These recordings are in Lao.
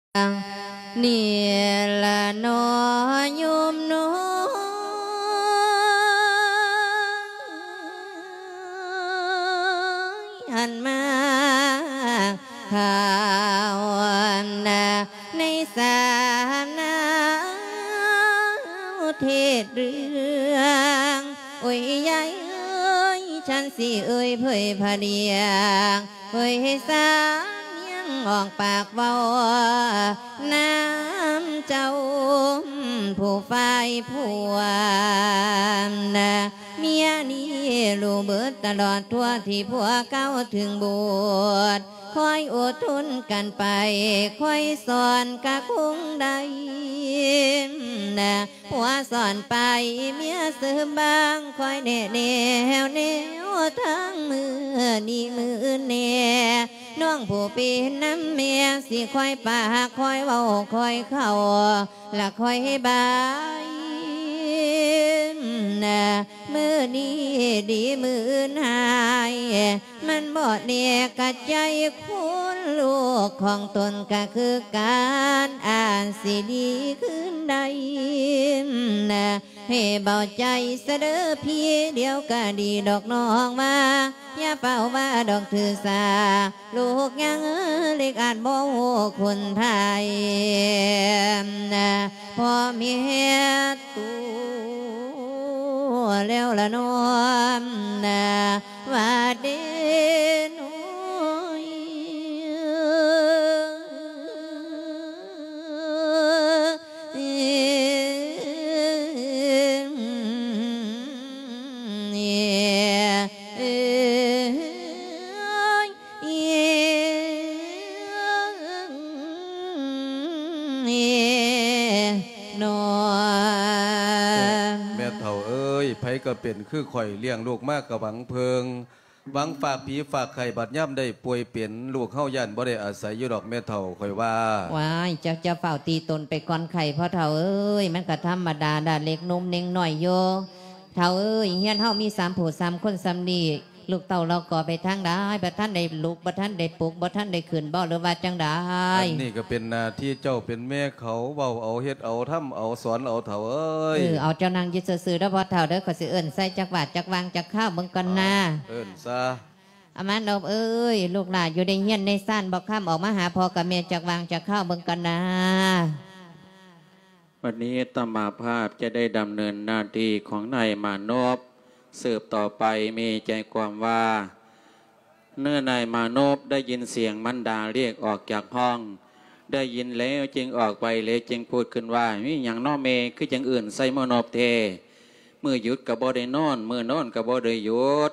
ນີ້ละน้อโยมน้อง หันมาข่าวนะ ในสานาเทศเรื่อง โอ้ยยายเอ้ย ฉันสิเอ่ยเผยพระเดียง เผยให้สาเนียงออกปากเว้า นำเจ้าผู้ฝ่ายผัวนะ เมียนี้รู้เบิดตลอดทั่วที่ผัวเก่าถึงบวช คอยอดทนกันไป คอยสอนกะคงได้นะ ผัวสอนไป เมียเสริมบาง คอยแนะแนว แนวทางมื้อนี้มื้อแน่ น้องผู้เป็นนำแม่ สิคอยปากคอยเว้าคอยเข้า ละคอยบายนะ มื้อนี้ดีมื้ออื่นฮ้าย มันบ่แน่กะใจคนลูกของตนกะคือกัน อาจสิดีขึ้นได้นะ ให้เบาใจซะเด้อพี่ เดี๋ยวกะดีดอกน้องว่า อย่าเฝ้าว่าดอกถือสา ลูกยังเล็กอาจบ่ฮู้คุณไทย พ่อแม่ตัวแล้วละน้อมนะ ว่าเด้น้อย แม่เฒ่าเอ้ย ไผก็เป็นคือข้อย เลี้ยงลูกมากะหวังเพิง หวังฝากผีฝากไข้ บัดยามได้ป่วยเป็น ลูกเฮาย้านบ่ได้อาศัยอยู่ดอกแม่เฒ่า ข้อยว่า ว้าย เจ้า เจ้าฟ้าวตีตนไปก่อนไข้ พ่อเฒ่าเอ้ย มันกะธรรมดาดา เล็กหนุ่มเด็กน้อยอยู่ เฒ่าเอ้ย เฮือนเฮามีสามผู้สามคนส่ำนี้ ลูกเต้าเลาะกอไปทางใด บ่ทันได้ลุก บ่ทันได้ปลุก บ่ทันได้ขึ้นบ่ หรือว่าจั่งใด อันนี้ก็เป็นหน้าที่เจ้าเป็นแม่เขา เว้าเอา เฮ็ดเอา ทำเอา สอนเอา เฒ่าเอ้ย เออ เอา เจ้านั่งอยู่ซื่อๆเด้อพ่อเฒ่าเด้อ ข้อยสิเอิ้นใส่จักหวาดจักวางจักคาวเบิ่งก่อนนา เอิ้นซะ อามาโนบเอ้ย ลูกหลานอยู่ในเฮือนในซานบ่ คำออกมาหาพ่อกับแม่จักหวางจักคาวเบิ่งก่อนนา บัดนี้อาตมาภาพจะได้ดำเนินหน้าที่ของนายมานพสืบต่อไป มีใจความว่า เมื่อนายมานพได้ยินเสียงมารดาเรียกออกจากห้อง ได้ยินแล้วจึงออกไป แล้วจึงพูดขึ้นว่า มีหยังน้อแม่ คือจั่งเอิ้นใส่มานพแท้ มื้อหยุดก็บ่ได้นอน มื้อนอนก็บ่ได้หยุด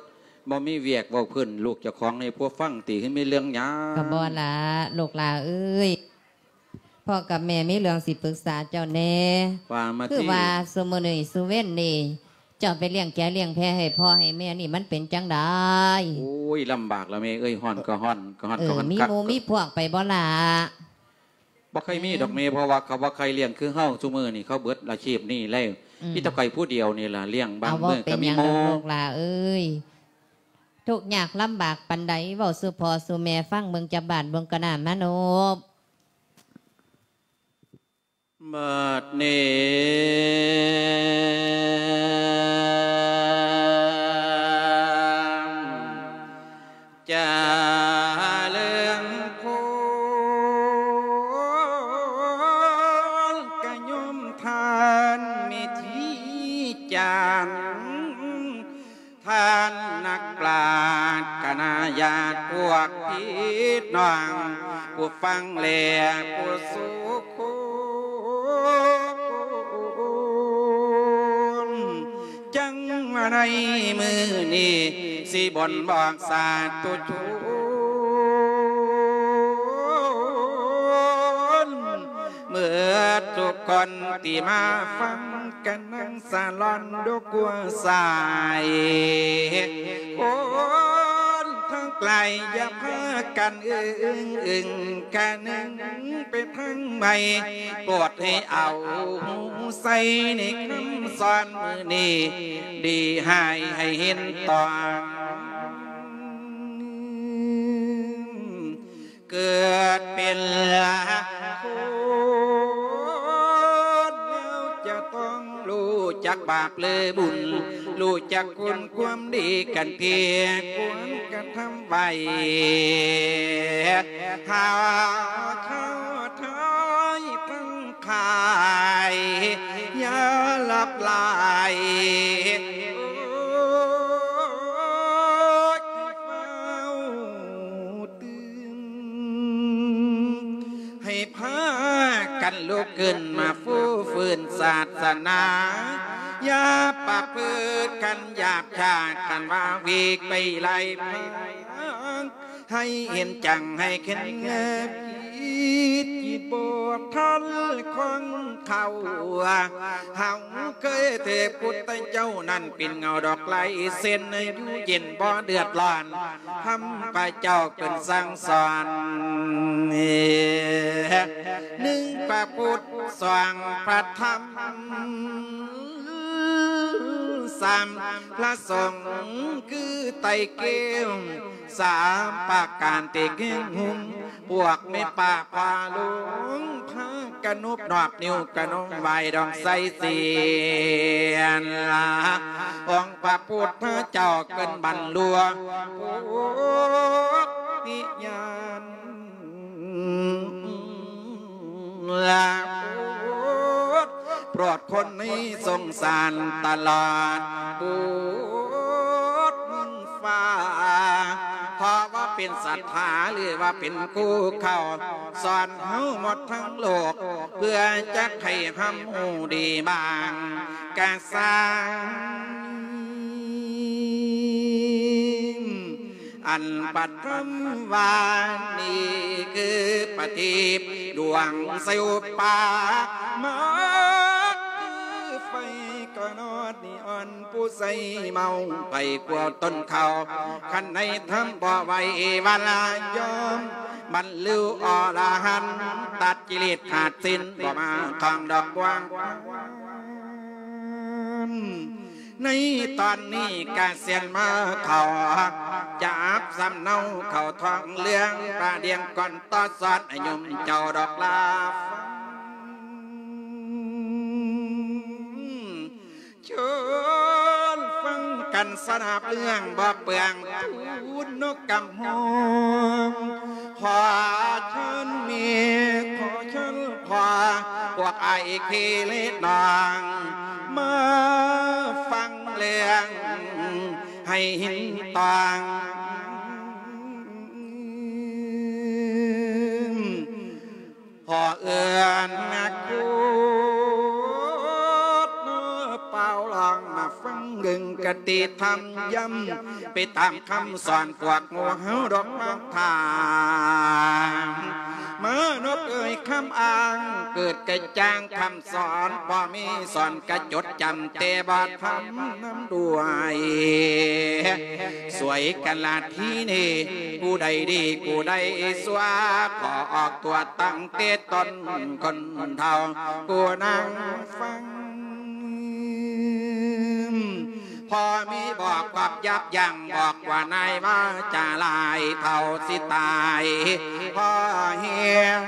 บ่มีเวียกเว้าพื้นลูกเจ้าของให้ผัวฟังติ คือมีเรื่องหยัง ก็บ่ล่ะ ลูกหลาเอ้ย พ่อกับแม่มีเรื่องสิปรึกษาเจ้าแหน่ ว่ามาติ คือว่าซุมื้อนี้ซุเว็นนี้ เจ้าไปเลี้ยงแกะเลี้ยงแพะให้พ่อให้แม่นี่มันเป็นจั่งใด โอ้ย ลำบากละแม่เอ้ย ฮ้อนก็ฮ้อน ก็ฮ้อน เออ ก็ฮ้อน มี คัก หมู่มีพวกไปบ่ล่ะ บ่เคยมีดอกแม่ อืม เพราะว่าเขาบ่ใคร่เลี้ยงคือเฮา ซุมื้อนี้เขาเบิดอาชีพนี้แล้ว อืม มีแต่ข้อยผู้เดียวนี่ล่ะเลี้ยง บาง เอา มื้อก็มีหมู่ บ่เป็นหยังดอกลูกหลาเอ้ย ทุกข์ยากลำบากปานใด เว้าสู่พ่อสู่แม่ฟังเบิ่ง จักบาดเบิ่งก่อนนะมานพ บัดนี้จะเลิงโพนกะโยมท่านมีที่จาน ท่านนักปราชญ์คณะญาติพวกพี่น้อง ผู้ฟังและผู้สุคน จั่งว่าในมื้อนี้สิบ่นบอกสาธุชน เมิดทุกคนที่มาฟังกันนั่งสะหล่อนดูกัวสาย คนทั้งไกลอย่าพากันอึ้งอึ้งกะนึงไปทางใหม่ โปรดให้เอาใส่ในคำสอนมื้อนี้ ดีให้ให้เห็นตอน เกิดเป็นละ ບາບຫຼືບຸນ ຮູ້ຈັກຄຸນຄວາມດີກັນທີ ຄວນກະທຳໄວ້ ຫາເຈົ້າທັງຫຼາຍ ຢ່າຫຼັບໄຫຼ ໂອ້ຍ ໃຫ້ຟ້າວຕື່ນ ໃຫ້ພາກັນລຸກຂຶ້ນມາຟູຟື້ນສາສະໜາ ຢ່າປະພຶດກັນຫຍາບຊ້າ ຄັນວ່າວິກໄປໄລ່ພາ ໃຫ້ເຫັນຈັງໃຫ້ເຫັນແນວຄິດ ຄິດບໍ່ທັນຂອງເຂົາ ເຮົາເຄີຍແຕ່ພຸດທະເຈົ້ານັ້ນເປັນເງົາດອກລາຍເຊັ່ນ ຢູ່ເຢັນບໍ່ເດືອດຮ້ອນ ທຳພະເຈົ້າເພິ່ນສັ່ງສອນ ໜຶ່ງພະພຸດ ສອງພະທຳ ສາມພະສົງ ຄືໄຕແກ້ວ ສາມປະການທີ່ເກັ່ງຮຸ່ງ ພວກແມ່ປ້າພໍ່ຫຼວງ ພາກັນນົບນອບນິ້ວກະນົງໄຫວ້ດອງໄຊສຽນລາ ອົງພະພຸດທະເຈົ້າເພິ່ນບັນລຸໂພທິຍານ ລາໂປດ ໂປດຄົນໃນສົງສານຕະຫຼອດ ໂປດໝູນຟ້າ ເພາະວ່າເປັນສັດທາ ຫຼືວ່າເປັນຄູເຂົາ ສອນເຮົາໝົດທັງໂລກ ເພື່ອຈະໃຫ້ເຮົາຮູ້ດີບາງກະສັງ ອັນປະທຳວ່ານີ້ຄືປະທີບດວງໃສອຸປາ ມາຄືໄຟກະນອດນີອອນ ຜູ້ໃສເມົາໄປກວ່າຕົ້ນເຂົ້າ ຄັນໃນທຳບໍ່ໄຫວວາລາຍອມ ບັນລຸອໍລະຫັນ ຕັດກິເລດຂາດສິ້ນ ບໍ່ມາຄອງດອກບວງ ໃນຕອນນີ້ກະສຽນມາເຂົ້າ ຈັບສຳເນົາເຂົ້າທອງເລື່ອງ ປະດຽງກ່ອນຕໍ່ສອນໃຫ້ໂຍມເຈົ້າດອກລາຟັງ ເຊີນຟັງກັນສະໜາບເລື່ອງບໍ່ເປືອງ ທູນນົກກຳຮອງ ຂໍເຊີນແມ່ ຂໍເຊີນພໍ່ ພວກອ້າຍພີ່ເລະນ້ອງ ມາຟັງເລື່ອງໃຫ້ເຫັນຕອງ ພໍເອື້ອນນະໂຄດເປົ່າລອງມາຟັງເບິ່ງກະຕິທຳ ຢ້ຳໄປຕາມຄຳສອນພວກໝູ່ເຮົາດອກມາຖາມ ມະນຸດເອີຍ ຄຳອ້າງເກີດກະຈ່າງ ຄຳສອນພໍ່ແມ່ສອນກະຈົດຈຳ ແຕ່ບໍ່ທຳນຳດ້ວຍ ສວຍກະລາທີນີ້ ຜູ້ໃດດີຜູ້ໃດຊົ່ວ ຂໍອອກຕົວຕັ້ງແຕ່ຕົ້ນຄົນເຖົ້າ ຜູ້ນັ່ງຟັງ ພໍ່ມີບອກຄວາມຢັບຢັ້ງ ບອກວ່ານາຍວ່າຈາຫຼາຍເທົ່າຊິຕາຍ ພໍແຮງ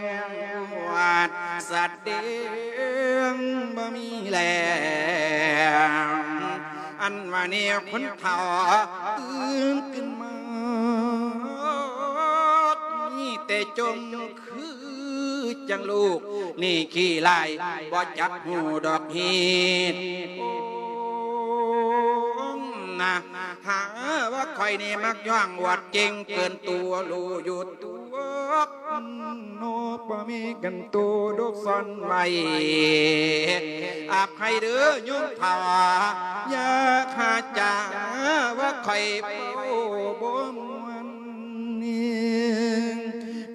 ຫວາດສະແດງບໍ່ມີແລ້ວ ອັນວ່າແນວຄົນເຖົ້າຕື່ນຂຶ້ນມາ ມີແຕ່ຈົ່ມຄື ຈັ່ງລູກນີ້ຂີ້ລ້າຍ ບໍ່ຈັກຮູ້ດອກຮີດນະ ຫາວ່າຂ້ອຍນີ້ມັກຍ້ອງອວດເກັ່ງເກີນຕົວ ຮູ້ຢູ່ຕົວເນາະ ບໍ່ມີກັນໂຕດົກຊ່ອນໄວ້ ອະໄພເດີໂຍມເຖົ້າ ຢ່າຫາຈາວ່າຂ້ອຍເວົ້າບໍ່ມ່ວນ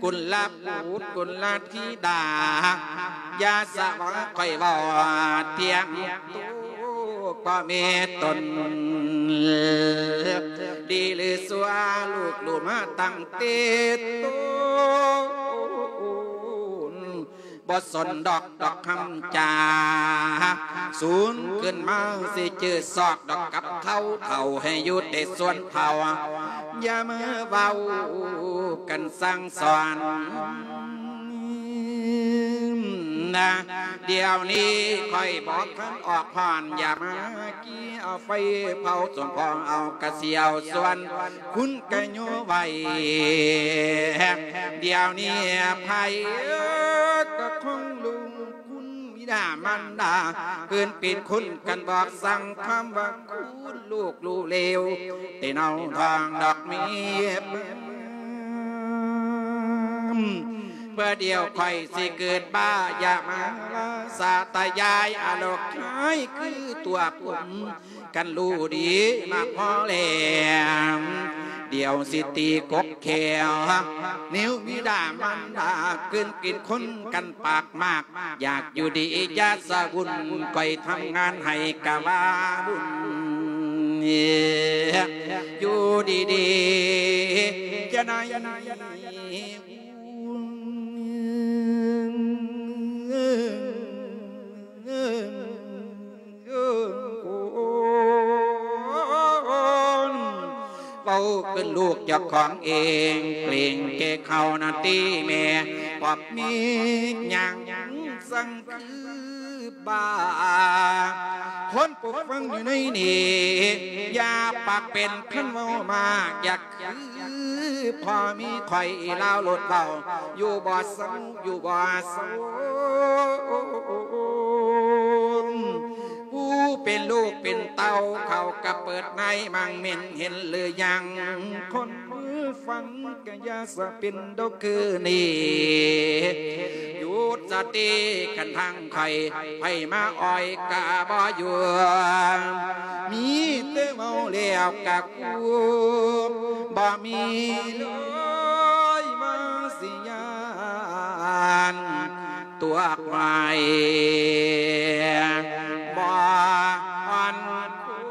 ກຸນລະບຸດກຸນລະ ທິດາ ຢ່າສະຫວັງຂ້ອຍເວົ້າທ່ຽງໂຕ ພໍ່ແມ່ຕົນ ດີຫຼືຊົ່ວ ລູກຮູ້ມາຕັ້ງແຕ່ຕົ້ນ ບໍ່ສົນດອກ ດອກຄຳຈາ ສູນຂຶ້ນມາຊິຈື່ຊອກດອກກັບເຂົາ ເຖົ້າໃຫ້ຢູ່ແຕ່ສ່ວນເຖົ້າ ຢ່າມາເວົ້າກັນສັ່ງສອນນະ ດຽວນີ້ຂ້ອຍບໍ່ທັນອອກຮ້ອນ ຢ່າມາກີ່ເອົາໄຟເຜົາສົມພໍເອົາກະສຽວ ສ່ວນຄຸນກະໂຍໄວ້ ດຽວນີ້ໃຜກະຄົງລຸງຄຸນ ບິດາມານດາ ເພິ່ນເປັນຄົນກັນບອກສັ່ງຄຳວ່າ ຄູນລູກຮູ້ເລວ ແຕ່ເນົາທ້ອງດອກເມຍ ເມື່ອດຽວຂ້ອຍຊິເກີດບ້າ ຢ່າມາວ່າສາຕະຍາຍອາລົກຮ້າຍຄືຕົວຜົມ ຄັນຮູ້ດີມາພໍແລ້ວ ດຽວຊິຕີກົກແຂ້ວ ແນວບິດາມານດາ ເກີນເປັນຄົນກັນປາກມາກ ຢາກຢູ່ດີຢ່າສະວຸ່ນ ຂ້ອຍທຳງານໃຫ້ກະວ່າບຸນ ຢູ່ດີໆ ຈະໄດ້ ເວົ້າເປັນລູກເຈົ້າຂອງເອງ ເກລງແກ່ເຂົານະຕິແມ່ ປອບມີຫຍັງສັງຄືບ້າ ຄົນຜູ້ຟັງຢູ່ໃນນີ້ ຢ່າປາກເປັນຄັນເວົ້າມາກ ຢາກ ຄືພໍ່ມີຂ້ອຍລາວໂລດເວົ້າ ຢູ່ບໍ່ເຊົາ ຢູ່ບໍ່ເຊົາ ຜູ້ເປັນລູກເປັນເຕົ້າ ເຂົາກະເປີດໃນມັງເມັນ ເຫັນຫຼືຍັງ ຄົນຟັງກະຢ່າສະເປັນດອກຄືນີ້ ຢຸດສະຕິ ຄັນທາງ ໃຜ ໃຜມາອ້ອຍກະບໍ່ຢູ່ ມີແຕ່ເວົ້າແລ້ວກະກູ ບໍ່ມີເລີຍວ່າຊິຢ້ານຕົວໃໝ່ ບໍ່ອ່ອນໂຄນ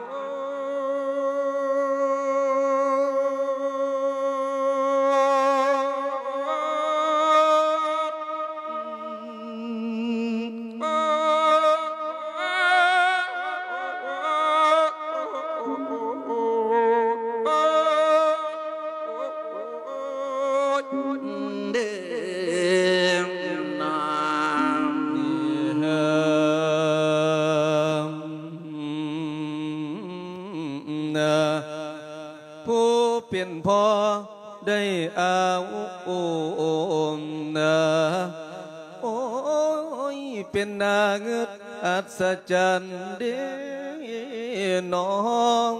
ຜູ້ເປັນພໍ່ ໄດ້ອາອຸ ໂອ້ນາ ໂອ້ຍ ເປັນໜ້າງຶດອັດສະຈັນເດນ້ອງ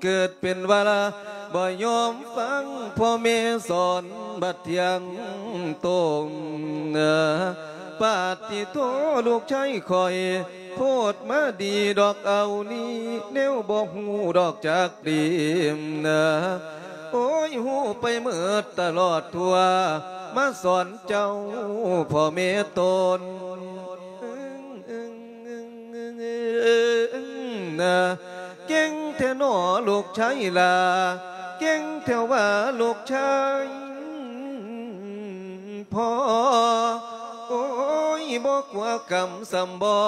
ເກີດເປັນວາລະ ບໍ່ຍອມຟັງພໍ່ແມ່ສອນ ບັດທ່ຽງໂຕນາ ປາຕິໂທ ລູກຊາຍຂ້ອຍ ໂພດມາດີດອກເອົານີ້ ແນວບໍ່ຮູ້ດອກຈັກດີນາ ໂອ້ຍ ຮູ້ໄປເໝິດຕະຫຼອດທົ່ວ ມາສອນເຈົ້າພໍ່ແມ່ຕົນນາ ເກັ່ງແທ້ນໍລູກຊາຍຫຼ້າ ເກັ່ງແທ້ວ່າລູກຊາຍ ພໍ່ ໂອ້ຍ ບໍ່ກົວກຳສ່ຳບໍ່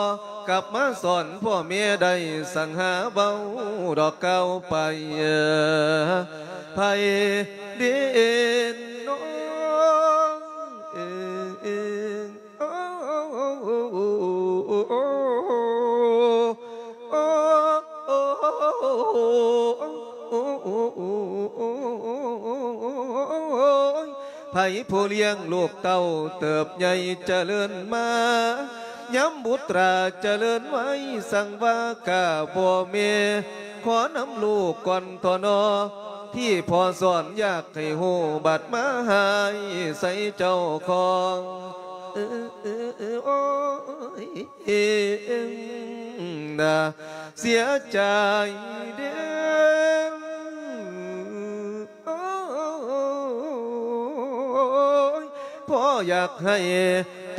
ກັບມາສອນພໍ່ແມ່ໄດ້ ສັ່ງຫາເວົ້າດອກກ່າວໄປ ໃຜເດນອງ ເອີ ໂອ້ ໂອ້ຍ ໃຜຜູ້ລ້ຽງລູກເຕົ້າເຕີບໃຫຍ່ຈະເລີນມາ ຍາມບຸດຕາຈະເລີນໄວ ສັ່ງວ່າຂ້າພໍ່ແມ່ ຂໍນຳລູກກ່ອນທໍນໍ ທີ່ພໍ່ສອນຢາກໃຫ້ຮູ້ ບັດມາຮ້າຍໃສ່ເຈົ້າຂອງ ເອີ ເອີ ເອີ ໂອ້ຍ ເສຍໃຈເດີ້ ໂອ້ຍ ພໍ່ຢາກໃຫ້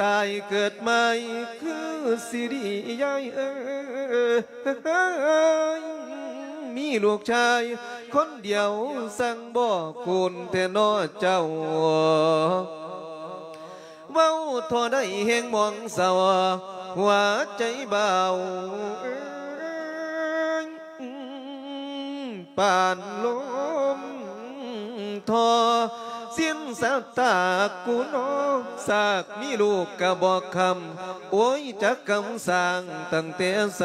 ຕາຍເກີດໃໝ່ຄືຊິດີ ຍາຍເອີຍ ມີລູກຊາຍຄົນດຽວ ສັ່ງບໍ່ຄູນແທ້ນໍເຈົ້າ ເວົ້າທໍ່ໃດແຮງມອງເສົ້າ ຫົວໃຈບ່າວເອີຍ ປານລົມທໍ່ ສິ້ນຊະຕາກູນ້ອງ ສາກມີລູກກະບໍ່ຄຳ ໂອ້ຍ ຈັກກຳສ້າງຕັ້ງແຕ່ໃສ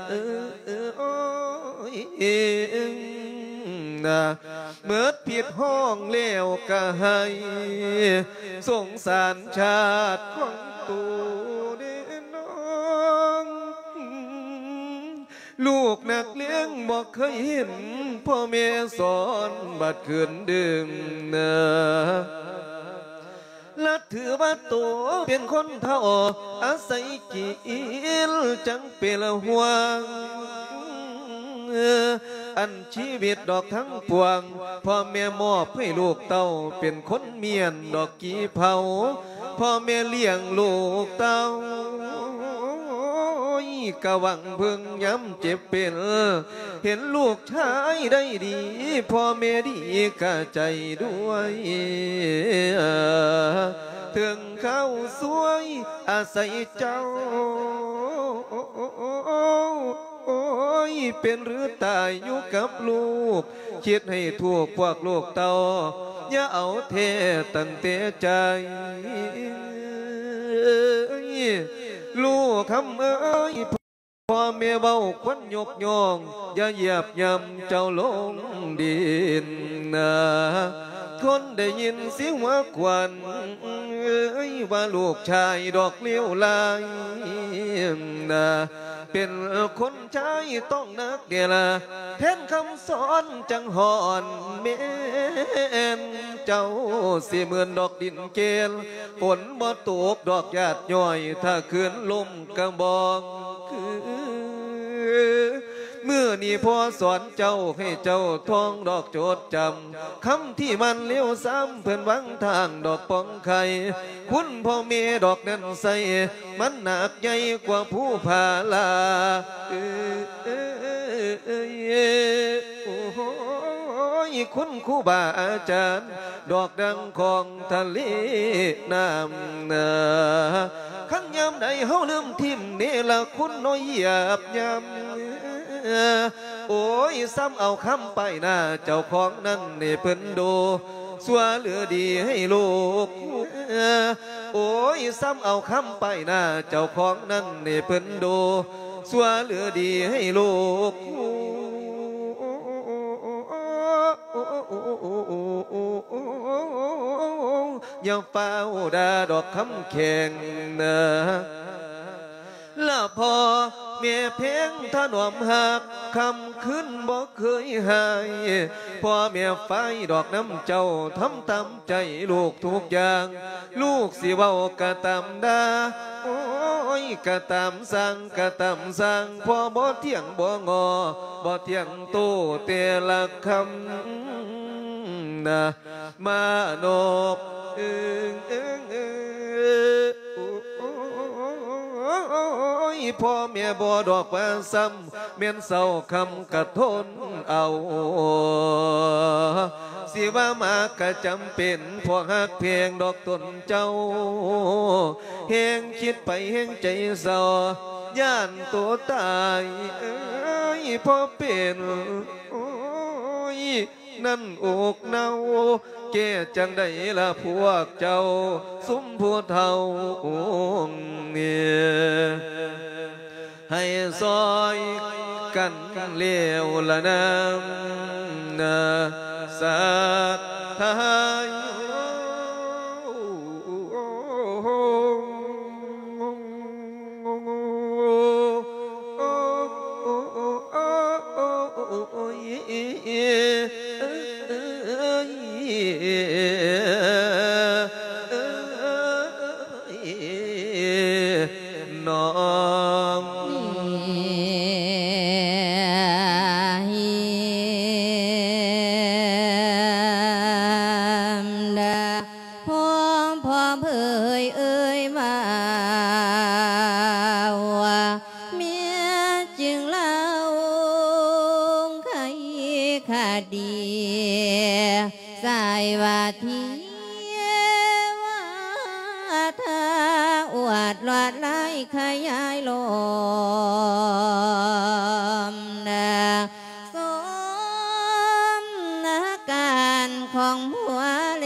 ເອີ ເອີ ໂອ້ຍ ເອີ ນາ ເໝິດພິດຮ້ອງແລ້ວກະໄຫ້ ສົງສານຊາດຂອງໂຕເດ້ນ້ອງ. ລູກນັກລຽນບໍ່ເຄີຍເຫັນພໍ່ແມ່ສອນ ບັດຄືນດຶກນາ ລະຖືວ່າໂຕເປັນຄົນເຖົ້າ ອາໄສກິນຈັ່ງເປັນຫ່ວງ ອັນຊີວິດດອກທັງປວງ ພໍ່ແມ່ມອບໃຫ້ລູກເຕົ້າ ເປັນຄົນມ້ຽນດອກກີ່ເຜົາ ພໍ່ແມ່ລ້ຽງລູກເຕົ້າ ກະຫວັງເພິ່ງຍາມເຈັບເປັນ ເຫັນລູກຊາຍໄດ້ດີ ພໍ່ແມ່ດີກະໃຈດ້ວຍ ເຖິງຄາວຊວຍອາໄສເຈົ້າ ໂອ້ຍ ເປັນຫຼືຕາຍຢູ່ກັບລູກ ຄິດໃຫ້ຖືກພວກລູກເຕົ້າ ຢ່າເອົາແທ້ຕັ້ງແຕ່ໃຈ ລູກຄຳເອີຍ ພໍ່ແມ່ເວົ້າຄວນຍົກຍ້ອງ ຢ່າຢຽບຫຍ້ຳເຈົ້າລົງດິນນາ ຄົນໄດ້ຍິນຊິຫົວຂວັນ ເອີຍ ວ່າລູກຊາຍດອກເລວລາຍນາ ເປັນຄົນ ຊາຍຕ້ອງໜັກແດ່ລະ ແທນຄຳສອນຈັ່ງຮ້ອນແມ່ນ ເຈົ້າຊິເໝືອນດອກດິນແກ່ນ ຝົນບໍ່ຕົກດອກຢາດຍ້ອຍ ຖ້າຄືນລົມກະບອງຄື ມື້ນີ້ພໍ່ສອນເຈົ້າ ໃຫ້ເຈົ້າທ່ອງດອກຈົດຈຳ ຄຳທີ່ໝັ້ນເລວຊ້ຳ ເພິ່ນວາງທາງດອກປ່ອງໄຂ່ ຄຸນພໍ່ແມ່ດອກນັ້ນໃສ່ ມັນໜັກໃຫຍ່ກວ່າພູຜາລາ ເອີຍ ໂອ້ຍ ຄຸນຄູບາອາຈານ ດອກດັ່ງຂອງທະເລນ້ຳນາ ຄັນຍາມໃດເຮົາລືມຖິ້ມເນລະຄຸນນ້ອຍຢາບຢຳ ໂອ້ຍ ຊ້ຳເອົາຄຳປ້າຍໜ້າເຈົ້າຂອງນັ້ນໃຫ້ເພິ່ນດູ ຊົ່ວຫຼືດີໃຫ້ລູກ ໂອ້ຍ ຊ້ຳເອົາຄຳປ້າຍໜ້າເຈົ້າຂອງນັ້ນໃຫ້ເພິ່ນດູ ຊົ່ວຫຼືດີໃຫ້ລູກ ຢ່າຟ້າວດ່າດອກຄຳແຂງນາ ລະພໍ່ແມ່ແພງຖະໜອມຮັກ ຄ່ຳຄືນບໍ່ເຄີຍຫາຍ ພໍ່ແມ່ຝາຍດອກນຳເຈົ້າ ທຳຕາມໃຈລູກທຸກຢ່າງ ລູກຊິເວົ້າກະຕາມດ່າ ໂອ້ຍ ກະຕາມສ້າງ ກະຕາມສ້າງ ພໍ່ບໍ່ຖຽງບໍ່ງໍ ບໍ່ຖຽງໂຕ້ແຕ່ລະຄຳນາ ມານອບ ເອີ ເອີ ເອີ ໂອ້ຍ ພໍ່ແມ່ບໍ່ດອກວ່າຊ້ຳ ແມ່ນເສົ້າຄຳກະທົນເອົາ ຊິວ່າມາກະຈຳເປັນ ເພາະຮັກແພງດອກຕົນເຈົ້າ ແຮງຄິດໄປແຮງໃຈເສົ້າ ຢ້ານໂຕຕາຍ ເອີຍ ພໍ່ເປັນ ໂອ້ຍ ນັ້ນອົກເນົ່າ ແກ້ຈັ່ງໃດລະພວກເຈົ້າ ຊຸມຜູ້ເຖົ້ານີ້ ໃຫ້ຊ່ອຍກັນແລ້ວລະນາ ສາທາຍ. ນ້ອງ ພໍ່ພໍ່ເຜີຍເອີຍວ່າ ແມ່ຈຶ່ງເລົ່າໄຂຄະດີ ສາຍວ່າທີວາທາ ອວດລວດລາຍຂະຫຍາຍລອມ ນາ ສົມນາການຂອງຜົວເລ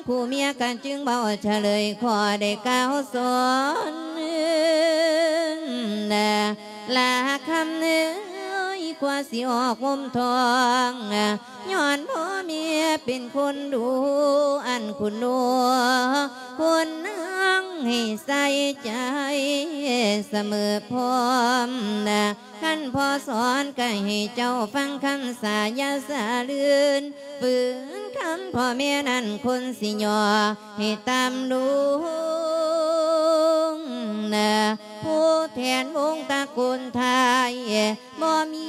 ຜູ້ເມຍກໍຈຶ່ງເວົ້າສະເຫຼີຍ ຂໍໄດ້ກ່າວສອນ ລາຄຳເອີຍ ກວ່າຊິອອກຫົ່ມທ້ອງ ຍ້ອນພໍ່ແມ່ເປັນຄົນດຸ ອັນຄຸນໜູ ຄົນນາງໃຫ້ໃສ່ໃຈສະເໝີພ້ອມ ຄັນພໍ່ສອນກໍໃຫ້ເຈົ້າຟັງຄຳສາ ຢ່າສະເລື່ອນ ຝືນຄຳພໍ່ແມ່ນັ້ນ ຄົນຊິຍໍໃຫ້ຕາມລຸງ ນະ ຜູ້ແທນວົງຕະໂກນໄທ ບໍ່ມີ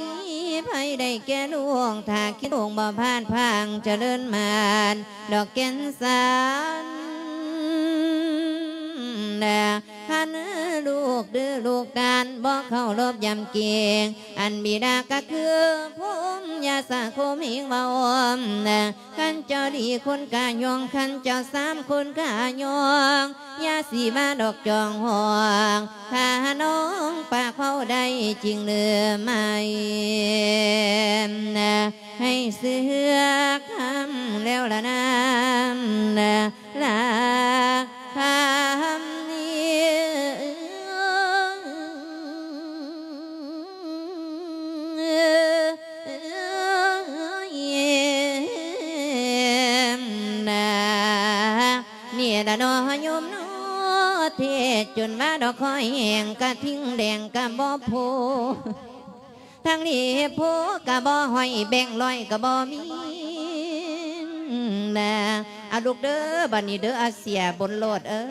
ໃຜໄດ້ແກ່ລູກ ຖ້າຄິດລູກບໍ່ພາດພາງ ຈະເລີນມານດອກແກ່ນສັນ ນະ ຄັນລູກດື້ລູກດ້ານ ບໍ່ເຄົາລົບຢຳເກງ ອັນບິດາກໍຄືພູມ ຢ່າສະຄົມເຮງເວົ້າອ້ອມນະ ຄັນເຈົ້າດີຄົນກະຍ້ອງ ຄັນເຈົ້າສາມຄົນກະຍ້ອງ ຢ່າຊິມາດອກຈອງຫ້ອງ ຖ້ານ້ອງປາກເວົ້າໄດ້ຈິງຫຼືໄໝ ໃຫ້ເຊື່ອຄຳແລ້ວລະນາ ລະຄຳນີ້ ນາ ນີ້ລະເນາະໂຍມເນາະ ເທດຈົນວ່າດອກຄອຍແຫ້ງ ກະທິ່ງແດງກະບໍ່ໂພ ທາງນີ້ໂພກະບໍ່ຫ້ອຍ ແບງຮ້ອຍກະບໍ່ມີ ນາ ອາ ລູກເດີ ບັດນີ້ເດີ ອາ ເສຍບຸນໂລດເອີ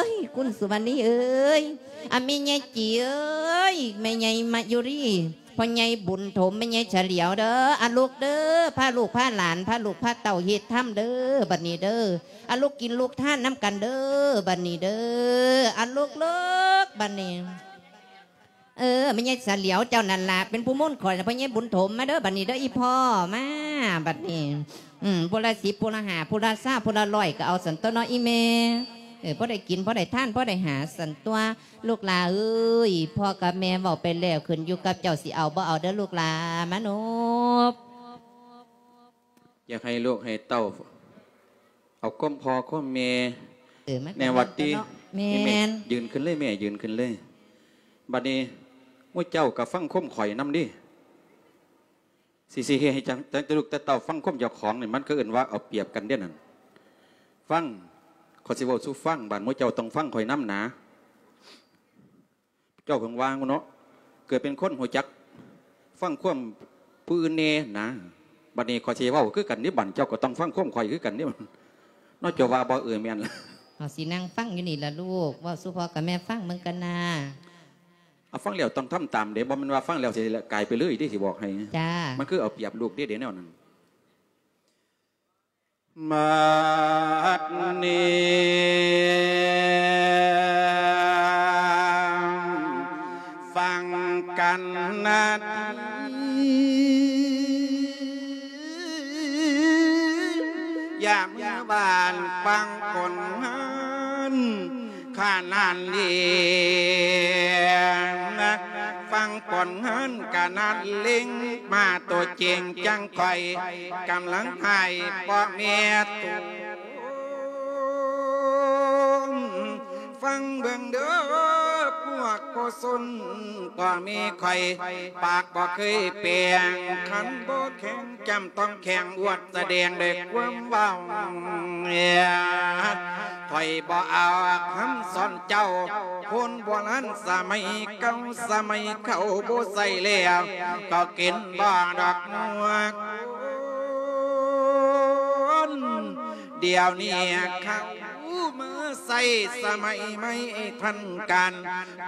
ຍ ຄຸນສຸວັນນີເອີຍ ອາ ແມ່ໃຫຍ່ຈີເອີຍ ແມ່ໃຫຍ່ມາຍຸລີ ພໍ່ໃຫຍ່ບຸນຖົມ ແມ່ໃຫຍ່ສະຫຼຽວເດີ ອາ ລູກເດີ ພາລູກພາຫຼານ ພາລູກພາເຕົ້າເຮັດທຳເດີ ບັດນີ້ເດີ ອາ ລູກກິນລູກທານນຳກັນເດີ ບັດນີ້ເດີ ອາ ລູກໆ ບັດນີ້ ເອີ ແມ່ໃຫຍ່ສະຫຼຽວເຈົ້ານັ້ນລະ ເປັນຜູ້ມົນຂ້ອຍນະ ພໍ່ໃຫຍ່ບຸນຖົມ ມາເດີ ບັດນີ້ເດີ ອີ່ພໍ່ ມາ ບັດນີ້ ອືມ ຜູ້ລະສິບ ຜູ້ລະຫ້າ ຜູ້ລະຊາວ ຜູ້ລະຮ້ອຍ ກໍເອົາຊັ້ນຕົວະເນາະ ອີ່ແມ່ ເອີ ພໍໄດ້ກິນ ພໍໄດ້ທານ ພໍໄດ້ຫາຊັ້ນຕົວະ ລູກຫຼ້າເອີຍ ພໍ່ກັບແມ່ເວົ້າໄປແລ້ວ ຂຶ້ນຢູ່ກັບເຈົ້າຊິເອົາບໍ່ເອົາເດີ ລູກຫຼ້າ ມານົບ. ຢາກໃຫ້ລູກໃຫ້ເຕົ້າເອົາຄວາມພໍ່ຄວາມແມ່ ເອີ ມັນກໍແນວວ່າຕິ ແມ່ນ ແມ່ນ ແມ່ນ ຢືນຂຶ້ນເລີຍແມ່ ຢືນຂຶ້ນເລີຍ ບັດນີ້ໝູ່ເຈົ້າກໍຟັງຄວາມຂ້ອຍນຳເດ້ ຊິ ຊິເຮັດໃຫ້ຈັ່ງ ຈັ່ງແຕ່ລູກແຕ່ເຕົ້າຟັງຄວາມເຈົ້າຂອງນີ້ ມັນກໍເອີ້ນວ່າເອົາປຽບກັນເດ້ນັ້ນ ຟັງ ຂ້ອຍຊິເວົ້າສູ່ຟັງ ບາດໝູ່ເຈົ້າຕ້ອງຟັງຂ້ອຍນຳນາ. ເຈົ້າເພິ່ງວ່າເນາະ ເກີດເປັນຄົນຮູ້ຈັກຟັງຄວາມຜູ້ອື່ນແດ່ນະ ບັດນີ້ຂ້ອຍຊິເວົ້າຄືກັນເດ້ ບັດເຈົ້າກໍຕ້ອງຟັງຄວາມຂ້ອຍຄືກັນເດ້ ເນາະ ເຈົ້າວ່າບໍ່ ເອີ ແມ່ນລະ ເຮົາຊິນັ່ງຟັງຢູ່ນີ້ລະລູກ ເວົ້າສູ່ພໍ່ກັບແມ່ຟັງເບິ່ງກັນນາ ເອົາ ຟັງແລ້ວຕ້ອງທຳຕາມເດ້ ບໍ່ແມ່ນວ່າຟັງແລ້ວຊິກາຍໄປເລີຍເດ້ ຊິບອກໃຫ້ ຈ້າ ມັນຄືເອົາປຽບລູກເດ້ ເດ້ແນວນັ້ນ. ບັດນີ້ຟັງກັນນະ ຢ່າມືຫວານຟັງຄົນງານ ຂະໜາດເລັງ ຟັງຄົນງານຂະໜາດເລັງ ມາໂຕເຈັງຈັ່ງຂ້ອຍ ກຳລັງໃຫ້ພໍ່ແມ່ໂຕ ຟັງເບິ່ງເດີພວກພໍ່ຊົນ ພໍ່ແມ່ຂ້ອຍ ປາກບໍ່ເຄີຍແປງ ຄັນບໍ່ແຂງ ຈ້ຳຕ້ອງແຂງອວດສະແດງດ້ວຍຄວາມເວົ້າ ຂ້ອຍບໍ່ເອົາຄຳສອນເຈົ້າ ຄົນໂບລານສະໄໝເກົ່າ ສະໄໝເກົ່າບໍ່ໃຊ້ແລ້ວ ກໍກິນບໍ່ດອກໝວກ ດຽວນີ້ເຂົາມາໃຊ້ສະໄໝໃໝ່ທັນການ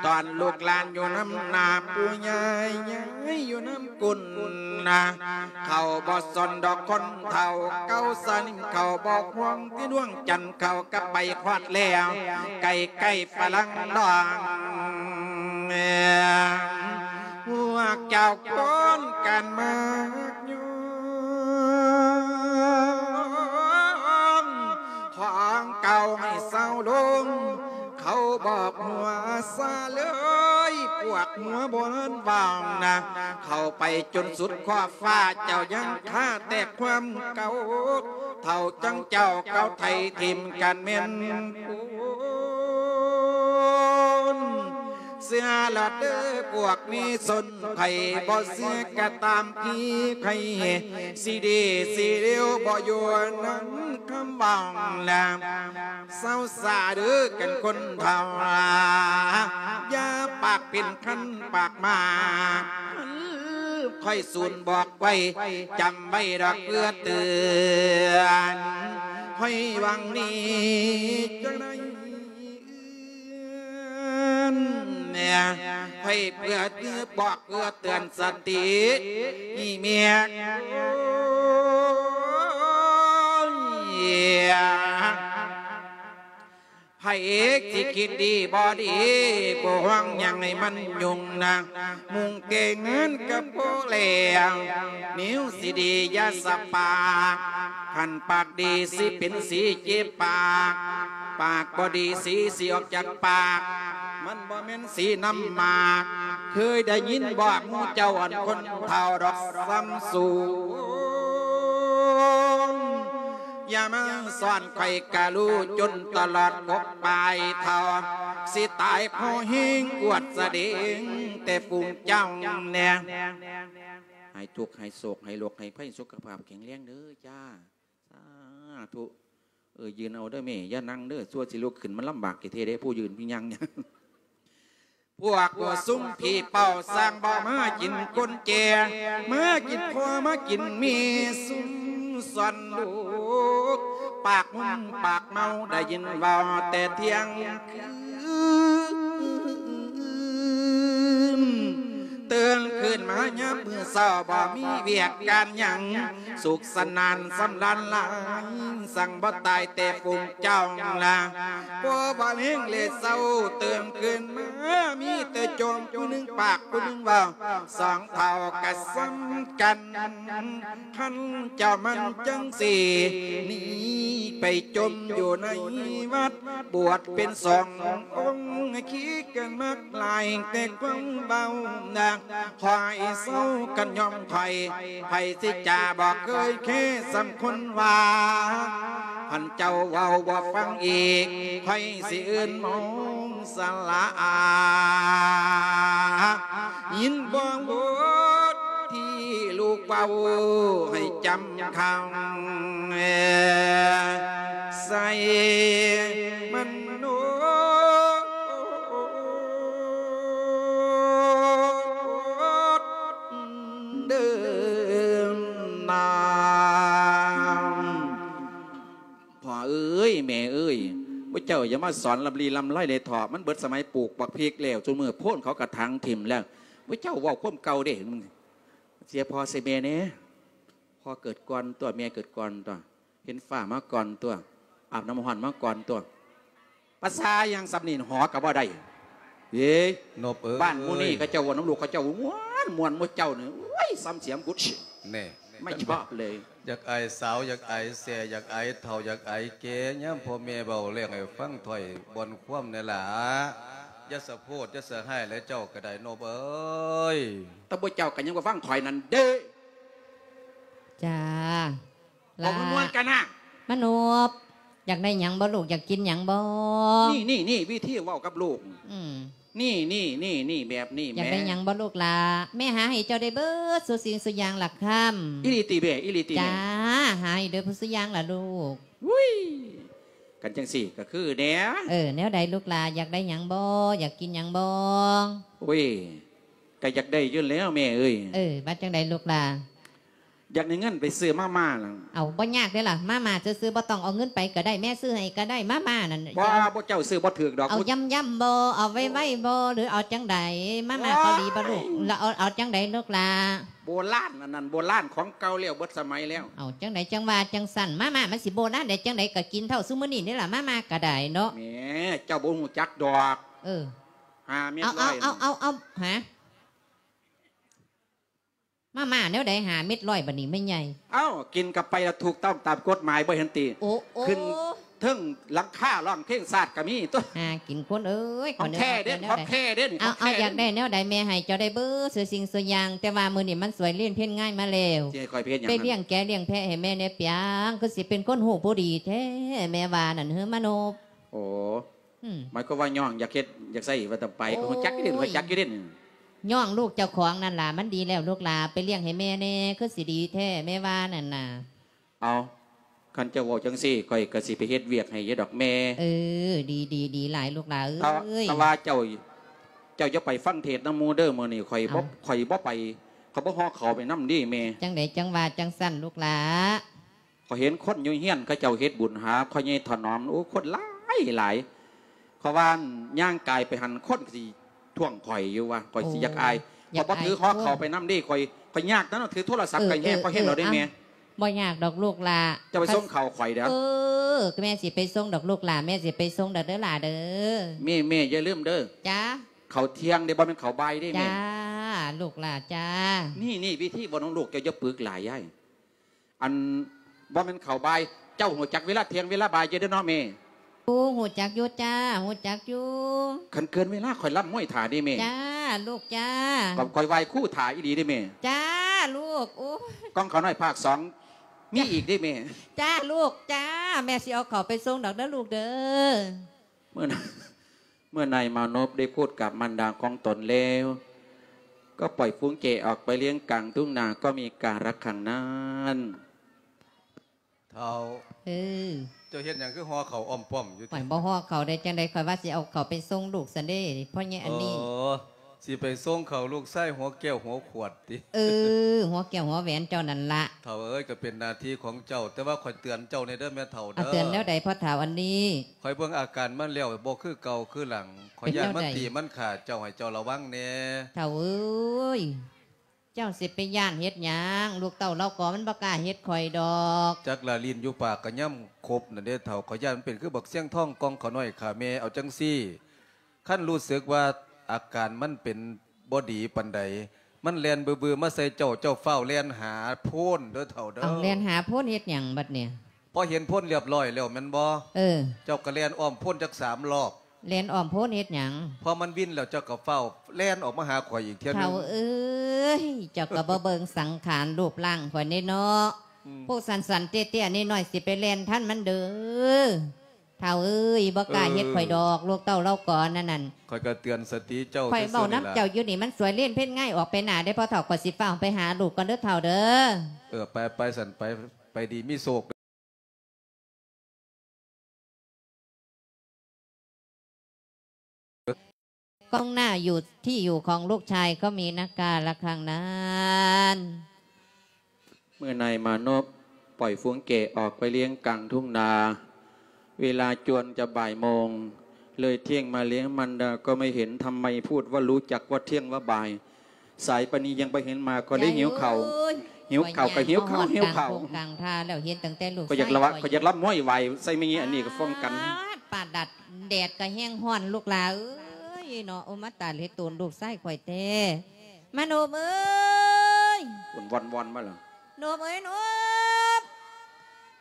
ຕອນລູກຫຼານຢູ່ນຳໜ້າ ປູ່ຍ່າຍາຍຢູ່ນຳກົ້ນນະ ເຂົາບໍ່ສົນດອກຄົນເຖົ້າເກົ່າ ສະໜິມເຂົາບໍ່ຫ່ວງທີ່ດວງຈັນ ເຂົາກັບໄປຮອດແລ້ວ ໃກ້ໆຝຣັ່ງດອງ ພວກເຈົ້າຄົນກັນມາກຍ້ອງ ຂອງເກົ່າໃຫ້ເຊົາລົງ ເຂົາບອກຫົວຊາເລີຍ ພວກຫົວບໍ່ທັນວ່າງນະ ເຂົ້າໄປຈົນສຸດຂອບຟ້າ ເຈົ້າຍັງຄາແຕ່ຄວາມເກົ່າ ເຖົ້າຈັ່ງເຈົ້າເກົ່າໄຖ່ຖິ້ມກັນແມ່ນໂພນ ເຊື່ອລະເດີພວກມີຊົນ ໃຜບໍ່ເຊື່ອກະຕາມທີ່ໃຜ ຊິດີຊິເລວບໍ່ຢູ່ນຳຄຳເວົ້າລະ ເຊົາຊາເດີກັນຄົນເຖົ້າ ຢ່າປາກເປັນຄັນປາກມາ ຂ້ອຍສູນບອກໄວ້ ຈຳໄວ້ດອກເພື່ອເຕືອນ ຂ້ອຍຫວັງດີຈະໄດ້ເອື້ອນ ຂ້ອຍເພື່ອບອກເພື່ອເຕືອນສະຕິ ອີ່ແມ່ ໂອ້ຍ ພະເອກຊິຄິດດີບໍ່ດີ ບໍ່ຫວັງຫຍັງໃຫ້ມັນຫຍຸ້ງນະ ມຸ່ງແຕ່ງງານກັບພໍ່ແລ້ວ ແນວຊິດີຢ່າສະປາກ ຄັນປາກດີສີເປັນສີເຈັບປາກ ປາກບໍ່ດີສີຊິອອກຈາກປາກ ມັນບໍ່ແມ່ນສີນ້ຳໝາກ ເຄີຍໄດ້ຍິນບໍ່ໝູ່ເຈົ້າອັນຄົນເຖົ້າດອກສ່ຳສູງ ຢ່າມາສອນຂ້ອຍກະຮູ້ຈົນຕະຫຼອດກົກປາຍເຖົ້າ ຊິຕາຍພໍແຮງອວດສະເດງແຕ່ຝູງເຈົ້າແດ່ ໃຫ້ທຸກໃຫ້ໂສກໃຫ້ໂລກໃຫ້ໄພ ສຸຂະພາບແຂງແຮງເດີຈ້າ ສາທຸ ເອີ ຢືນເອົາເດີແມ່ ຢ່ານັ່ງເດີ ຊົ່ວຊິລຸກຂຶ້ນ ມັນລຳບາກແທ້ໆເດ້ ຜູ້ຢືນຜູ້ຍ່າງ ພວກສຸມຜີເປົ່າສ້າງບໍ່ມາກິນຄົນແກ່ ມາກິນພໍ່ມາກິນແມ່ ຊຸມຊ່ອນລູກ ປາກມຸມປາກເມົາ ໄດ້ຍິນເວົ້າແຕ່ທ່ຽງຄືນ ຕື່ນຂຶ້ນມາຍາມມື້ເຊົ້າ ບໍ່ມີວຽກການຫຍັງ ສຸກສະໜານສຳລານຫຼາຍ ສັ່ງບໍ່ຕາຍແຕ່ຝູງເຈົ້າລະ ບໍ່ບຳເພັງແລເຊົາ ຕື່ນຂຶ້ນມາມີແຕ່ໂຈມ ຜູ້ໜຶ່ງປາກຜູ້ໜຶ່ງເວົ້າ ສອງເຖົ້າກະສ່ຳກັນ ຄັນເຈົ້າມັນຈັ່ງຊີ້ ໜີໄປຈົມຢູ່ໃນວັດ ບວດເປັນສອງອົງ ຂີ້ກັນມັກຫຼາຍແຕ່ຄວາມເວົ້ານະ ຂ້ອຍເຊົາກັນຍອມຂ້ອຍ ໃຜຊິຈາບໍ່ເຄີຍແຄສ່ຳຄົນວ່າ ຄັນເຈົ້າເວົ້າບໍ່ຟັງອີກ ຂ້ອຍຊິເອີ້ນໝໍສະຫຼະອາ ຍິນບໍ່ບົດທີ່ລູກເວົ້າໃຫ້ຈຳຄັງ ໃສ່ມັນໂນ ເດີນນາງ ພໍ່ເອີຍ ແມ່ເອີຍ ພວກເຈົ້າຢ່າມາສອນລຳລີລຳໄລເດ້ເຖາະ ມັນເບິດສະໄໝປູກບັກພິກແລ້ວ ຊຸມື້ໂພນເຂົາກະຖາງຖິ້ມແລ້ວ ພວກເຈົ້າເວົ້າຄວາມເກົ່າເດ້ ເສຍພໍ່ເສຍແມ່ແດ່ ພໍ່ເກີດກ່ອນຕົວະ ແມ່ເກີດກ່ອນຕົວະ ເຫັນຟ້າມາກ່ອນຕົວະ ອາບນ້ຳຮ້ອນມາກ່ອນຕົວະ ພາສາຫຍັງສ່ຳນີ້ ຫໍກະບໍ່ໄດ້ ເອີຍ ນົບເອີຍ ບ້ານໝູ່ນີ້ເຂົາເຈົ້າເວົ້ານຳລູກເຂົາເຈົ້າມ່ວນ ມ່ວນໝູ່ເຈົ້ານີ້ ໂອ້ຍ ສ່ຳສຽງກຸດ ແນ່ ໄມ່ຊອບເລີຍ ຢາກອາຍສາວ ຢາກອາຍແສ້ ຢາກອາຍເຖົ້າ ຢາກອາຍແກ່ ຍາມພໍ່ແມ່ເວົ້າເລື່ອງໃຫ້ຟັງ ຖ້ອຍບ່ອນຄວາມແດ່ຫຼ້າ ຢ່າສະໂພດ ຢ່າສະຮ້າຍແຫຼະ ເຈົ້າກະໄດ້ ນົບເອີຍ ແຕ່ໝູ່ເຈົ້າກະຍັງບໍ່ຟັງຂ້ອຍນັ້ນເດ້ ຈ້າ ເວົ້າມ່ວນໆກັນນະ ມະນົບ ຢາກໄດ້ຫຍັງບໍ່ລູກ ຢາກກິນຫຍັງບໍ່? ນີ້ໆໆ ວິທີເວົ້າກັບລູກ ອືມ ນີ້ໆໆ ແບບນີ້ ຢາກໄດ້ຫຍັງບໍ່ລູກຫຼ້າ? ແມ່ຫາໃຫ້ເຈົ້າໄດ້ເບິດສູ່ສິ່ງສູ່ຢ່າງລະຄຳ ອີ່ຫຼີຕິແມ່? ອີ່ຫຼີຕິແມ່? ຈ້າ ຫາໃຫ້ເດີຜູ້ສູ່ຢ່າງລະລູກ ອຸ້ຍ ຄັນຈັ່ງຊີ້ກະຄືແດ່ ເອີ ແນວໃດລູກຫຼ້າ? ຢາກໄດ້ຫຍັງບໍ່? ຢາກກິນຫຍັງບໍ່? ໂອ້ຍ ກະຢາກໄດ້ຢູ່ແລ້ວແມ່ເອີຍ ເອີ ວ່າຈັ່ງໃດລູກຫຼ້າ? ຢາກໄດ້ເງິນໄປຊື້ມາມ່າລະ ເອົາ ບໍ່ຍາກເດ້ລະ ມາມ່າຊື່ໆ ບໍ່ຕ້ອງເອົາເງິນໄປກະໄດ້ ແມ່ຊື້ໃຫ້ກະໄດ້ ມາມ່ານັ້ນ ບໍ່ ພວກເຈົ້າຊື້ບໍ່ຖືກດອກ ເອົາຢ້ຳໆບໍ່ ເອົາໄວໆບໍ່ ຫຼືເອົາຈັ່ງໃດ? ມາມ່າເກົາຫຼີບໍ່ລູກ? ລະເອົາ ເອົາຈັ່ງໃດລູກຫຼ້າ? ໂບລານ ອັນນັ້ນໂບລານ ຂອງເກົ່າແລ້ວ ເບິດສະໄໝແລ້ວ ເອົາຈັ່ງໃດຈັ່ງວ່າຈັ່ງຊັ້ນ ມາມ່າມັນຊິໂບລານໄດ້ຈັ່ງໃດ ກະກິນເທົ່າຊຸມື້ນີ້ນີ້ລະ ມາມ່າກະໄດ້ເນາະ ແໝ ເຈົ້າບໍ່ຮູ້ຈັກດອກ ເອີ ຫ້າເມັດຮ້ອຍ ເອົາ ເອົາ ເອົາ ຫາ ມາມ່າແນວໃດ ຫ້າເມັດຮ້ອຍ ບາດນີ້ແມ່ໃຫຍ່ ເອົ້າ ກິນກະໄປລະຖືກຕ້ອງຕາມກົດໝາຍ ບໍ່ເຫັນຕິ ໂອ້ ໂອ້ ຂຶ້ນ ເທິງຫຼັງຄາຮ້ອງເພງຊາດກໍມີຕົວະ. ຫາກິນຄົນເອີຍ ຂອງແທ້ເດ້ ຂອງແທ້ເດ້ນີ້ ເອົາ ຂອງແທ້ເດ້ນີ້. ເອົາ ຢາກໄດ້ແນວໃດແມ່ໃຫ້ເຈົ້າໄດ້ເບິດ ທຸກສິ່ງທຸກຢ່າງ ແຕ່ວ່າມື້ນີ້ມັນສວຍເລນເພັນງ່າຍມາແລ້ວ. ຊິໃຫ້ຂ້ອຍໄປເຮັດຫຍັງ? ໄປລ້ຽງແກະລ້ຽງແພະໃຫ້ແມ່ແດ່ປຽງ. ຄືຊິເປັນຄົນຮູ້ບໍ່ດີແທ້ ແມ່ວ່ານັ້ນເຮີ ມາໂນບ. ໂອ້ ອືມ ໝາຍຄວາມວ່າຍ້ອງຢາກເຮັດຢາກໃຊ້ວ່າຕ້ອງໄປ ໂອ້ຍ ຮູ້ຈັກຢູ່ເດ້ ຮູ້ຈັກຢູ່ເດ້. ຍ້ອງລູກເຈົ້າຂອງນັ້ນລະ ມັນດີແລ້ວລູກຫຼາ ໄປລ້ຽງໃຫ້ແມ່ແດ່ ຄືຊິດີແທ້ ແມ່ວ່ານັ້ນນະ. ເອົາ ຄັນເຈົ້າເວົ້າຈັ່ງຊີ້ ຂ້ອຍກໍຊິໄປເຮັດວຽກໃຫ້ຢູ່ດອກແມ່. ເອີ ດີ ດີ ດີຫຼາຍລູກຫຼາເອີຍ. ແຕ່ ແຕ່ວ່າເຈົ້າ ເຈົ້າຢ່າໄປຟັງເທດນຳໝູ່ເດີ ມື້ນີ້ຂ້ອຍບໍ່ ເອົ້າ ຂ້ອຍບໍ່ໄປ ຂ້ອຍບໍ່ຫໍ່ເຂົ້າໄປນຳເດ້ແມ່. ຈັ່ງໃດຈັ່ງວ່າຈັ່ງຊັ້ນລູກຫຼາ? ຂ້ອຍເຫັນຄົນຢູ່ເຮືອນເຂົາເຈົ້າເຮັດບຸນຫາພໍ່ໃຫຍ່ຖະໜອມ ໂອ້ ຄົນຫຼາຍຫຼາຍ. ເຂົາວ່າຍ່າງກາຍໄປຫັ້ນ ຄົນກໍຊິທ້ວງຂ້ອຍຢູ່ວ່າ ຂ້ອຍຊິຢາກອາຍ. ໂອ້ ຢາກອາຍ ຂ້ອຍບໍ່ຖືຫໍ່ເຂົ້າໄປນຳເດ້ ຂ້ອຍ ຂ້ອຍຍາກນຳ ຖືໂທລະສັບ ເອີ ກໍແຮງ ເອີ ພໍແຮງແລ້ວເດ້ແມ່. ບໍ່ຍາກດອກລູກຫຼາ ເຈົ້າໄປສົ່ງເຂົ້າຂ້ອຍເດີ້. ເອີ ແມ່ຊິໄປສົ່ງດອກລູກຫຼາ ແມ່ຊິໄປສົ່ງດອກເດີຫຼາເດີ. ແມ່ ແມ່ຢ່າລືມເດີ. ຈ້າ. ເຂົ້າທ່ຽງເດ້ ບໍ່ແມ່ນເຂົ້າບ່າຍເດ້ແມ່. ຈ້າ ລູກຫຼາຈ້າ. ນີ້ ນີ້ວິທີເວົ້ານຳລູກ ເຈົ້າຢ່າປຶກຫຼາຍຍາຍ. ອັນ ບໍ່ແມ່ນເຂົ້າບ່າຍ ເຈົ້າຮູ້ຈັກເວລາທ່ຽງເວລາບ່າຍຢູ່ເດ້ເນາະແມ່? ໂອ້ ຮູ້ຈັກຢູ່ຈ້າ ຮູ້ຈັກຢູ່. ຄັນເກີນເວລາຂ້ອຍລຳມວຍຖ້າເດ້ແມ່. ຈ້າ ລູກຈ້າ. ຂ້ອຍໄຫວ້ຄູຖ້າອີ່ຫຼີເດ້ແມ່. ຈ້າ ລູກ. ໂອ້ຍ ກ້ອງຂ້ານ້ອຍພາກສອງມີອີກເດ້ແມ່. ຈ້າ ລູກຈ້າ. ແມ່ຊິເອົາເຂົ້າໄປສົ່ງດອກເດີລູກເດີ. ເມື່ອ เมื่อนายมานพได้พูดกับมารดาของตนแล้ว ก็ปล่อยฝูงแกะออกไปเลี้ยงกลางทุ่งนา ก็มีกาละครั้งนั้น เฒ่า เออ เจ้าเฮ็ดหยังคือห่อข้าวอ้อมป้อมอยู่ติ ข้อยบ่ห่อข้าวได้จั่งใด ข้อยว่าสิเอาข้าวไปส่งลูกซั้นเด้ พ่อใหญ่อันนี้ โอ้ สิไปส่งข้าวลูกชายหัวแก้วหัวขวดติ เออ หัวแก้วหัวแหวนเจ้านั่นละ เฒ่าเอ้ย ก็เป็นหน้าที่ของเจ้า แต่ว่าข้อยเตือนเจ้าแหน่เด้อแม่เฒ่าเด้อ เอาเตือนแนวใดพ่อเฒ่าอันนี้ ข้อยเบิ่งอาการมันแล้วบ่คือเก่าคือหลัง ข้อยย้านมันตีมันฆ่าเจ้า ให้เจ้าระวังแหน่ เฒ่าเอ้ย เจ้าสิไปย้านเฮ็ดหยัง ลูกเต้าเลาก็มันบ่กล้าเฮ็ดข้อยดอก จักละลิ้นอยู่ปากก็ย่ำขบนั่นเด้เฒ่า ข้อยย้านมันเป็นคือบักเซี้ยงทองกองข้าน้อยฆ่าแม่ เอาจั่งซี้ คันรู้สึกว่าอาการมันเป็นบ่ดีปานใด มันแล่นบือๆมาใส่เจ้า เจ้าฟ้าวแล่นหาโพนเด้อเฒ่าเด้อ เอาแล่นหาโพนเฮ็ดหยังบัดเนี่ย พอเห็นโพนเรียบร้อยแล้วแม่นบ่ เออ เจ้าก็แล่นอ้อมโพนจักสามรอบ แล่นอ้อมโพนเฮ็ดหยัง พอมันวินแล้วเจ้าก็ฟ้าวแล่นออกมาหาข้อยอีกเทื่อหนึ่ง เฒ่าเอ้ย เจ้าก็บ่เบิ่งสังขารรูปร่างข้อยแหน่เนาะ อืม พวกสั้นๆเตี้ยๆน้อยๆสิไปแล่นทันมันเด้อ เฒ่าเอ้ย บ่กล้าเฮ็ด เออ ข้อยดอก ลูกเต้าเลาก่อนนั่นนั่น ข้อยก็เตือนสติเจ้า ข้อยเว้านำเจ้าอยู่นี่ ซื่อๆนี่ล่ะ มันสวยเล่นเพ่นง่ายออกไปหน้าเด้อ พ่อเฒ่า ข้อยสิฟ้าวไปหาลูกก่อนเด้อเฒ่าเด้อ เออ ไป ไป สั่นไป ไปดีมีโชค กล้องหน้าอยู่ที่อยู่ของลูกชายก็มีนะกาละครั้งนั้น เมื่อนายมานพปล่อยฝูงแกะออกไปเลี้ยงกลางทุ่งนา เวลาจวนจะบ่ายโมง เลยเที่ยงมาเลี้ยงมารดาก็ไม่เห็น ทำไมพูดว่ารู้จักว่าเที่ยงว่าบ่าย สายปานนี้ยังบ่เห็นมา ก็เลยหิวข้าว ยายเอ้ย หิวข้าว ก็หิวข้าว ข้อยย่างมาฮอด หิวข้าว กลางทุ่งกลางทาแล้ว เห็นตั้งแต่ลูก ข้อยอยากละวะ ชายข้อย ข้อยอยากลำมวยไหวใส่แม่อันนี้ก็ฟ้องกัน ปาด ปาดดัด แดดก็แฮงร้อนลูกหล่าเอ้ยเนาะ โอ้ มาตายเฮ็ดโตนลูกชายข้อยแท้ มานพเอ้ย วอนวอนมาแล้ว นพเอ้ย นพ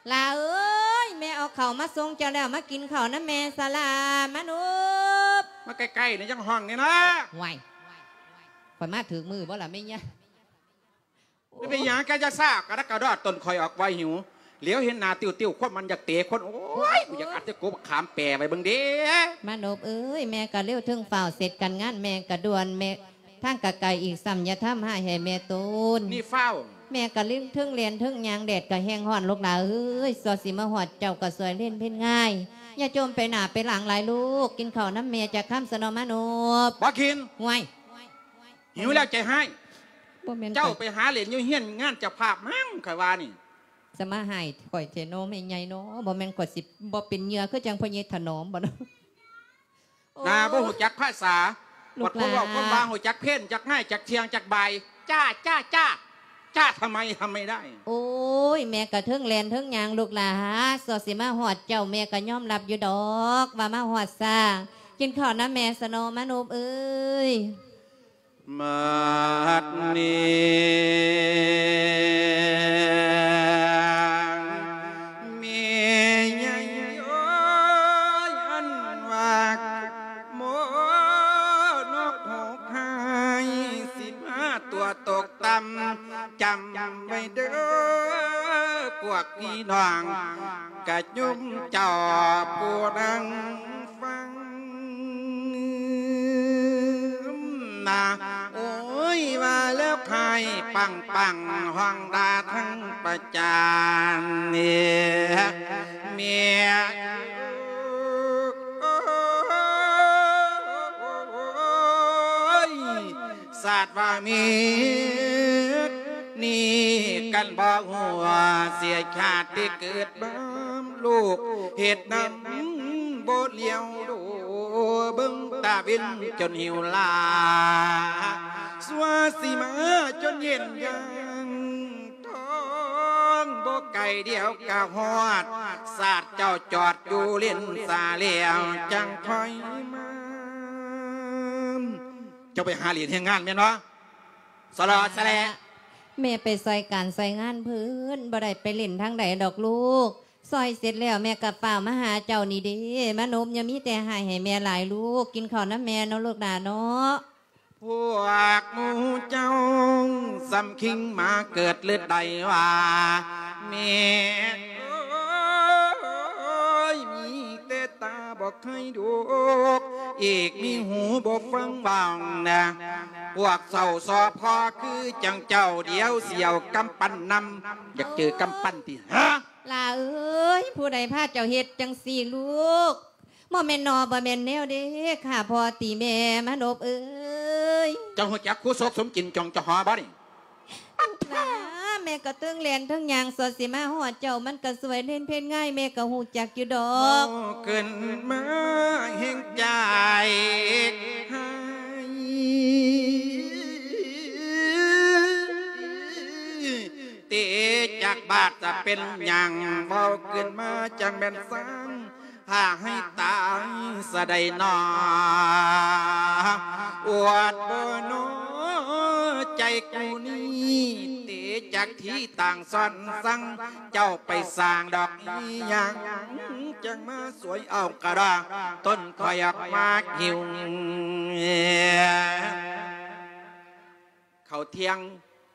หล่าเอ้ย แม่เอาข้าวมาส่งเจ้าแล้ว มากินข้าวนำแม่ซะหล่า มานพ มาใกล้ๆนี่ จั่งฮ้องนี่นะ ว้าย ข้อยมาถืกมือบ่ล่ะแม่ยะ มันเป็นหยังแกจะซ่ากระดักกระดอด ตนข้อยออกไวหิว เหลียวเห็นหน้าติ้วๆ คนมันอยากเตะคน โอ้ย กูอยากอัดแต่กบขามแปรไว้เบิ่งเด้ มานพเอ้ย แม่ก็เร็วเทิงฟ้าว เสร็จการงานแม่ก็ด่วน แม่ ทางกะไกลอีกซ้ำ อย่าทำให้แม่โตน นี่ฟ้าว แม่กะลืมเทิงแล่นเทิงย่าง แดดกะแฮงฮ้อน ลูกหล่าเอ้ย ส่อสิมาฮอดเจ้ากะสวยเล่นเพ่นง่าย อย่าจมไปหน้าไปหลังหลายลูก กินข้าวนำแม่จักคำสะเนาะมานพ บ่กิน ห่วย หิวแล้วใจฮ้าย บ่แม่น เจ้าไปหาเล่นอยู่เฮือนงานเจ้าภาพมั้ง ข้อยว่านี่ สะมาฮ้ายข้อยแท้เนาะแม่ใหญ่เนาะ บ่แม่นข้อยสิบ่เป็นเหยื่อคือจั่งพ่อใหญ่ถนอมบ่เนาะ หน้าบ่ฮู้จักภาษา ลูกหลาน บัดคนเว้าคนว่าฮู้จักเพล จักง่าย จักเที่ยง จักบ่าย จ้า จ้า จ้า จ้าทำไม ทำไม่ได้ โอ้ย แม่กะเทิงแล่นเทิงย่างลูกหล่า ส่อสิมาฮอดเจ้า แม่กะยอมรับอยู่ดอกว่ามาฮอดช้า กินข้าวนำแม่สะเนาะมานพเอ้ย บัดนี้ แม่ใหญ่ ພວກພີ່ນ້ອງກະໂຍມເຈົ້າຜູ້ນັ່ງຟັງນະ ໂອ້ຍ ວ່າແລ້ວໃຜປັງໆ ຮ້ອງດ່າທັງປະຈານເນຍ ເມຍ ໂອ້ຍ ຊາດວ່າມີນີ້ກັນບໍ່ຮູ້ວ່າ ເສຍຊາດທີ່ເກີດມາ ລູກເຮັດນຳບໍ່ຫຼຽວດູ ເບິ່ງຕາເວັນຈົນຫິວລາ ຊົ່ວຊິມາຈົນເຢັນຢ່າງ ທ້ອງບໍ່ໄກດຽວກະຮອດ ຊາດເຈົ້າຈອດຢູ່ເລນສາແລ້ວຈັ່ງຄ່ອຍມາ. ເຈົ້າໄປຫາຫຼຽນແຮງງານແມ່ນບໍ່? ສະຫຼໍສະແຫຼະ ແມ່ໄປຊ່ອຍການຊ່ອຍງານເພິ່ນ ບໍ່ໄດ້ໄປເຫຼັ້ນທາງໃດດອກລູກ. ຊ່ອຍເສັດແລ້ວແມ່ກະຟ້າວມາຫາເຈົ້ານີ້ເດ້ ມານົບ ຢ່າມີແຕ່ໃຫ້ ໃຫ້ແມ່ຫຼາຍລູກ ກິນເຂົ້ານຳແມ່ເນາະລູກຫຼາເນາະ. ພວກໝູ່ເຈົ້າສ່ຳຄິງມາເກີດລຶດໃດວ່າ ແມ່ເອີຍ ມີແຕ່ຕາບໍ່ເຄີຍດູກ ອີກມີຫູບໍ່ຟັງເວົ້ານະ ພວກເຖົ້າຊໍພໍ່ຄືຈັ່ງເຈົ້າ ດຽວຊິເອົາກຳປັນນຳ ຢາກເຈີກຳປັນຕິ ຮະ? ຫຼ້າເອີຍ ຜູ້ໃດພາເຈົ້າເຮັດຈັ່ງຊີ້ລູກ? ບໍ່ແມ່ນໜໍ່ ບໍ່ແມ່ນແນວເດ້ ຂ້າພໍ່ຕີແມ່ມານົບເອີຍ. ເຈົ້າຮູ້ຈັກຄູສົກສົມຈິນຈອງຈະຫໍບໍ່ນີ້? ຫຼ້າ ແມ່ກະເທິງແລ່ນເທິງຍ່າງ ສອດຊິມາຮອດເຈົ້າ ມັນກະສວຍເຫຼັ້ນເພັດງ່າຍ ແມ່ກະຮູ້ຈັກຢູ່ດອກ. ເວົ້າຂຶ້ນມາແຮງໃຈ ເຕະຈັກບາດຈະເປັນຫຍັງ ເວົ້າຂຶ້ນມາຈັ່ງແມ່ນສັງ ຖ້າໃຫ້ຕາຍສະໃດໜໍ ອວດບໍ່ໜໍ ໃຈກູນີ້ ເຕະຈັກທີ່ຕ່າງຊ້ອນສັງ ເຈົ້າໄປສ້າງດອກອີ່ຫຍັງ ຈັ່ງມາສວຍເອົາກະດາ ຕົ້ນຂ້ອຍອອກມາຫິວ. ເຂົ້າທ່ຽງ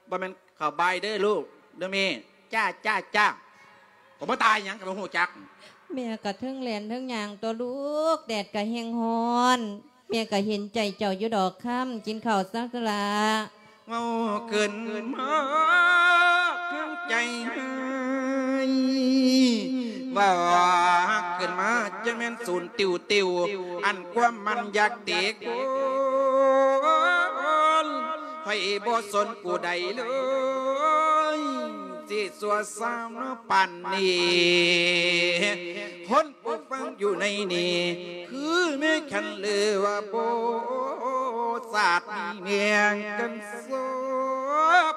ບໍ່ແມ່ນເຂົ້າບ່າຍເດີລູກ ເດີແມ່. ຈ້າ ຈ້າ ຈ້າ. ກໍບໍ່ຕາຍຫຍັງກໍບໍ່ຮູ້ຈັກ. ແມ່ກະເທິງແລ່ນເທິງຍ່າງຕົວະລູກ ແດດກະແຮງຮ້ອນ ແມ່ກະເຫັນໃຈເຈົ້າຢູ່ດອກຄຳ ກິນເຂົ້າຊະຫຼ້າ. ເວົ້າຂຶ້ນມາທັງໃຈຮ້າຍ ເວົ້າຂຶ້ນມາຈັ່ງແມ່ນສູນຕິວໆ ອັນຄວາມມັນຢາກເຕະໂກນ ຂ້ອຍບໍ່ສົນຜູ້ໃດເລີຍ ຊິຊົ່ວຊາວເນາະປານນີ້ ຄົນຜູ້ຟັງຢູ່ໃນນີ້ ຄືແມ່ຄັນຫຼືວ່າໂບ ຊາດນີ້ແມ່ນກັນສອບ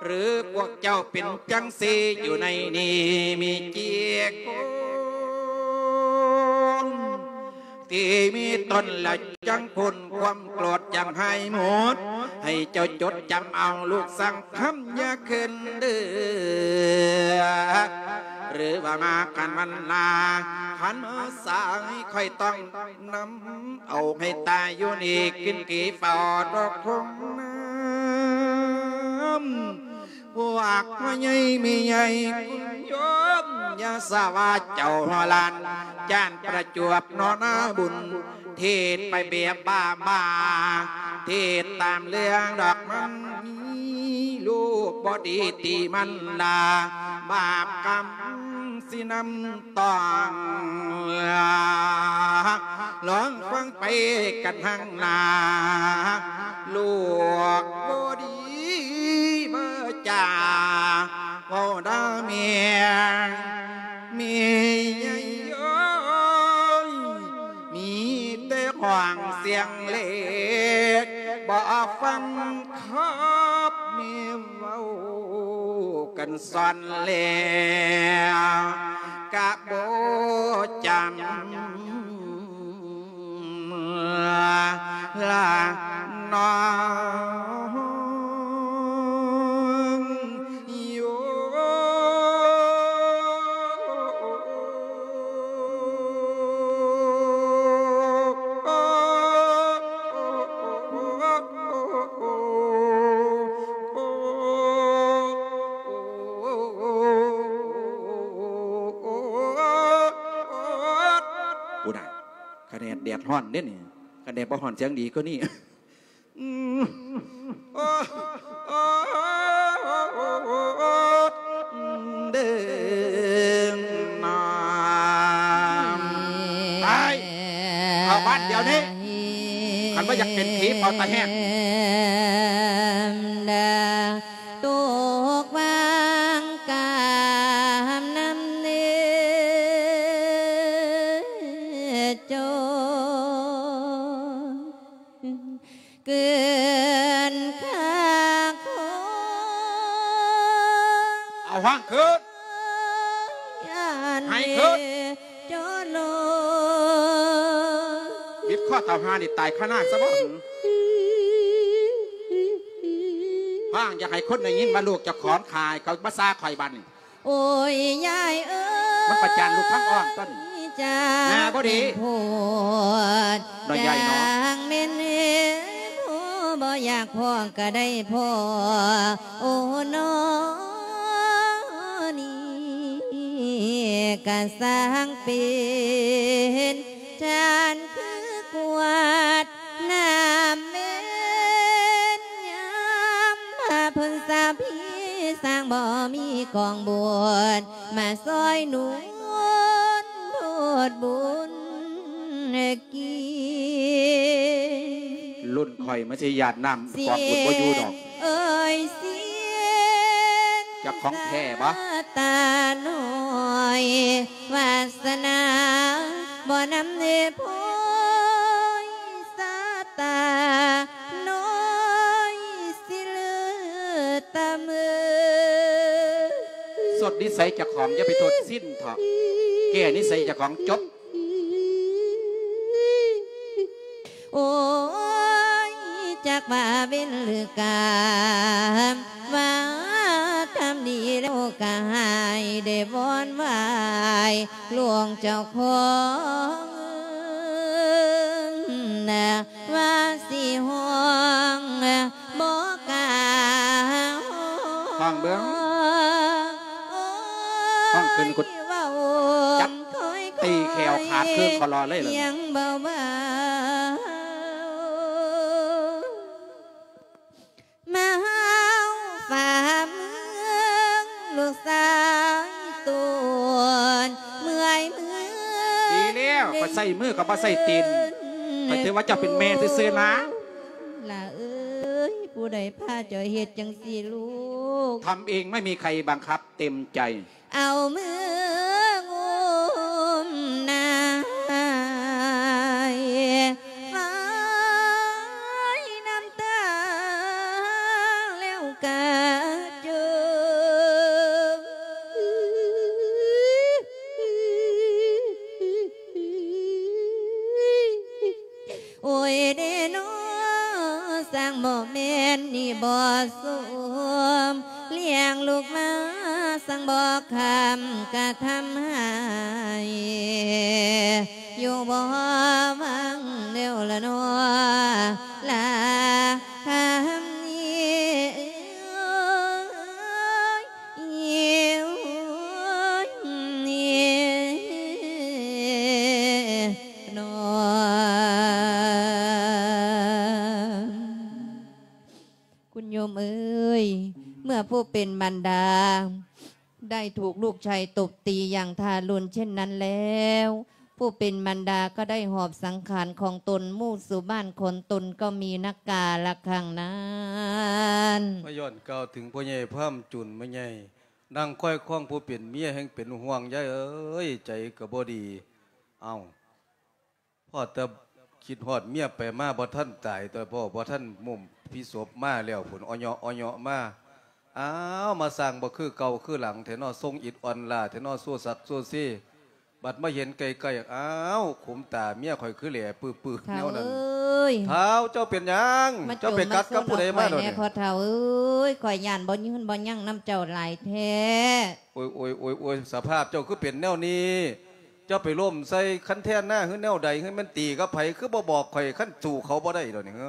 ຫຼືພວກເຈົ້າເປັນຈັ່ງຊີ້ ຢູ່ໃນນີ້ມີຈັກຄົນ ທີ່ມີຕົນລະຈັ່ງພົ້ນຄວາມໂກດຈັ່ງຫາຍໝົດ ໃຫ້ເຈົ້າຈົດຈຳເອົາລູກສັງຄຳຢ່າເຄີນເດີ ຫຼືວ່າມາຄັນວັນໜ້າ ຄັນມາສາຍຂ້ອຍຕ້ອງນຳເອົາໃຫ້ຕາຍຢູ່ນີ້ ຂຶ້ນກີເຝົ້າດອກທົ່ງນ້ຳ. ພວກພໍ່ໃຫຍ່ແມ່ໃຫຍ່ຄຸນໂຍມ ຢ່າສາວ່າເຈົ້າຮອດລ້ານ ຈານປະຈວບເນາະນາບຸນ ເທດໄປແບບບ້າໆ ເທດຕາມເລື່ອງດອກມັນມີ ລູກບໍ່ດີຕີມັນດາ ບາບກຳຊິນຳ ຕ້ອງລອງຟັງໄປກັນທາງໜ້າ ລູກບໍ່ດີວາຈາ ເວົ້າດ່າແມ່ ແມ່ໃຫຍ່ເອີຍ ມີແຕ່ຮ້ອງສຽງເລັກ ບໍ່ຟັງຄັບແມ່ເວົ້າ ກັນສອນແລ້ວກະບໍ່ຈຳລະນ້ອງໂຍ. ດຮ້ອນເດ້ນີ້ ຄັນແດດບໍ່ຮ້ອນສຽງດີກວ່ານີ້. ອືມ ໂອ້ ໂອ້ ເດີນາ ໄປ ເຂົ້າບ້ານດຽວນີ້ ຄັນບໍ່ຢາກເປັນຜີເປົ່າຕາແຫ້ງ. ຕົກວາງກາມນຳເນໂຈ ເກີນຄ່າຂອງ ເອົາຫ້ອງຂຶ້ນ ໃຫ້ຂຶ້ນ ໂຈໂລ ບິດຄໍເຕົາຫ່ານີ້ຕາຍຄາໜ້າຊະບໍ່? ຟັງ ຢາກໃຫ້ຄົນໄດ້ຍິນວ່າລູກເຈົ້າຂອງຂາຍ ເຂົາມາຊາຂ້ອຍບາດນີ້. ໂອ້ຍ ຍາຍເອີຍ ມັນປະຈານລູກທາງອ້ອມຕົນ ຈາກ ໜ້າບໍ່ດີ ໂພດ ນ້ອຍໃຫຍ່ເນາະ ຈາກແມ່ນເອີຍ ຜູ້ບໍ່ຢາກພໍ້ກໍໄດ້ພໍ້ ໂອ້ ນ້ອ ນີ້ກະຊ່າງເປັນ ຈານຄືກວາດນ້ຳເວັນຍາມພະພົນສະພີ ຊ່າງບໍ່ມີກອງບຸນມາຊ່ອຍໜູນໂທດບຸນກິນ ລຸ້ນຂ້ອຍມັນຊິຢາດນ້ຳກອງບຸນບໍ່ຢູ່ດອກ. ເອີຍ ເຈົ້າຂອງແທ້ບໍ່? ຕານ້ອຍ ວາສະໜາບໍ່ນຳເນໂພຍ ສາຕານ້ອຍຊິເລືອຕະເມີ. ສົດນິໄສເຈົ້າຂອງ ຢ່າໄປໂທດສິນເຖາະ ແກ້ນິໄສເຈົ້າຂອງຈົບ. ໂອ້ຍ ຈັກວ່າເວັນຫຼືກາມ ວ່າທຳດີແລ້ວກະໃຫ້ໄດ້ວອນໄຫວ້ຫຼວງເຈົ້າຂອງ ວ່າຊິຮ້ອງບໍ່ກ້າຮ້ອງ ຟັງເບິ່ງ ໂອ້ຍ ຟັງຂຶ້ນ ຈັບຕີແຂ້ວຂາດຄືນຄໍລໍເລີຍ ສຽງເບົາໆ ມາຫາວຝ່າເມືອງ ລູກຊາຍໂຕນເມື່ອຍເມື່ອຍ ດີແລ້ວ ຂ້ອຍໃຊ້ມື ຂ້ອຍບໍ່ໃຊ້ຕີນ ຂ້ອຍຖືວ່າເຈົ້າເປັນແມ່ຊື່ໆນາ. ຫຼ້າເອີຍ ຜູ້ໃດພາເຈົ້າເຮັດຈັ່ງຊີ້ລູກ? ທຳເອງ ໄມ່ມີໃຄບັງຄັບ ເຕັມໃຈ. ເອົາມືງຸ້ມນາຍ ຟາຍນ້ຳຕາແລ້ວກະຈົມ ໂອ້ຍເດນໍ ຊ່າງບໍ່ແມ່ນນີ້ບໍ່ສົມ ລ້ຽງລູກມາຊ່າງບໍ່ຄຳກະທຳໃຫ້ ຢູ່ບໍ່ຫວັງແລ້ວລະນໍ ລາຄຳນີ້ ໂອ້ຍ ໂອ້ຍ ໂອ້ຍ ຄຸນໂຍມເອີຍ ເມື່ອຜູ້ເປັນມານດາໄດ້ຖືກລູກຊາຍຕົບຕີຢ່າງທາຣຸນເຊັ່ນນັ້ນແລ້ວ ຜູ້ເປັນມານດາກໍໄດ້ຫອບສັງຂານຂອງຕົນ ໝູ່ສູ່ບ້ານຂອງຕົນກໍມີນັກກາລະຄັ້ງນັ້ນ. ມາຍ້ອນກ່າວເຖິງພໍ່ໃຫຍ່ພາມຈຸນ ແມ່ໃຫຍ່ ນາງຄອຍຄອງຜູ້ເປັນເມຍແຮ່ງເປັນຫ່ວງ ຍາຍເອີຍ ໃຈກໍບໍ່ດີ. ເອົ້າ ພໍ້ແຕ່ຄິດຮອດເມຍໄປມາ ບໍ່ທັນຕາຍ ແຕ່ພໍ່ບໍ່ທັນມຸ້ມພິສົບມາແລ້ວພຸ້ນ ອະເຍາະ ອະເຍາະມາ. ອ້າວ ມາສ້າງບໍ່ຄືເກົ່າຄືຫຼັງແທ້ນໍ ຊົງອິດອ່ອນລ້າແທ້ນໍ ໂຊສັກໂຊເຊ. ບັດມາເຫັນໃກ້ໆ ອ້າວ ຂຸມຕາເມຍຂ້ອຍຄືແຫຼປືໆແນວນັ້ນ. ທ້າວເອີຍ ທ້າວ ເຈົ້າເປັນຫຍັງ? ເຈົ້າໄປກັດກັບຜູ້ໃດມາດຽວນີ້? ພໍ່ເຖົ້າເອີຍ ຂ້ອຍຢ້ານບໍ່ຍືນບໍ່ຍັງນຳເຈົ້າຫຼາຍແທ້. ໂອ້ຍ ໂອ້ຍ ໂອ້ຍ ໂອ້ຍ ສະພາບເຈົ້າຄືເປັນແນວນີ້? ເຈົ້າໄປລົ້ມໃສ່ຄັນແທ່ນນາ ຫຼືແນວໃດ? ຫຼືແມ່ນຕີກັບໃຜ? ຄືບໍ່ບອກຂ້ອຍ ຄັນສູ້ເຂົາບໍ່ໄດ້ດອກນີ້ ເຮີ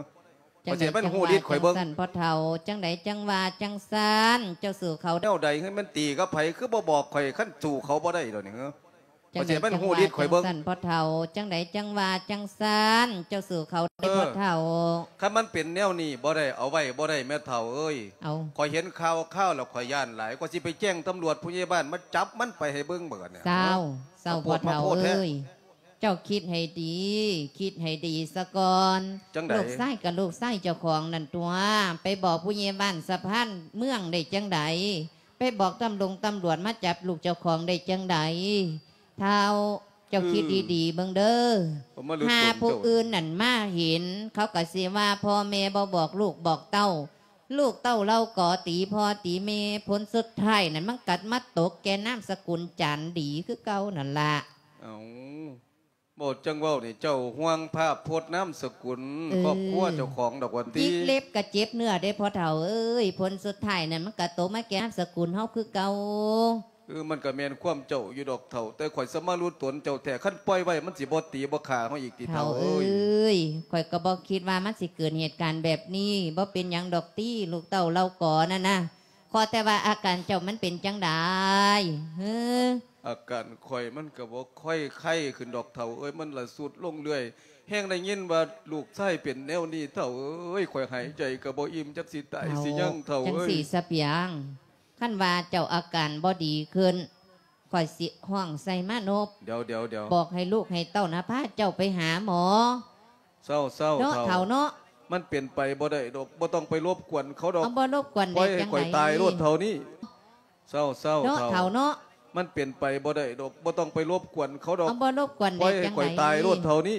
ຂ້ອຍຊິໃຫ້ມັນຮູ້ລິດຂ້ອຍເບິ່ງ. ຈັ່ງໃດຈັ່ງວ່າຈັ່ງຊັ້ນ ພໍ່ເຖົ້າ ຈັ່ງໃດຈັ່ງວ່າຈັ່ງຊັ້ນ ເຈົ້າສູ້ເຂົາ ແນວໃດ? ຄືແມ່ນຕີກັບໃຜ? ຄືບໍ່ບອກຂ້ອຍ ຄັນສູ້ເຂົາບໍ່ໄດ້ດອກນີ້ ເຮີ ຈັ່ງໃດຈັ່ງວ່າຈັ່ງຊັ້ນພໍ່ເຖົ້າ ຈັ່ງໃດຈັ່ງວ່າຈັ່ງຊັ້ນ ເຈົ້າສູ້ເຂົາເດີພໍ່ເຖົ້າ. ເອີ ຄັນມັນເປັນແນວນີ້ບໍ່ໄດ້ ເອົາໄວ້ບໍ່ໄດ້ແມ່ເຖົ້າເອີຍ. ເອົາ ຂ້ອຍເຫັນຂ່າວຄາວແລ້ວຂ້ອຍຢ້ານຫຼາຍ ຂ້ອຍຊິໄປແຈ້ງຕຳຫຼວດ ຜູ້ໃຫຍ່ບ້ານມາຈັບມັນໄປໃຫ້ເບິ່ງບັດນີ້. ເຊົາ ເຊົາພໍ່ເຖົ້າເອີຍ ເຈົ້າຄິດໃຫ້ດີ ຄິດໃຫ້ດີສາກ່ອນ. ຈັ່ງໃດ? ລູກຊາຍກໍລູກຊາຍເຈົ້າຂອງນັ້ນຕົວະ ໄປບອກຜູ້ໃຫຍ່ບ້ານສະພານເມືອງໄດ້ຈັ່ງໃດ? ໄປບອກຕຳລົງຕຳຫຼວດມາຈັບລູກເຈົ້າຂອງໄດ້ຈັ່ງໃດ? ທ້າວ ເຈົ້າຄິດດີໆເບິ່ງເດີ ເອີ ຫາຜູ້ອື່ນນັ້ນມາເຫັນ ເຂົາກໍຊິວ່າພໍ່ແມ່ບໍ່ບອກລູກບອກເຕົ້າ ລູກເຕົ້າເຫຼົ່າກໍຕີພໍ່ຕີແມ່ ຜົນສຸດທ້າຍນັ້ນມັນກໍມາຕົກແກ່ນາມສະກຸນຈານດີຄືເກົ່ານັ້ນລະ. ເອົ້າ ເວົ້າຈັ່ງເວົ້ານີ້ ເຈົ້າຫ່ວງພາບພົດນາມສະກຸນ ເອີ ຄອບຄົວເຈົ້າຂອງດອກວ່າຕິ. ຈິກເລັບກໍເຈັບເນື້ອເດ້ພໍ່ເຖົ້າເອີຍ ຜົນສຸດທ້າຍນັ້ນມັນກໍຕົກມາແກ່ນາມສະກຸນເຮົາຄືເກົ່າ. ເອີ ມັນກໍແມ່ນຄວາມເຈົ້າຢູ່ດອກເຖົ້າ ແຕ່ຂ້ອຍສະມາລຸຕົນເຈົ້າແທ້ ຄັນປ່ອຍໄວ້ມັນຊິບໍ່ຕີບໍ່ຂ້າເຮົາອີກຕິເຖົ້າເອີຍ. ເຖົ້າເອີຍ ຂ້ອຍກໍບໍ່ຄິດວ່າມັນຊິເກີດເຫດການແບບນີ້ ບໍ່ເປັນຫຍັງດອກຕິ ລູກເຕົ້າເຫຼົ່າກໍນັ້ນນະ. ຂໍແຕ່ວ່າອາການເຈົ້າມັນເປັນຈັ່ງໃດເຮີ? ອາການຂ້ອຍມັນກໍບໍ່ຄ່ອຍໄຄຂຶ້ນດອກເຖົ້າເອີຍ ມັນລະຊຸດລົງເລື້ອຍ ແຮ່ງໄດ້ຍິນວ່າລູກຊາຍເປັນແນວນີ້ເຖົ້າເອີຍ ຂ້ອຍຫາຍໃຈກໍບໍ່ອີ່ມ ຈັກຊິຕາຍຊິຍັງເຖົ້າເອີຍ. ຈັ່ງຊີ້ຊະປຽງ ຄັນວ່າເຈົ້າອາການບໍ່ດີຂຶ້ນ ຂ້ອຍຊິຮ້ອງໃສ່ມານົບ ດຽວໆໆ ບອກໃຫ້ລູກໃຫ້ເຕົ້ານະພາເຈົ້າໄປຫາໝໍ. ເຊົາໆ ເນາະເຖົ້າເນາະ ມັນເປັນໄປບໍ່ໄດ້ດອກ ບໍ່ຕ້ອງໄປລົບກວນເຂົາດອກ. ເອົາ ບໍ່ລົບກວນໄດ້ຈັ່ງໃດ? ປ່ອຍໃຫ້ຂ້ອຍຕາຍໂລດເທົ່ານີ້. ເຊົາໆ ເນາະເຖົ້າເນາະ ມັນເປັນໄປບໍ່ໄດ້ດອກ ບໍ່ຕ້ອງໄປລົບກວນເຂົາດອກ. ເອົາ ບໍ່ລົບກວນໄດ້ຈັ່ງໃດ? ປ່ອຍໃຫ້ຂ້ອຍຕາຍໂລດເທົ່ານີ້.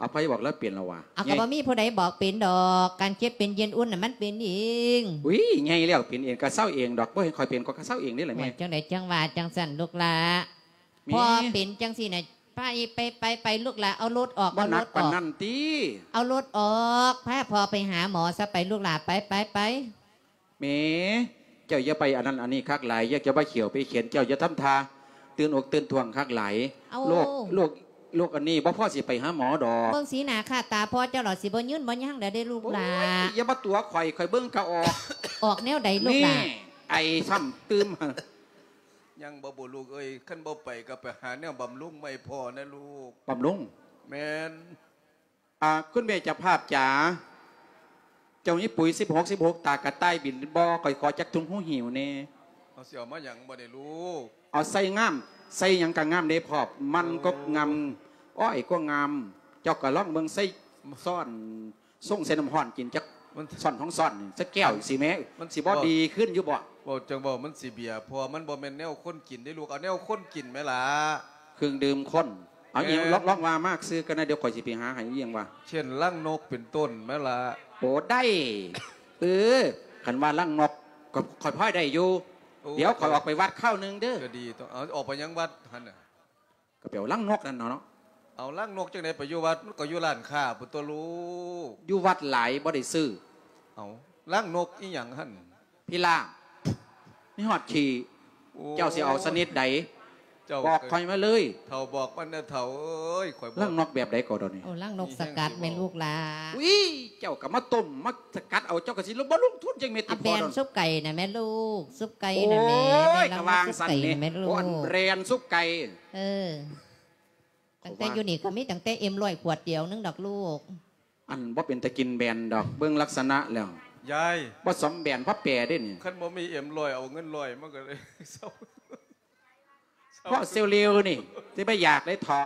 ອາໄພບອກແລ້ວເປັນແລ້ວຫວາ? ເອົາ ກໍບໍ່ມີຜູ້ໃດບອກເປັນດອກ ການເຈັບເປັນເຢັນອຸ່ນນະມັນເປັນເອງ. ອຸ້ຍ ໃຫຍ່ແລ້ວເປັນເອງ ກໍເຊົາເອງດອກ ບໍ່ໃຫ້ຂ້ອຍເປັນ ຂ້ອຍກໍເຊົາເອງນີ້ແຫຼະແມ່. ໂອ້ຍ ຈັ່ງໃດຈັ່ງວ່າຈັ່ງຊັ້ນລູກຫຼ້າ. ແມ່ ພໍ່ເປັນຈັ່ງຊີ້ນະ ໄປ ໄປ ໄປ ໄປ ລູກຫຼ້າ ເອົາລົດອອກ ເອົາລົດອອກ ບໍ່ໜັກປານນັ້ນຕິ ເອົາລົດອອກ ພາພໍ່ໄປຫາໝໍຊະ ໄປລູກຫຼ້າ ໄປ ໄປ ໄປ. ແມ່ ເຈົ້າຢ່າໄປອັນນັ້ນອັນນີ້ຄັກຫຼາຍ ຢ່າ ຢ່າໄປຂຽວໄປຂຽນ ເຈົ້າຢ່າທຳທ່າຕື່ນອົກຕື່ນທ້ອງຄັກຫຼາຍ. ໂລກ ໂລກ ໂລກອັນນີ້ບໍ່ພໍຊິໄປຫາໝໍດອກ. ເບິ່ງສີໜ້າຄ່າຕາພໍ່ເຈົ້າລະ ຊິບໍ່ຍືນບໍ່ຍາງແລ້ວເດ້ລູກຫຼ້າ. ໂອ້ຍ ຢ່າມາຕົວະຂ້ອຍ ຂ້ອຍເບິ່ງກໍອອກ. ອອກແນວໃດລູກຫຼ້າ? ແມ່ ໄອຊ້ຳຕື່ມ. ຍັງບໍ່ ບໍ່ລູກເອີຍ ຄັນບໍ່ໄປກໍໄປຫາແນວບຳລຸງໃໝ່ພໍ່ນະລູກ. ບຳລຸງ? ແມ່ນ. ອ່າ ຄຸນແມ່ເຈົ້າພາບຈ໋າ ເຈົ້າມີປຸ໋ຍສິບຫົກ ສິບຫົກ ຕາກະຕ່າຍບິນບໍ່? ຂ້ອຍຂໍຈັກຖົງຫູຫິວແດ່. ເອົາ ຊິເອົາມາຫຍັງບັດນີ້ລູກ? ເອົາໃສ່ງາມ ໃສ່ຫຍັງກໍງາມເດ້ພໍ່ ມັນກໍງາມ ໂອ້ ອ້ອຍກໍງາມ ເຈົ້າກໍລອງເບິ່ງ ໃສ່ຊ້ອນ ຊົງໃສ່ນ້ຳຮ້ອນກິນຈັກ ມັນ ຊ້ອນສອງຊ້ອນນີ້ ຈັກແກ້ວ ມັນ ຊິແມ້ ມັນຊິບໍ່ດີຂຶ້ນຢູ່ບໍ່? ເວົ້າຈັ່ງເວົ້າ ມັນຊິເບຍ ເພາະວ່າມັນບໍ່ແມ່ນແນວຄົນກິນເດ້ລູກ ເອົາແນວຄົນກິນແມ້ລະ. ເຄື່ອງດື່ມຄົນ ເອົາອີ່ຫຍັງ ແມ່ນ ລອງ ລອງວ່າມາຊື່ກັນນະ ດຽວຂ້ອຍຊິໄປຫາໃຫ້ ອີ່ຫຍັງວະ ເຊັ່ນລັງນົກເປັນຕົ້ນແມ້ລະ. ໂອ້ ໄດ້ ເອີ ຄັນວ່າລັງນົກ ກໍຂ້ອຍພໍໄດ້ຢູ່. ໂອ້ ດຽວຂ້ອຍອອກໄປວັດຄາວໜຶ່ງເດີ. ກໍດີຕົວະ ເອົາ ອອກໄປຫຍັງວັດຫັ້ນນະ? ກໍໄປເອົາລັງນົກນັ້ນເນາະ. ເອົາລັງນົກຈັ່ງໃດໄປຢູ່ວັດ? ມັນກໍຢູ່ຮ້ານຄ້າພຸ້ນຕົວະລູກ. ຢູ່ວັດຫຼາຍບໍ່ໄດ້ຊື້. ເອົາ ລັງນົກອີ່ຫຍັງຫັ້ນ? ພິລາບ ມີຮອດຂີ້. ໂອ້ ເຈົ້າຊິເອົາຊະນິດໃດ? ເຈົ້າ ບອກຂ້ອຍມາເລີຍ. ເຖົ້າບອກມັນແດ່ເຖົ້າເອີຍ ຂ້ອຍບອກ. ລັງນົກແບບໃດກໍດອກນີ້? ເອົາລັງນົກສະກັດແມ່ລູກຫຼ້າ. ອຸ້ຍ ເຈົ້າກໍມາຕົ້ມມາສະກັດເອົາ ເຈົ້າກໍຊິບໍ່ລົງທຶນຈັກເມັດຕິ. ອັນແບນ ພໍດອກ ຊຸບໄກ່ນະແມ່ລູກ ຊຸບໄກ່ນະແມ່. ໂອ້ຍ ແມ່ລາວ ກໍວ່າຈັ່ງຊັ້ນນີ້ ຊຸບໄກ່ນະແມ່ລູກ. ໂອ້ ອັນແບຣນຊຸບໄກ່. ເອີ ຕັ້ງແຕ່ຢູ່ນີ້ກໍມີຕັ້ງແຕ່ເອັມຮ້ອຍຂວດດຽວໜຶ່ງດອກລູກ. ອັນບໍ່ເປັນຕາກິນແບນດອກ ເບິ່ງລັກສະນະແລ້ວ. ຍາຍ ບໍ່ສົມແບນ ພໍແປເດ້ນີ້. ຄັນບໍ່ມີເອັມຮ້ອຍ ເອົາເງິນຮ້ອຍມາກໍໄດ້. ເຊົາ ເພາະເຊວເລວນີ້ຊິໄປຢາກໄດ້ເທາະ.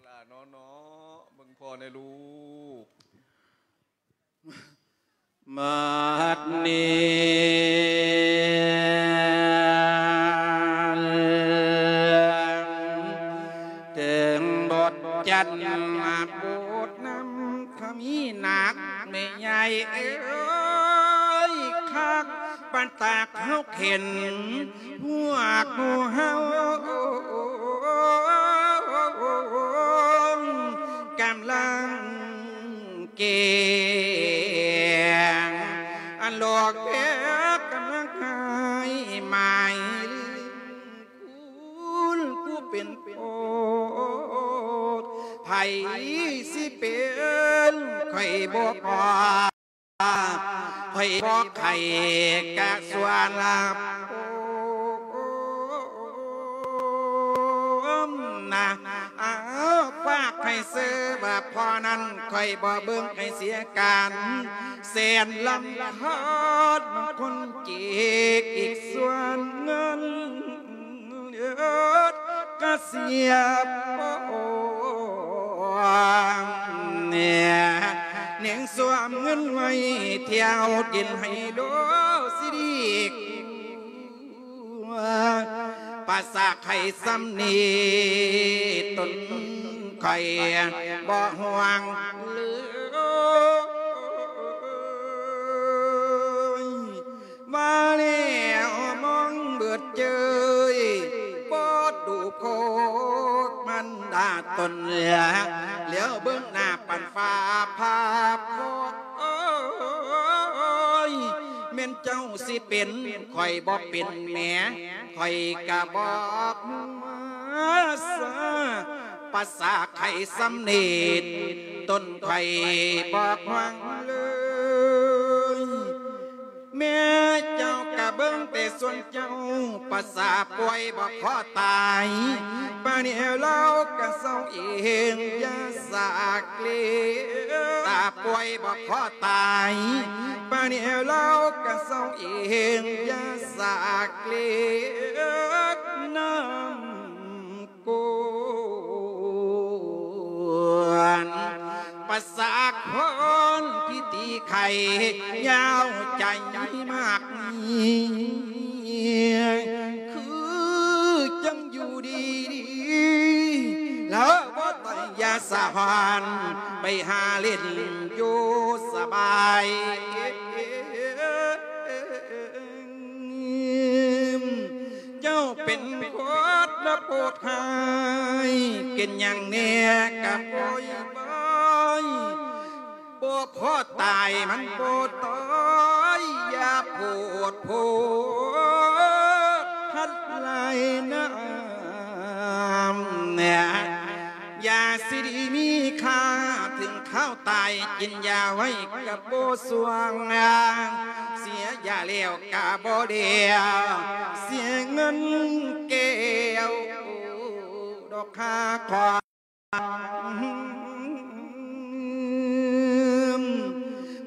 ຫຼ້າເນາະ ເນາະ ເບິ່ງພໍ່ແດ່ລູກ. ບັດນີ້ເຖິງບົດຈັນມາໂປດນຳ ຖ້າມີໜັກແມ່ໃຫຍ່ເອີຍ ຄັກປານຕາກເຮົາເຂັນ ພວກໝູ່ເຮົາກຳລັງແກງ ອັນຫຼອກແພກກຳລັງຫາຍໝາຍ ຄູນກູເປັນໂພດ ໃຜຊິເປັນ ຂ້ອຍບໍ່ພໍ ຂ້ອຍບໍ່ໄຂ້ກະສ່ວນລາບ. ນະ ອ້າວ ຝາກໃຫ້ຊື່ວ່າພໍ່ນັ້ນ ຂ້ອຍບໍ່ເບິ່ງໃຫ້ເສຍການ ແສນລຳຄານຄົນເຈກ ອີກສ່ວນເງິນກະເສຍປອງ ເໜັງສວມເງິນໄວ້ ທ່ຽວກິນໄຮໂລຊິດີກ ປາສາໄຂ່ຊ່ຳນີ້ ຕົນຂ້ອຍບໍ່ຫ່ວງເລີຍ ວ່າແລ້ວມອງເບີດເຈີຍ ບໍ່ດູໂພດມັນດາຕົນ ແລ້ວເບິ່ງໜ້າປັນຟ້າພາພອຍ ແມ່ນເຈົ້າຊິເປັນ ຂ້ອຍບໍ່ເປັນແໝ ຂ້ອຍກະບອກວ່າຊາ ປາສາໄຂ່ຊ່ຳນີ້ ຕົນຂ້ອຍບໍ່ຫວັງເລີຍ ແມ່ເຈົ້າກະເບິ່ງແຕ່ສ່ວນເຈົ້າ ປາສາປ່ວຍບໍ່ພໍຕາຍ ປານນີ້ລາວກະເຊົາເອງ ຢ່າສາເກລ ຕາປ່ວຍບໍ່ພໍຕາຍ ປານນີ້ລາວກະເຊົາເອງ ຢ່າສາເກລນຳ ກວນ ປາສາຄົນທີ່ຕີໄຂ່ຍາວໃຈມາກມີ ຄືຈັ່ງຢູ່ດີໆ ແລ້ວບໍ່ໄດ້ຢາສະຫອນ ໄປຫາຫຼິ້ນຢູ່ສະບາຍ. ເຈົ້າເປັນຄົນລະໂພດຮ້າຍ ເປັນຫຍັງແດ່ກະປ່ອຍໄວ້ ບໍ່ພໍຕາຍມັນບໍ່ຕາຍ ຢ່າໂພດໂພດພັດຫຼາຍນາ ຢາຊິດີມີຄ່າ ເຖິງຄາວຕາຍກິນຢາໄວ້ກະບໍ່ສ່ວງ ເສຍຢາແລ້ວກະບໍ່ແລ້ວ ເສຍເງິນແກ້ວດອກຄ່າຂອງ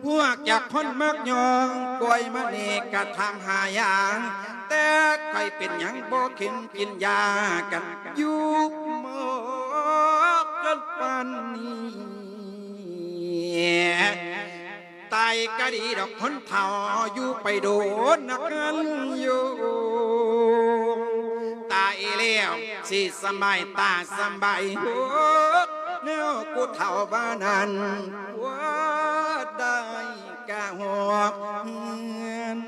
ພວກຈັກຄົນມັກຍ້ອງ ປ່ວຍມານີ້ກະຖາມຫາຢາ ແຕ່ຂ້ອຍເປັນຫຍັງບໍ່ເຂັນກິນຢາກັນ ຢູ່ໝອກກັນປານນີ້ ຕາຍກະດີດອກຄົນເຖົ້າ ຢູ່ໄປໂດນນະຄັນຢູ່ ຕາຍແລ້ວຊິສະບາຍຕາສະບາຍຫົວ ແນວຜູ້ເຖົ້າວ່ານັ້ນ ວ່າໄດ້ກະຫົວເຮືອນ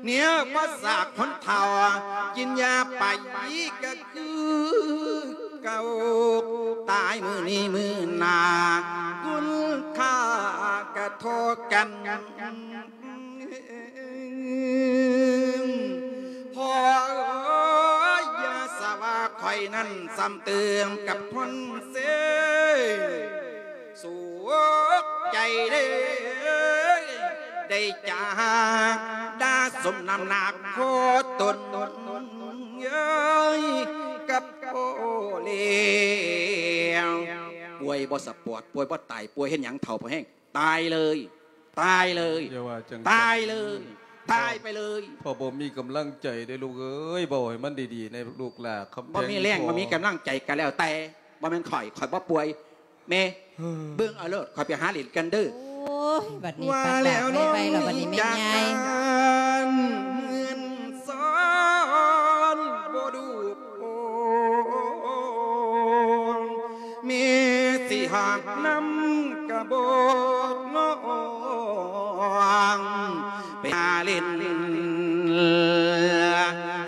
ແນວພາສາຄົນເຖົ້າ ກິນຢາໄປກະຄືເກົ່າ ຕາຍມື້ນີ້ມື້ໜ້າ ຄຸນຄ່າກະທໍ່ກັນ ພໍ່ເອີຍ ຢ່າສະວ່າຂ້ອຍນັ້ນ ຊ້ຳຕື່ມກັບຄົນເສຍ ສຸກໃຈເດ້ ໄດ້ຈາກດາສົມນ້ຳໜັກພໍ່ຕົນເອີຍ ກັບພໍ່ແລ້ວ ປ່ວຍບໍ່ສະປອດ ປ່ວຍບໍ່ຕາຍ ປ່ວຍເຮັດຫຍັງເຖົ້າພໍແຮງ ຕາຍເລີຍ ຕາຍເລີຍ ຢ່າວ່າຈັ່ງ ຕາຍເລີຍ ຕາຍໄປເລີຍ ພໍ່ບໍ່ມີກຳລັງໃຈເດ້ລູກເອີຍ ເວົ້າໃຫ້ມັນດີໆແດ່ລູກຫຼ້າ ຄຳແພງ ບໍ່ມີແຮງ ພໍ່ ບໍ່ມີກຳລັງໃຈກະແລ້ວແຕ່ ບໍ່ແມ່ນຂ້ອຍ ຂ້ອຍບໍ່ປ່ວຍ ແມ່ ເອີ ເບິ່ງເອົາໂລດ ຂ້ອຍໄປຫາຫຼິ້ນກັນເດີ ໂອ້ຍ ບັດນີ້ ວ່າແລ້ວ ປັກດາກໄວໆ ແລ້ວບັດນີ້ແມ່ໃຫຍ່ ເງິນຊອນບໍ່ດູ ແມ່ຊິຫາບນຳກະບອກນ້ອງ ໄປຫາຫຼິ້ນ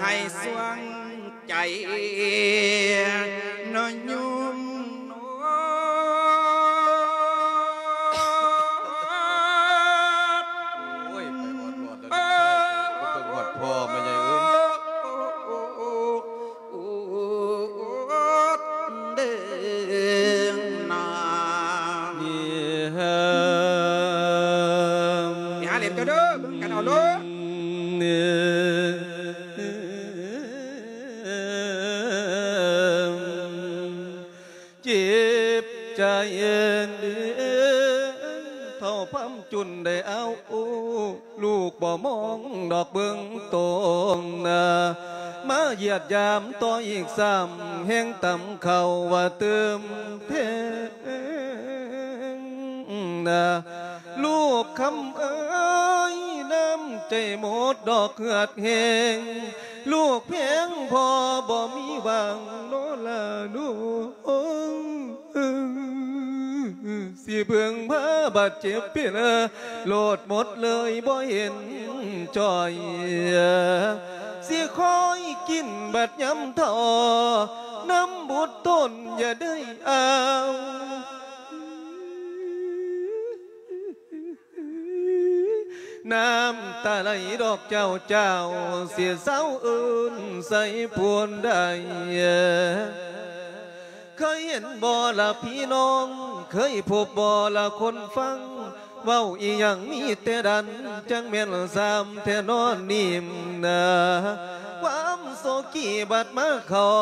ໃຫ້ສວງໃຈ ນ້ອຍໂຍມນ້ອງ. ໂອ້ຍ ໄປຮອດຮອດແລ້ວ ໄປຮອດພໍ່ແມ່ໃຫຍ່ເອີຍ ເດີນາ ໄປຫາເຫຼັ້ນກັນເດີ ເບິ່ງກັນເອົາໂລດ. ໃຈເອີນເດີ ເຖົ້າພາມຈຸນໄດ້ເອົາ ລູກບໍ່ມອງດອກເບິ່ງຕົງນາ ມາຢຽດຢາມຕໍ່ອີກຊ້ຳ ແຮງຕຳເຂົ້າວ່າຕື່ມແພງນາ ລູກຄຳເອີຍ ນ້ຳໃຈໝົດດອກເຫືອດແຮງ ລູກແພງພໍ່ບໍ່ມີຫວັງນໍລະນ້ອງ ຊິເບິ່ງພາບາດເຈັບເປັນໂລດໝົດເລີຍບໍ່ເຫັນຈ່ອຍ ຊິຄອຍກິນບາດຍາມເຖົ້າ ນຳບຸດຕົນຢ່າໄດ້ເອົາ ນ້ຳຕາໄຫຼດອກເຈົ້າ ເຈົ້າຊິເຊົາເອີ້ນໃສ່ຜູ້ໃດ ເຄີຍເຫັນບໍ່ລະພີ່ນ້ອງ ເຄີຍພົບບໍ່ລະຄົນຟັງ ເວົ້າອີ່ຫຍັງມີແຕ່ດັນ ຈັ່ງແມ່ນຊ້ຳແທ້ນອນນີ້ນາ ຄວາມໂສກີບັດມາເຂົ້າ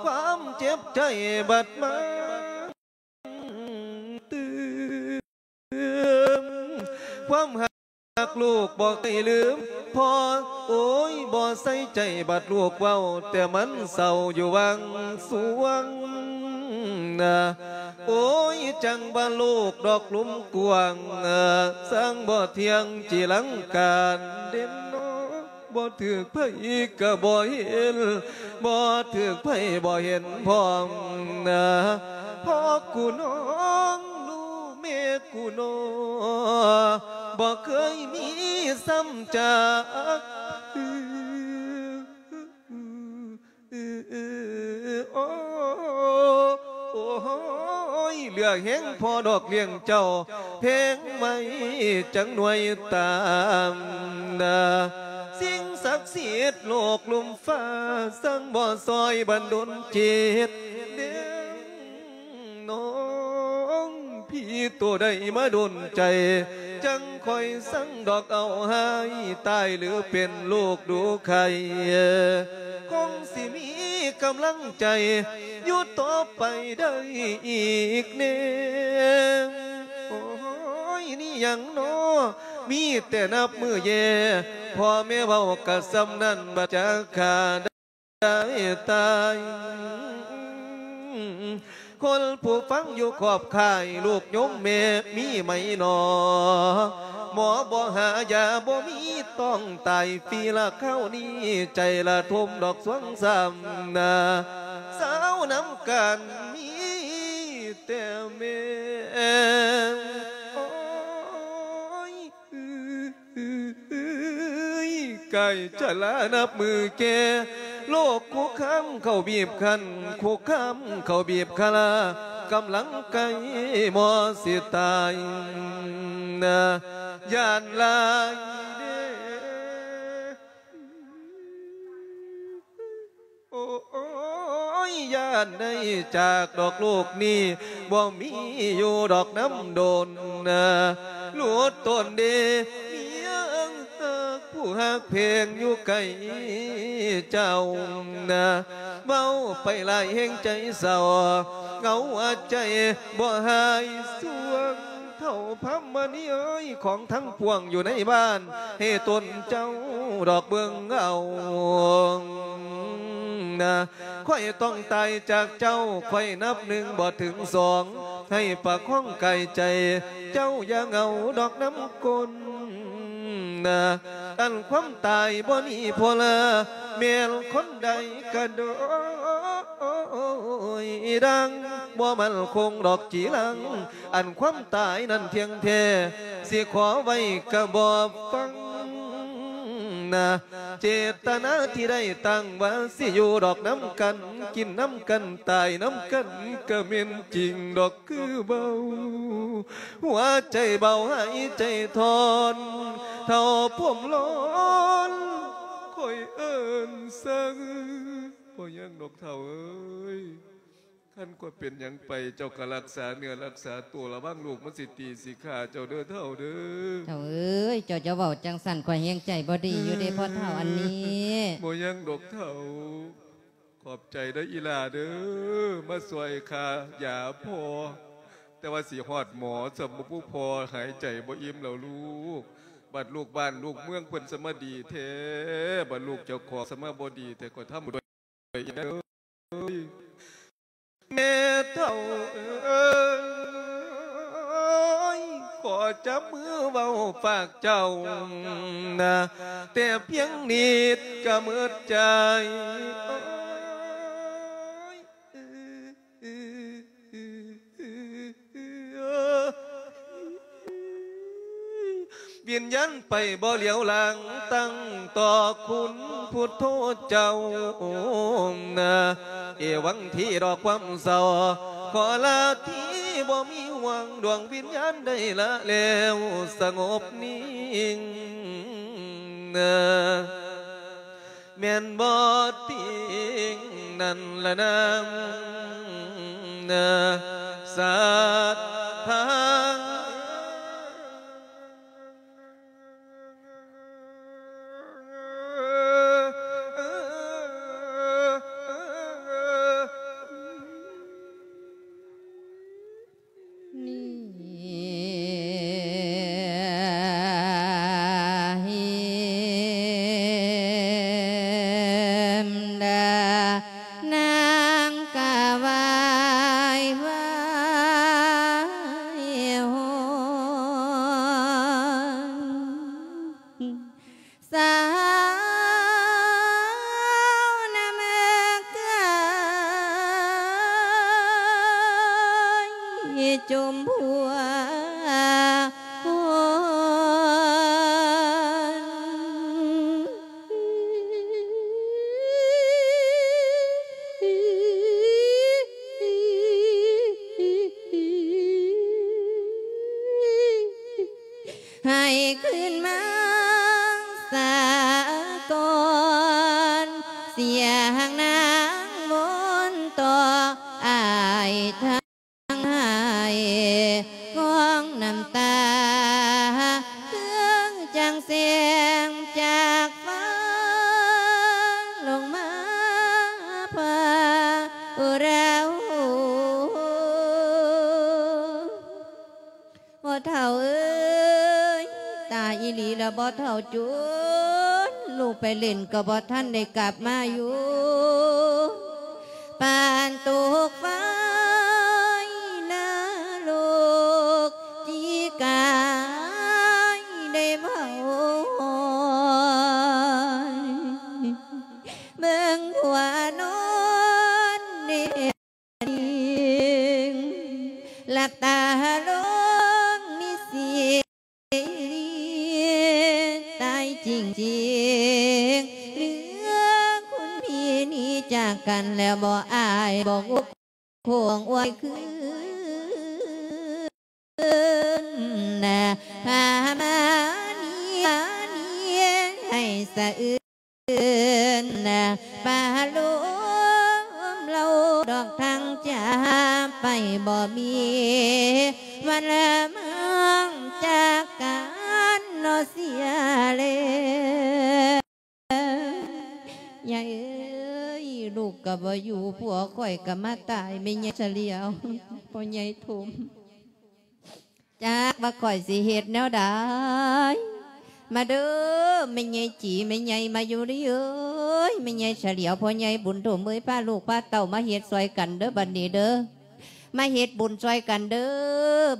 ຄວາມເຈັບໃຈບັດມາ ຕື່ມ ຄວາມຮັກລູກບໍ່ເຄີຍລືມພໍ່ ໂອ້ຍ ບໍ່ໃສ່ໃຈບັດລູກເວົ້າ ແຕ່ມັນເສົ້າຢູ່ຫວ່າງສວງນາ ໂອ້ຍ ຈັ່ງວ່າໂລກດອກລຸ່ມກວ້າງ ຊ່າງບໍ່ທ່ຽງຈີລັງການເດັ່ນນອ ບໍ່ຖືກໃຜກະບໍ່ເຫັນ ບໍ່ຖືກໃຜບໍ່ເຫັນພ້ອມນາ ພໍ່ກູນ້ອງ ລູກແມ່ກູນ້ອ ບໍ່ເຄີຍມີຊ້ຳຈາກ ໂອ້ ໂອ້ຍ ເຫຼືອແຮງພໍດອກລ້ຽງເຈົ້າ ແພງໄວ້ຈັກໜ່ວຍຕາມນາ ສິ່ງສັກສິດໂລກລຸ່ມຟ້າ ຊ່າງບໍ່ຊ່ອຍບັນດົນຈິດເດ້ ນ້ອງ ຜີໂຕໃດມາດົນໃຈ ຈັ່ງຄ່ອຍສັງດອກເອົາຫາຍ ຕາຍຫຼືເປັນໂລກດູໄຂ້ ຄົງຊິມີກຳລັງໃຈ ຢູ່ຕໍ່ໄປໄດ້ອີກແນ່ ໂອ້ຍ ນີ້ຫຍັງນໍ ມີແຕ່ນັບມື້ແຍ່ ພໍ່ແມ່ເວົ້າກະສ່ຳນັ້ນ ບັດຈາກຂ້າ ໄດ້ຕາຍ ຄົນຜູ້ຟັງຢູ່ຂອບຂ້າຍ ລູກໂຍມແມ່ມີໄໝນໍ ໝໍບໍ່ຫາຢາບໍ່ມີ ຕ້ອງຕາຍຟຣີລະຄາວນີ້ ໃຈລະທົມດອກສວງຊ້ຳນາ ສາວນຳກັນມີແຕ່ແມ່ ໂອ້ຍ ເອີຍ ກາຍຈະລານັບມື້ແກ່ ໂລກຄຸກຄາມເຂົ້າບີບຄັ້ນ ຄຸກຄາມເຂົ້າບີບຄາລາ ກຳລັງໃກ້ໝໍຊິຕາຍນາ ຢ້ານຫຼາຍເດ້. ໂອ້ຍ ຢ້ານໄດ້ຈາກດອກໂລກນີ້ ບໍ່ມີຢູ່ດອກນຳດົນນາ ຫຼຸດຕົນເດ ມີເອີງເອີກ ຜູ້ຮັກແພງຢູ່ໃກ້ເຈົ້ານາ ເວົ້າໄປຫຼາຍແຮງໃຈເສົ້າ ເຫງົາໃຈບໍ່ຫາຍສວງ ເຖົ້າພຳມະນີເອີຍ ຂອງທັງປວງຢູ່ໃນບ້ານ ໃຫ້ຕົນເຈົ້າດອກເບິ່ງເອົານາ ຂ້ອຍຕ້ອງຕາຍຈາກເຈົ້າ ຂ້ອຍນັບໜຶ່ງບໍ່ເຖິງສອງ ໃຫ້ປະຄອງກາຍໃຈ ເຈົ້າຢ່າເຫງົາດອກນຳຄົນນາ ອັນຄວາມຕາຍບໍ່ໜີພົ້ນ ແມ່ນຄົນໃດກະໂດຍດັງ ບໍ່ໝັ້ນຄົງດອກຈີລັງ ອັນຄວາມຕາຍນັ້ນທ່ຽງແທ້ ຊິຂໍໄວ້ກະບໍ່ຟັງນາ ເຈດຕະນາທີ່ໄດ້ຕັ້ງວ່າ ຊິຢູ່ດອກນຳກັນ ກິນນຳກັນ ຕາຍນຳກັນ ກະແມ່ນຈິງດອກຄືເວົ້າ ຫົວໃຈເບົາຫາຍໃຈທອນ ເຖົ້າຜົມລອນ ຂ້ອຍເອີ້ນສັງ ບໍ່ຍັງດອກເຖົ້າເອີຍ ຄັນຂ້ອຍເປັນຫຍັງໄປ ເຈົ້າກະລັກສາເນື້ອລັກສາໂຕ ລະວັງລູກມັນຊິຕີຊິຂ້າເຈົ້າເດີເຖົ້າເດີ. ເຖົ້າເອີຍ ເຈົ້າຈະເວົ້າຈັ່ງຊັ້ນ ຂ້ອຍແຮງໃຈບໍ່ດີຢູ່ເດ້ພໍ່ເຖົ້າອັນນີ້. ບໍ່ຍັງດອກເຖົ້າ ຂອບໃຈເດີອີ່ຫຼ້າເດີ ມາຊ່ວຍຄ່າຢາພໍ່. ແຕ່ວ່າຊິຮອດໝໍ ສຳບໍ່ຜູ້ພໍ່ຫາຍໃຈບໍ່ອີ່ມແລ້ວລູກ. ບັດລູກບ້ານລູກເມືອງເພິ່ນສະມາດີແທ້ ບັດລູກເຈົ້າຂອງສະມາບໍ່ດີແທ້ ກໍທຳບຸນດ້ວຍເອີຍ. ແມ່ເຖົ້າເອີຍ ຂໍຈັບມືເວົ້າຝາກເຈົ້ານະ ແຕ່ພຽງນິດກະໝົດໃຈ. ວິນຍານໄປບໍ່ຫຼຽວຫຼັງ ຕັ້ງຕໍ່ຄຸນພຸດໂທເຈົ້ານະ. ເອວັງທີດອກຄວາມເສົ້າ ຂໍລາທີບໍ່ມີຫວັງ ດວງວິນຍານໄດ້ລາແລ້ວສະຫງົບນິ່ງນະ. ແມ່ນບໍ່ຕິງນັ້ນລະນາງ ສັດທາ. ນີ້ນາງກະໄຫວ້ວາຍ ສາວນະເມືອງເຄີຍ ຈົ່ມພົວຄົນ ໃຫ້ຄືນມາສາກ່ອນ ສຽງນາງວົນຕໍ່ ອ້າຍທັງໄຫ້ຂອງນ້ຳຕາ ຄືຈັ່ງແສງຈາກຟ້າ ລົງມາພາເຮົາ. ພໍ່ເຖົ້າເອີຍ ຕາຍອີ່ຫຼີລະພໍ່ເຖົ້າ ຈົນລູກໄປຫຼິ້ນກໍບໍ່ທັນໄດ້ກັບມາຢູ່ ປານຕົກໄຟນະລົກ ຈີກາຍໄດ້ເຜົາໄໝ້ ເບິ່ງຜົວນອນເນ ຫຼັບຕາລົງມີສີຕາຍຈິງໆ ເຫຼືອຄຸນພີ່ໜີຈາກກັນແລ້ວ ບໍ່ອາຍບໍ່ໂຄງອວຍຄືນ ພາມານີມານີໃຫ້ສະອືນ ນະ ປາລົມເລົ່າດອກທາງຈາກໄປ ບໍ່ມີວັນລະມັງຈາກກັນເນາະເສຍແລ້ວ. ຍາຍເອີຍ ລູກກໍບໍ່ຢູ່ ຜົວຂ້ອຍກໍມາຕາຍ ແມ່ຍາຍສະຫຼຽວ ພໍ່ໃຫຍ່ຖົມ. ຈັກວ່າຂ້ອຍຊິເຮັດແນວໃດ ມາເດີ ແມ່ໃຫຍ່ຈີ ແມ່ໃຫຍ່ມາຢູ່ດີເອີຍ ແມ່ໃຫຍ່ສະຫຼຽວ ພໍ່ໃຫຍ່ບຸນຖົມເອີຍ ພາລູກພາເຕົ້າມາເຮັດຊ່ອຍກັນເດີ ບັດນີ້ເດີ ມາເຮັດບຸນຊ່ອຍກັນເດີ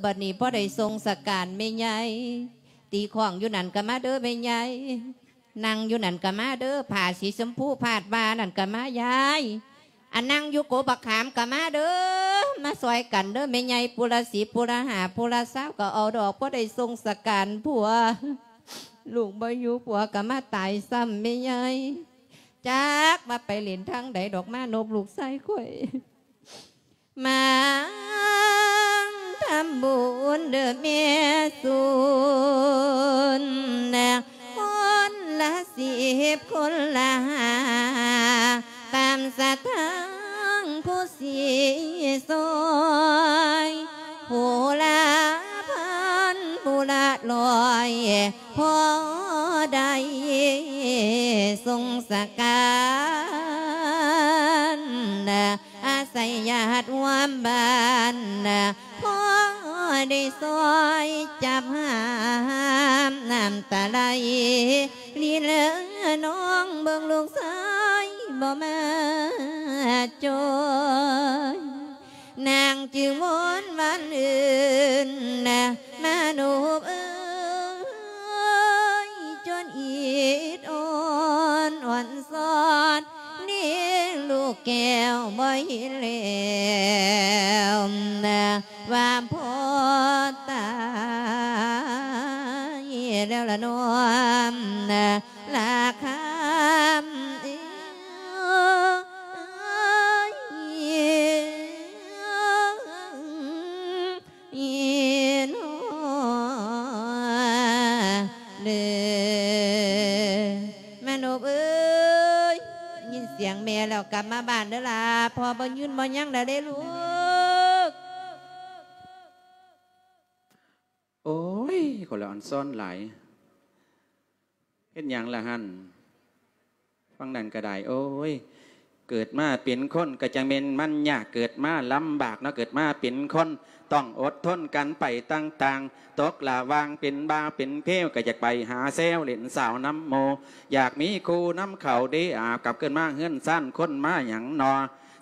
ບັດນີ້ພໍໄດ້ສົ່ງສະການແມ່ໃຫຍ່ ຕີຂ້ອງຢູ່ນັ້ນກໍມາເດີແມ່ໃຫຍ່. ນັ່ງຢູ່ນັ້ນກໍມາເດີ ຜ້າສີຊົມພູພາດບ່ານັ້ນກໍມາຍາຍ ອັນນັ່ງຢູ່ກົກບັກຂາມກໍມາເດີ ມາຊ່ອຍກັນເດີແມ່ໃຫຍ່ ຜູ້ລະສິບ ຜູ້ລະຫ້າ ຜູ້ລະຊາວກໍເອົາດອກ ພໍໄດ້ສົ່ງສະການຜົວ ລູກບໍ່ຢູ່ ຜົວກໍມາຕາຍຊ້ຳແມ່ໃຫຍ່ ຈັກວ່າໄປຫຼິ້ນທາງໃດດອກ ມານົບລູກຊາຍຂ້ອຍ. ມາທຳບຸນເດີແມ່ສູນ ຄົນລະສິບຄົນລະຫ້າ ຕາມສັດທາງຜູ້ຊິຊ່ອຍ ຜູ້ລະພັນຜູ້ລະຮ້ອຍ ພໍໄດ້ສົ່ງສະການ ອາໄສຍາດຫົວ ວມບ້ານ ພໍໄດ້ຊ່ອຍຈັບຫາມ ນ້ຳຕາໄຫຼລິນເລີນອງ ເບິ່ງລູກຊາຍບໍ່ມາຈ່ອຍ ນາງຈຶ່ງວົນວານອື່ນ ມະນົບເອີຍ ຈົນອິດອ່ອນ ອ່ອນຊອນ ນີ້ລູກແກ້ວບໍ່ເຫັນແລ້ວ ວ່າພໍ່ຕາຍແລ້ວລະນ້ອມລາຄຳເອີຍ ອີນອເດີ ມະນົບເອີຍ ຍິນສຽງແມ່ແລ້ວກັບມາບ້ານເດີຫຼ້າ ພໍ່ບໍ່ຍືນບໍ່ຍັງແລ້ວເດ້ລູກ. ໂອ້ຍ ຄົນລະອອນຊອນຫຼາຍ ເຮັດຫຍັງລະຫັ້ນ? ຟັງນັ້ນກໍໄດ້ ໂອ້ຍ ເກີດມາເປັນຄົນກໍຈັ່ງແມ່ນມັນຍາກ ເກີດມາລຳບາກເນາະ ເກີດມາເປັນຄົນຕ້ອງອົດທົນກັນໄປຕ່າງໆ ຕົກລະຫວ່າງເປັນບ່າວເປັນເພວ ກໍຢາກໄປຫາແຊວເຫຼັ້ນສາວນຳໝູ່ ຢາກມີຄູ່ນຳເຂົາເດ ອາ ກັບຄືນມາເຮືອນຊານຄົນມາຫຍັງນໍ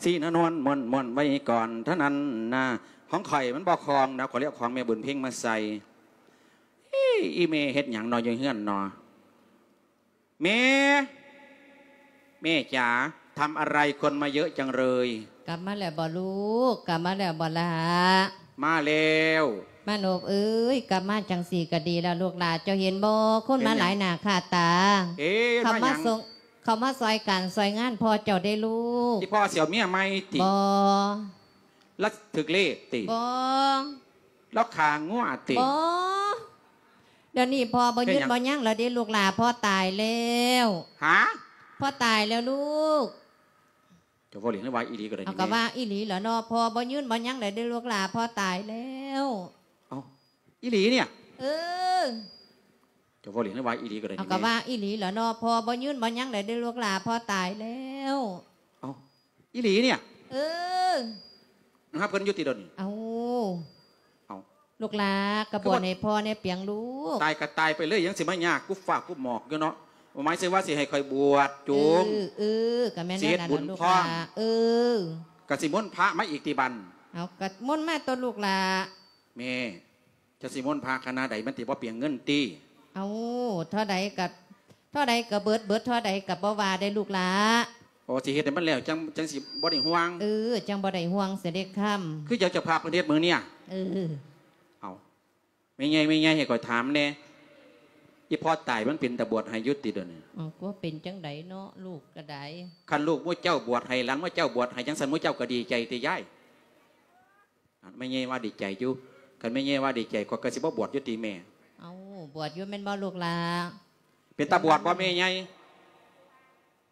ສີນວນມ່ວນໆ ໄວ້ກ່ອນເທົ່ານັ້ນນາ ຂອງຂ້ອຍມັນບໍ່ຄ່ອງນະ ຂ້ອຍເລີຍເອົາຂອງແມ່ບຸນເພັງມາໃສ່. ອີ່ ອີ່ແມ່ເຮັດຫຍັງນໍຢູ່ເຮືອນນໍ? ແມ່ ແມ່จ๋າ ทำอะไรคนมาเยอะจังเลย? ກັບມາແລ້ວບໍ່ລູກ? ກັບມາແລ້ວບໍ່ຫຼ້າ? ມາແລ້ວ. ມະນົບເອີຍ ກັບມາຈັ່ງຊີ້ກໍດີແລ້ວລູກຫຼ້າ ເຈົ້າເຫັນບໍ່ ຄົນມາຫຼາຍໜ້າຄ່າຕາ ເຂົາມາສົ່ງ ເຂົາມາຊ່ອຍການຊ່ອຍງານພໍ່ເຈົ້າເດ້ລູກ. ອີ່ພໍ່ຊິເອົາເມຍໃໝ່ຕິ? ບໍ່. ລາວຖືກເລກຕິ? ບໍ່. ລາວຂ້າງົວຕິ? ບໍ່. ດຽວນີ້ພໍ່ບໍ່ຍືນບໍ່ຍັງແລ້ວເດ້ລູກຫຼ້າ ພໍ່ຕາຍແລ້ວ. ຫາ? ພໍ່ຕາຍແລ້ວລູກ. ເຈົ້າເວົ້າເລ່ນ ຫຼືວ່າອີ່ຫຼີກໍໄດ້? ເອົາ ນີ້ ກໍວ່າອີ່ຫຼີແຫຼະເນາະ ພໍ່ບໍ່ຍືນບໍ່ຍັງແລ້ວເດ້ລູກຫຼ້າ ພໍ່ຕາຍແລ້ວ. ເອົ້າ ອີ່ຫຼີນີ້? ເອີ. ເຈົ້າເວົ້າເລ່ນ ຫຼືວ່າອີ່ຫຼີກໍໄດ້? ເອົາ ນີ້ ກໍວ່າອີ່ຫຼີແຫຼະເນາະ ພໍ່ບໍ່ຍືນບໍ່ຍັງແລ້ວເດ້ລູກຫຼ້າ ພໍ່ຕາຍແລ້ວ. ເອົ້າ ອີ່ຫຼີນີ້? ເອີ. ຫາເພິ່ນຢູ່ຕິດຽວນີ້? ເອົ້າ. ເອົ້າ ລູກຫຼ້າ ກະບວດໃຫ້ພໍ່ແດ່ປຽງລູກ. ຕາຍກະຕາຍໄປເລີຍ ຍັງຊິມາຍາກກຸບຟ້າກຸບໝອກຢູ່ເນາະ. ໝາຍເຖິງວ່າຊິໃຫ້ຂ້ອຍບວດຈຸງ ເອີ ເອີ ກະແມ່ນ ຊິເຮັດບຸນພ້ອມ ເອີ ກະຊິມົນພະມາອີກຕິບັດ. ເອົາ ກະມົນມາຕົວະລູກຫຼ້າ. ແມ່ ຈະຊິມົນພະຂະໜາດໃດ ມັນຊິບໍ່ປຽງເງິນຕິ? ເອົາ ເທົ່າໃດກະ ເທົ່າໃດກະເບິດ ເບິດເທົ່າໃດກະບໍ່ວ່າເດ້ລູກຫຼ້າ. ໂອ ຊິເຮັດໃຫ້ມັນແລ້ວ ຈັ່ງ ຈັ່ງຊິບໍ່ໄດ້ຫ່ວງ. ເອີ ຈັ່ງບໍ່ໄດ້ຫ່ວງເສຍເດ້ຄຳ. ຄືຈັ່ງເຈົ້າພາບເພິ່ນເຮັດມື້ນີ້? ເອີ. ເອົາ ແມ່ໃຫຍ່ ແມ່ໃຫຍ່ ໃຫ້ຂ້ອຍຖາມແດ່ ອີ່ພໍ່ຕາຍມັນເປັນຕາບວດໃຫ້ຢູ່ຕິດຽວນີ້? ເອົາ ກໍເປັນຈັ່ງໃດເນາະ ລູກກະໄດ້. ຄັນລູກໝູ່ເຈົ້າບວດໃຫ້ ຫຼານໝູ່ເຈົ້າບວດໃຫ້ ຈັ່ງຊັ້ນໝູ່ເຈົ້າກະດີໃຈຕິຍາຍ? ແມ່ໃຫຍ່ວ່າດີໃຈຢູ່. ຄັນແມ່ໃຫຍ່ວ່າດີໃຈ ຂ້ອຍກະຊິບໍ່ບວດຢູ່ຕິແມ່? ເອົາ ບວດຢູ່ແມ່ນບໍ່ລູກຫຼ້າ? ເປັນຕາບວດບໍ່ແມ່ໃຫຍ່?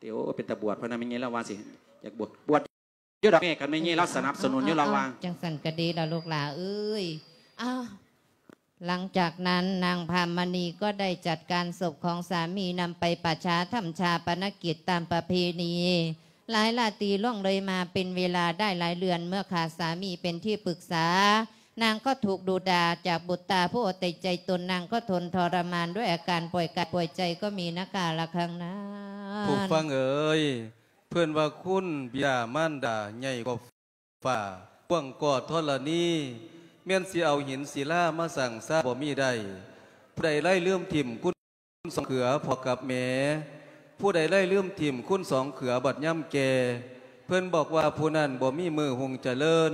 ຕິ ໂອ ເປັນຕາບວດ ເພິ່ນນະ ແມ່ໃຫຍ່ລາວວ່າຊິຢາກບວດ ບວດຢູ່ດອກແມ່ ຄັນແມ່ໃຫຍ່ລາວສະໜັບສະໜູນຢູ່ ລາວວ່າ. ຈັ່ງຊັ້ນກະດີລະລູກຫຼ້າເອີຍ. ອ້າວ ຫຼັງຈາກນັ້ນນາງພາມມະນີກໍໄດ້ຈັດການສົບຂອງສາມີ ນຳໄປປະຊາທຳຊາປະນະກິດຕາມປະເພນີ. ຫຼາຍລາຕີລ່ວງເລີຍມາເປັນເວລາໄດ້ຫຼາຍເດືອນ ເມື່ອຂາດສາມີເປັນທີ່ປຶກສາ ນາງກໍຖືກດຸດ່າຈາກບຸດຕາຜູ້ເອົາແຕ່ໃຈຕົນ ນາງກໍທົນທໍລະມານດ້ວຍອາການປ່ອຍກາຍປ່ອຍໃຈກໍມີນະກາລະຄັ້ງນັ້ນ. ຜູ້ຟັງເອີຍ ເພິ່ນວ່າຄຸນບິດາມານດາໃຫຍ່ກວ່າ ຟ້າ ກວ້າງກວ່າທໍລະນີ ແມ່ນຊິເອົາຫີນສິລາມາສ້າງສາບໍ່ມີໄດ້. ຜູ້ໃດໄລລືມຖິ້ມຄຸນສອງເຂືອພໍ່ກັບແມ່ ຜູ້ໃດໄລລືມຖິ້ມຄຸນສອງເຂືອບັດຍາມແກ່ ເພິ່ນບອກວ່າຜູ້ນັ້ນບໍ່ມີມື້ຮຸ່ງຈະເລີນ.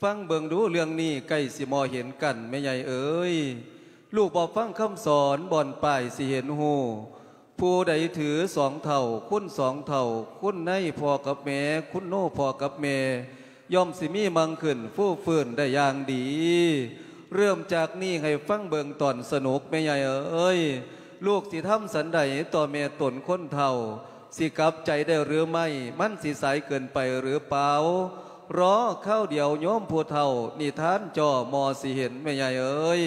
ຟັງເບິ່ງດູເລື່ອງນີ້ໃກ້ຊິບໍ່ເຫັນກັນແມ່ໃຫຍ່ເອີຍ. ລູກບໍ່ຟັງຄຳສອນບ່ອນປາຍຊິເຫັນຮູ້. ຜູ້ໃດຖືສອງເຖົ້າ ຄຸນສອງເຖົ້າ ຄຸນໃນພໍ່ກັບແມ່ ຄຸນໂນພໍ່ກັບແມ່ ຍ່ອມຊິມີມັງຂຶ້ນຟູຟື້ນໄດ້ຢ່າງດີ. ເລີ່ມຈາກນີ້ໃຫ້ຟັງເບິ່ງຕອນສະໜຸກແມ່ໃຫຍ່ເອີຍ. ລູກຊິທຳສັນໃດຕໍ່ແມ່ຕົນຄົນເຖົ້າ ຊິກັບໃຈໄດ້ຫຼືໄມ່ ມັນຊິສາຍເກີນໄປຫຼືເປົ່າ? ລໍຄາວດຽວໂຍມຜູ້ເຖົ້າ ນິທານຈໍ່ມໍຊິເຫັນແມ່ໃຫຍ່ເອີຍ.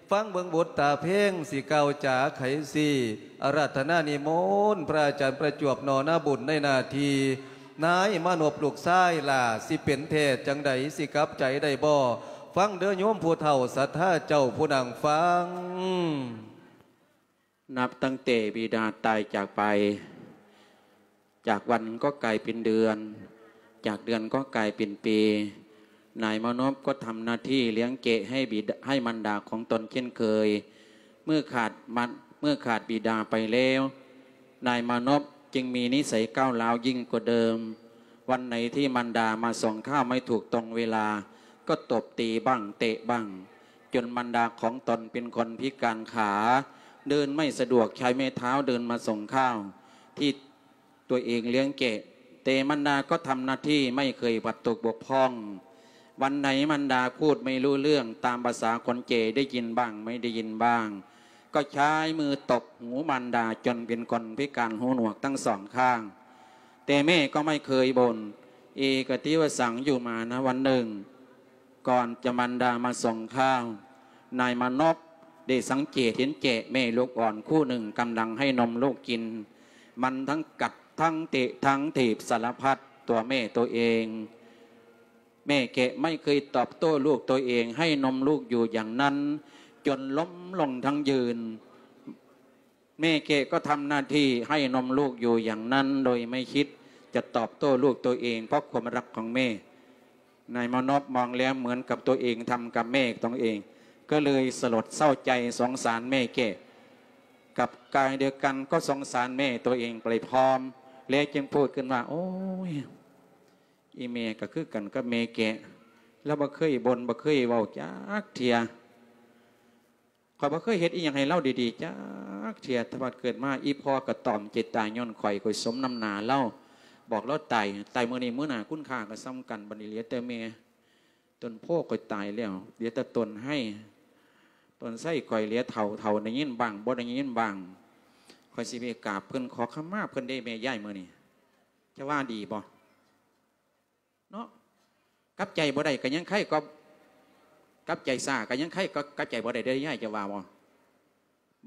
ຟັງເບິ່ງບຸດຕາເພງ ຊິກ່າວຈາໄຂຊີ້ ອາລາທະນານິມົນ ພະອາຈານປະຈວບ ໜໍໜ້າບຸນໃນໜ້າທີ່ ນາຍມານົບລູກຊາຍຫຼ້າ ຊິເປັນແທ້ຈັ່ງໃດ ຊິກັບໃຈໄດ້ບໍ່? ຟັງເດີໂຍມຜູ້ເຖົ້າສັດທາເຈົ້າຜູ້ນັ່ງຟັງ. ນັບຕັ້ງແຕ່ບິດາຕາຍຈາກໄປ ຈາກວັນກໍກາຍເປັນເດືອນ ຈາກເດືອນກໍກາຍເປັນປີ ນາຍມານົບກໍທຳໜ້າທີ່ລ້ຽງແກະໃຫ້ບິດາ ໃຫ້ມານດາຂອງຕົນເຊັ່ນເຄີຍ. ເມື່ອຂາດມາ ເມື່ອຂາດບິດາໄປແລ້ວ ນາຍມານົບຈຶ່ງມີນິໄສກ້າວຮ້າວຍິ່ງກວ່າເດີມ. ວັນໃດທີ່ມານດາມາສົ່ງຂ້າວໄມ່ຖືກຕ້ອງເວລາ ກໍຕົບຕີບ້າງ ເຕະບ້າງ ຈົນມານດາຂອງຕົນເປັນຄົນພິການຂາ ເດີນໄມ່ສະດວກ ໃຊ້ໄມ້ເທົ້າເດີນມາສົ່ງຂ້າວທີ່ຕົວເອງລ້ຽງແກະ. ແຕ່ມານດາກໍທຳໜ້າທີ່ໄມ່ເຄີຍບາດຕົກບົກຜ່ອງ. ວັນໃດມານດາພູດໄມ່ຮູ້ເລື່ອງ ຕາມພາສາຄົນແກ່ ໄດ້ຍິນບ້າງ ໄມ່ໄດ້ຍິນບ້າງ ກໍໃຊ້ມືຕົບຫູມານດາຈົນເປັນຄົນພິການຫູໜວກທັງສອງຂ້າງ. ແຕ່ແມ່ກໍໄມ່ເຄີຍບົ່ນ ເອກະຕິວະສັງ ຢູ່ມານະວັນໜຶ່ງ ກ່ອນຈະມານດາມາສົ່ງຂ້າວ ນາຍມານົບໄດ້ສັງເກດເຫັນແຈະແມ່ລູກອ່ອນຄູ່ໜຶ່ງກຳລັງໃຫ້ນົມລູກກິນ. ມັນທັງກັດ ທັງເຕະ ທັງຖີບສາລະພັດຕົວແມ່ຕົວເອງ. ແມ່ແກະໄມ່ເຄີຍຕອບໂຕ້ລູກຕົວເອງ ໃຫ້ນົມລູກຢູ່ຢ່າງນັ້ນ ຈົນລົ້ມລົງທັງຢືນ. ແມ່ແກະກໍທຳໜ້າທີ່ໃຫ້ນົມລູກຢູ່ຢ່າງນັ້ນ ໂດຍໄມ່ຄິດຈະຕອບໂຕ້ລູກຕົວເອງ ເພາະຄວາມຮັກຂອງແມ່. ນາຍມານົບມອງແລ້ວເໝືອນກັບຕົວເອງທຳກັບແມ່ຕົວເອງ ກໍເລີຍສະຫຼົດເສົ້າໃຈສົງສານແມ່ແກະ. ກັບກາຍດຽວກັນກໍສົງສານແມ່ຕົວເອງໄປພ້ອມ ແລະ ຈຶ່ງພູດຂຶ້ນວ່າ ໂອ້ຍ ອີ່ແມ່ກໍຄືກັນກັບແມ່ແກະ ລາວບໍ່ເຄີຍບົ່ນ ບໍ່ເຄີຍເວົ້າຈັກເທື່ອ. ຂ້ອຍບໍ່ເຄີຍເຮັດອີ່ຫຍັງໃຫ້ລາວດີໆຈັກເທື່ອ ແຕ່ວ່າເກີດມາ ອີ່ພໍ່ກໍຕອມເຈດຕາຍຍ້ອນຂ້ອຍ ຂ້ອຍສົມນ້ຳໜ້າລາວ. ບອກລາວຕາຍ ຕາຍມື້ນີ້ ມື້ໜ້າຄຸນຄ່າກໍສ່ຳກັນ. ບັດນີ້ເຫຼືອແຕ່ແມ່ ຕົ້ນໂພຂ້ອຍຕາຍແລ້ວ ເຫຼືອແຕ່ຕົ້ນໄຮ ຕົ້ນໄຊຂ້ອຍເຫຼືອເຖົ້າ ເຖົ້າໄດ້ຍິນບ້າງ ບໍ່ໄດ້ຍິນບ້າງ. ຂ້ອຍຊິໄປກາບເພິ່ນ ຂໍຂະມາເພິ່ນເດ້ແມ່ຍາຍ ມື້ນີ້ ຈະວ່າດີບໍ່? ເນາະ ກັບໃຈບໍ່ໄດ້ກໍຍັງໄຄກວ່າ ກັບໃຈຊ້າກໍຍັງໄຄກວ່າກັບໃຈບໍ່ໄດ້ເດ້ຍາຍ ຈະວ່າບໍ່?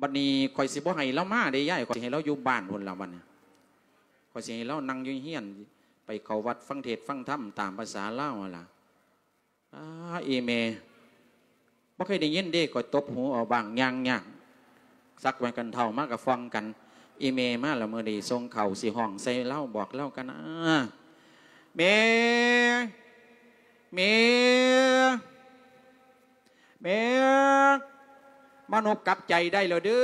ບັດນີ້ຂ້ອຍຊິບໍ່ໃຫ້ລາວມາເດ້ຍາຍ ຂ້ອຍຊິໃຫ້ລາວຢູ່ບ້ານພຸ້ນລະ ບັດນີ້ຂ້ອຍຊິໃຫ້ລາວນັ່ງຢູ່ເຮືອນ ໄປເຂົ້າວັດຟັງເທດຟັງທຳຕາມພາສາລາວຫັ້ນລະ. ອາ ອີ່ແມ່ ບໍ່ເຄີຍໄດ້ຍິນເດ້ ຂ້ອຍຕົບຫູເອົາບ້າງ ຍ່າງຍາກ ສັກແວ່ນກັນເທົ້າມາກໍຟອງກັນ. ອີ່ແມ່ມາລະ ມື້ນີ້ສົ່ງເຂົ້າ ຊິຮ້ອງໃສ່ລາວ ບອກລາວກັນນາ. ແມ່ ແມ່ ແມ່ ມານົບກັບໃຈໄດ້ແລ້ວເດີ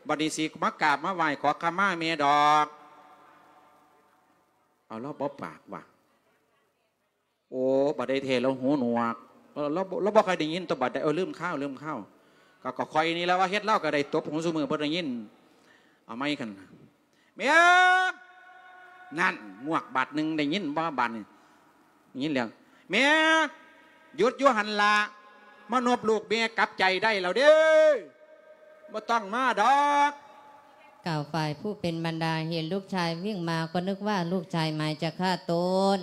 ບັດນີ້ຊິມາກາບມາໄຫວ້ຂໍຂະມາແມ່ດອກ. ເອົາ ລາວບໍ່ປາກວ່າ. ໂອ້ ບັດໃດແທ້ລາວຫູໜວກ ເອີ ລາວ ລາວບໍ່ຄ່ອຍໄດ້ຍິນຕົວະ ບັດໃດ ເອີ ລືມຄາວ ລືມຄາວ ກໍ ກໍຂ້ອຍນີ້ລະວ່າເຮັດລາວກໍໄດ້ຕົບຫູຊຸມື້ບໍ່ໄດ້ຍິນ. ເອົາໃໝ່ຄັນ ແມ່ ນັ້ນ ງວກບາດໜຶ່ງ ໄດ້ຍິນບໍ່ບາດນີ້? ໄດ້ຍິນແລ້ວ ແມ່ ຢຸດຢູ່ຫັ້ນລະ ມານົບລູກແມ່ກັບໃຈໄດ້ແລ້ວເດີ ບໍ່ຕ້ອງມາດອກ. ກ່າວຝ່າຍຜູ້ເປັນມານດາເຫັນລູກຊາຍວິ່ງມາ ກໍນຶກວ່າລູກຊາຍໝາຍຈະຂ້າຕົນ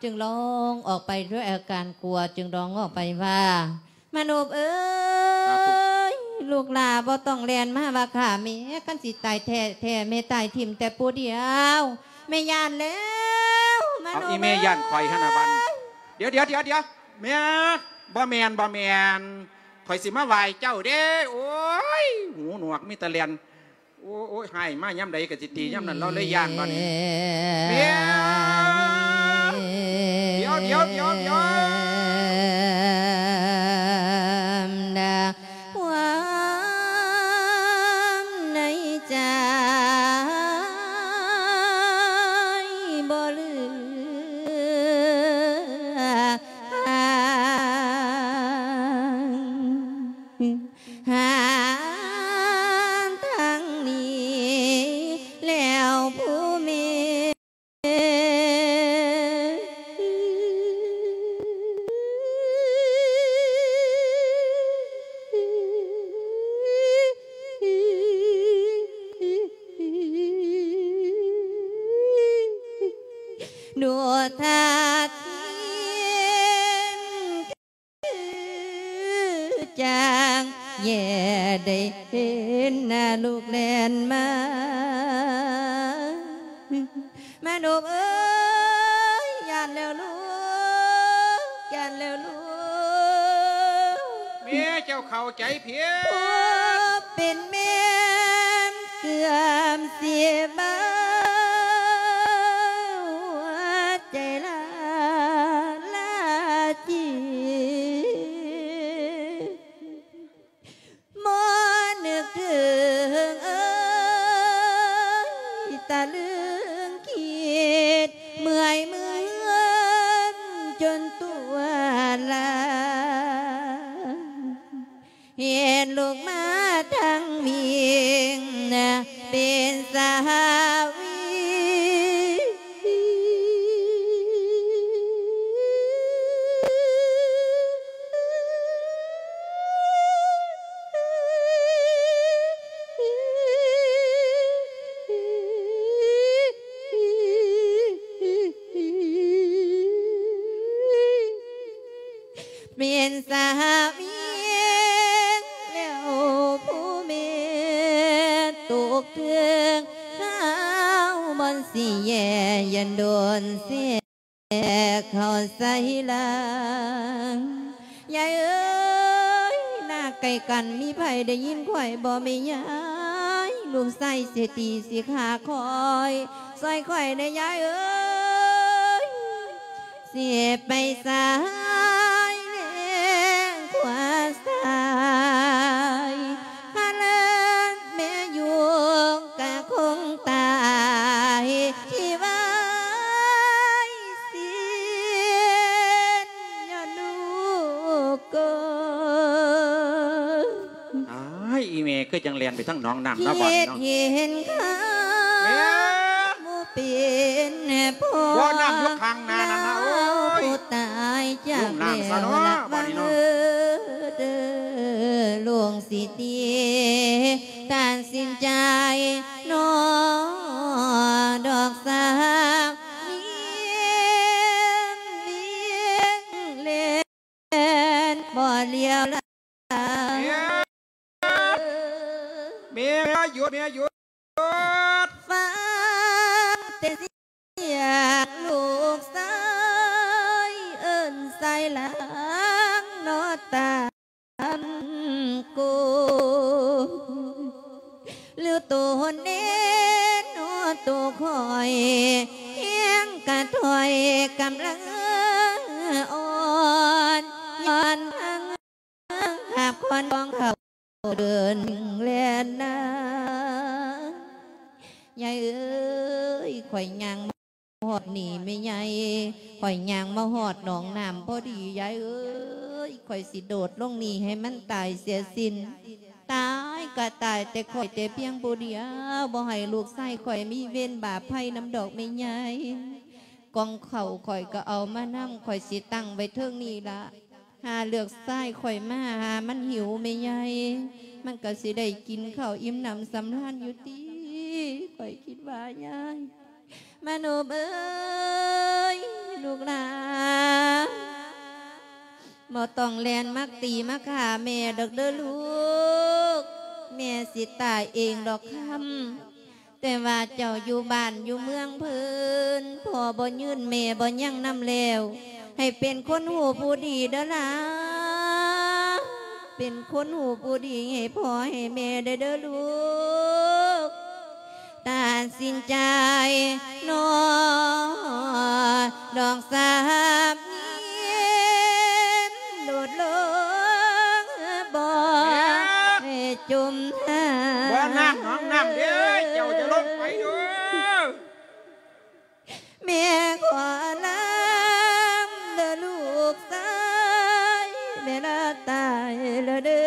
ຈຶ່ງຮ້ອງອອກໄປດ້ວຍອາການກົວ ຈຶ່ງຮ້ອງອອກໄປວ່າ ມານົບເອີຍ ສາທຸ ລູກຫຼ້າບໍ່ຕ້ອງແລ່ນມາວ່າຂ້າແມ່ ຄັນຊິຕາຍແທ້ໆ ແມ່ຕາຍຖິ້ມແຕ່ຜູ້ດຽວ ແມ່ຢ້ານແລ້ວ ມານົບເອີຍ. ເອົາ ອີ່ແມ່ຢ້ານຂ້ອຍຫັ້ນນະບັດ ດຽວໆໆໆ ແມ່ ບໍ່ແມ່ນ ບໍ່ແມ່ນ ຂ້ອຍຊິມາໄຫວ້ເຈົ້າເດ້. ໂອ້ຍ ຫູໜວກມີແຕ່ແລ່ນ ໂອ້ຍ ໂອ້ຍ ຮ້າຍມາຍາມໃດກໍຊິຕີຍາມນັ້ນ ລາວເລີຍຢ້ານບັດນີ້. ແມ່ ດຽວ ດຽວ ດຽວ ດຽວ ຄວາມໃນໃຈບໍ່ເຫຼືອ ຫາທາງໜີແລ້ວຜູ້ແມ່ ດູທ່າທີ ຈັ່ງແຍໄດ້ເຫັນໜ້າລູກແລ່ນມາ ມະນົບເອີຍ ຢ້ານແລ້ວລູກ ຢ້ານແລ້ວລູກ ແມ່ເຈົ້າເຂົ້າໃຈຜິດ ຜູ້ເປັນແມ່ເກືອບຊິເບົາ ໃຈລາລາຈີ ບໍ່ນຶກເຖິງເອີຍ ຕະລຶງຄິດ ເມື່ອຍເມື່ອນຈົນຕົວລາ ເຫັນລູກມາທັງວິ່ງ ເປັນສາວ ເປັນສາວວຽງແລ້ວ ຜູ້ແມ່ຕົກເຖິງຄາວບ່ອນຊິແຍ່ ຢ້ານໂດນແຊກເຂົ້າໃສ່ຫຼັງ. ຍາຍເອີຍ ນາໃກ້ກັນ ມີໃຜໄດ້ຍິນຂ້ອຍບໍ່ແມ່ຍາຍ? ລູກຊາຍຊິຕີຊິຂ້າຂ້ອຍ ຊ່ອຍຂ້ອຍແດ່ຍາຍເອີຍ ຊິໄປສາຍແລງຂວາສາຍ ຫາເລີນແມ່ຢູ່ກະຄົງຕາຍທີ່ວາຍສິນ ຍ້ອນລູກເກີດ ອ້າຍ ອີແມ່ຄືຈັ່ງແລ່ນໄປທາງໜອງນ້ຳເນາະ ບາດນີ້ເນາະ ຄິດເຫັນຄຳ ແມ່ ບໍ່ເປັນພໍ ບໍ່ນ້ຳຢູ່ຂ້າງໜ້ານັ້ນນະ ໂອ້ຍ ຜູ້ຕາຍຈາກແລ້ວ ລະວັງເດີ ລູກຊິຕິຕັດສິນໃຈ ນອດອກສາວ ວຽງວຽງແລ ແມ່ນບໍ່ຫຼຽວຫຼາ ແມ່ ແມ່ຢຸດ ແມ່ຢຸດ ຟັງແຕ່ສຽງລູກຊາຍເອີ້ນສາຍຫຼັງ ນອດຕາມໂກ ຫຼືໂຕແນ່ນອນໂຕຂ້ອຍ ແຮງກະຖອຍກຳລັງອ່ອນ ຍ້ອນທັງຫາບຄອນຂອງເຂົາເດີນແລ່ນນາ. ຍາຍເອີຍ ຂ້ອຍຍ່າງ ຮອດນີ້ແມ່ໃຫຍ່ ຂ້ອຍຍ່າງມາຮອດໜອງນ້ຳພໍດີ ຍາຍເອີຍ ຂ້ອຍຊິໂດດລົງນີ້ໃຫ້ມັນຕາຍເສຍສິ້ນ ຕາຍກະຕາຍແຕ່ຂ້ອຍແຕ່ພຽງຜູ້ດຽວ ບໍ່ໃຫ້ລູກຊາຍຂ້ອຍມີເວນບາບໄພນຳດອກແມ່ໃຫຍ່ ກ່ອງເຂົ້າຂ້ອຍກະເອົາມານຳ ຂ້ອຍຊິຕັ້ງໄວ້ເທິງນີ້ລະ ຫາເລືອກຊາຍຂ້ອຍມາ ຫາມັນຫິວແມ່ໃຫຍ່ ມັນກະຊິໄດ້ກິນເຂົ້າອີ່ມໜຳສຳລານຢູ່ຕິ ຂ້ອຍຄິດວ່າຍາຍ ມະນົບເອີຍ ລູກຫຼານ ບໍ່ຕ້ອງແລ່ນມາຕີມາຂ້າແມ່ດອກເດີລູກ ແມ່ຊິຕາຍເອງດອກຄຳ ແຕ່ວ່າເຈົ້າຢູ່ບ້ານຢູ່ເມືອງເພິ່ນ ພໍ່ບໍ່ຍືນແມ່ບໍ່ຍັງນຳແລ້ວ ໃຫ້ເປັນຄົນຮູ້ຜູ້ດີເດີຫຼາ ເປັນຄົນຮູ້ຜູ້ດີໃຫ້ພໍ່ໃຫ້ແມ່ໄດ້ເດີລູກ ຕັດສິນໃຈນອນດອກສາບຍິນ ໂດດລົງບໍ່ໃຫ້ຈົມຫາ ບໍ່ນ້ຳໜອງນ້ຳເດີ້ ເຈົ້າຈະລົງໄປເດີ້. ແມ່ຂໍລຳເດີລູກຊາຍ ແມ່ລາຕາຍແລ້ວເດີ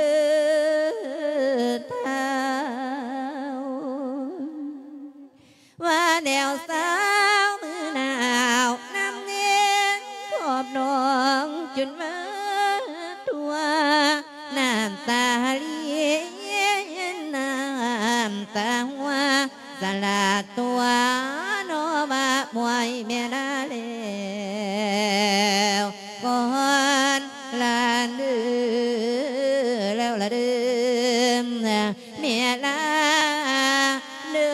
ທ້າວ ວ່າແລ້ວສາວມືໜາວ ນ້ຳເງືອນຂອບໜອງຈົນວ່າທົ່ວ ນ້ຳຕາຫຼຽນ ນ້ຳຕາຮົ່ວ ສະຫຼາດຕົວ ນອວ່າມວຍແມ່ລາແລ້ວກ່ອນລານເດີ ແລ້ວລະເດີ ແມ່ລາເດີ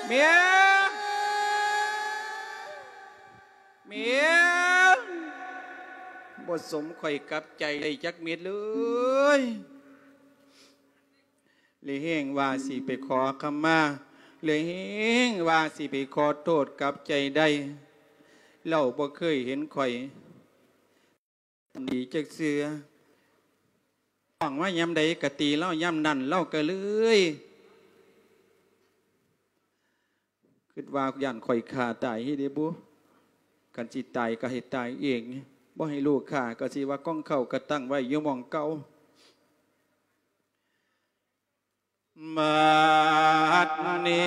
ແມ່ ບໍ່ສົມຂ້ອຍກັບໃຈໄດ້ຈັກເມັດເລີຍ. ເລີຍແຮງວ່າຊິໄປຂໍຄຳມາ, ເລີຍແຮງວ່າຊິໄປຂໍໂທດກັບໃຈໄດ້. ລາວບໍ່ເຄີຍເຫັນຂ້ອຍດີຈັກເທື່ອ. ຮ້ອງມາຍາມໃດກະຕີລາວຍາມນັ້ນ, ລາວກະເລີຍ ຄິດວ່າຢ້ານຂ້ອຍຂ້າຕາຍເດບຸ. ຄັນຊິຕາຍກໍໃຫ້ຕາຍເອງ, ບໍ່ໃຫ້ລູກຂ້າ ກໍຊິວ່າກອງເຂົ້າກໍຕັ້ງໄວ້ຢູ່ໝ່ອງເກົ່າ. ບັດນີ້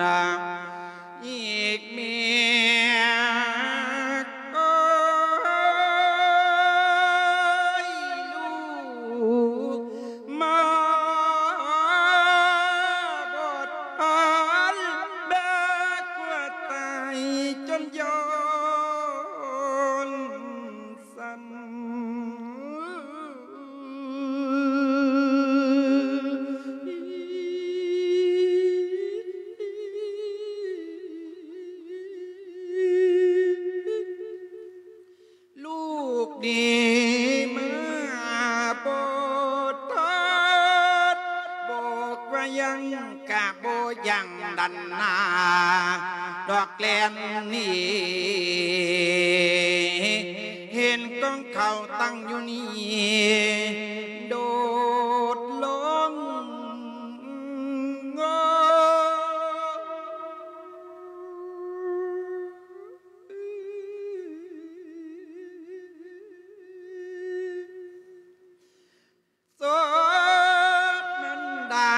ນະ ອີກເມຍ ໂອ້ຍ ລູກມາບໍ່ທັນ ແບກວ່າຕາຍຈົນຍ້ອນ ສັ່ນ ລູກນີ້ມາບໍ່ທັນ ບອກວ່າຍັງກະບໍ່ຍັງດັນໜ້າ ດອກແລ່ນໜີ ເຫັນກອງເຂົ້າຕັ້ງຢູ່ນີ້ ໂດດລົງ ໂສກມັນດາ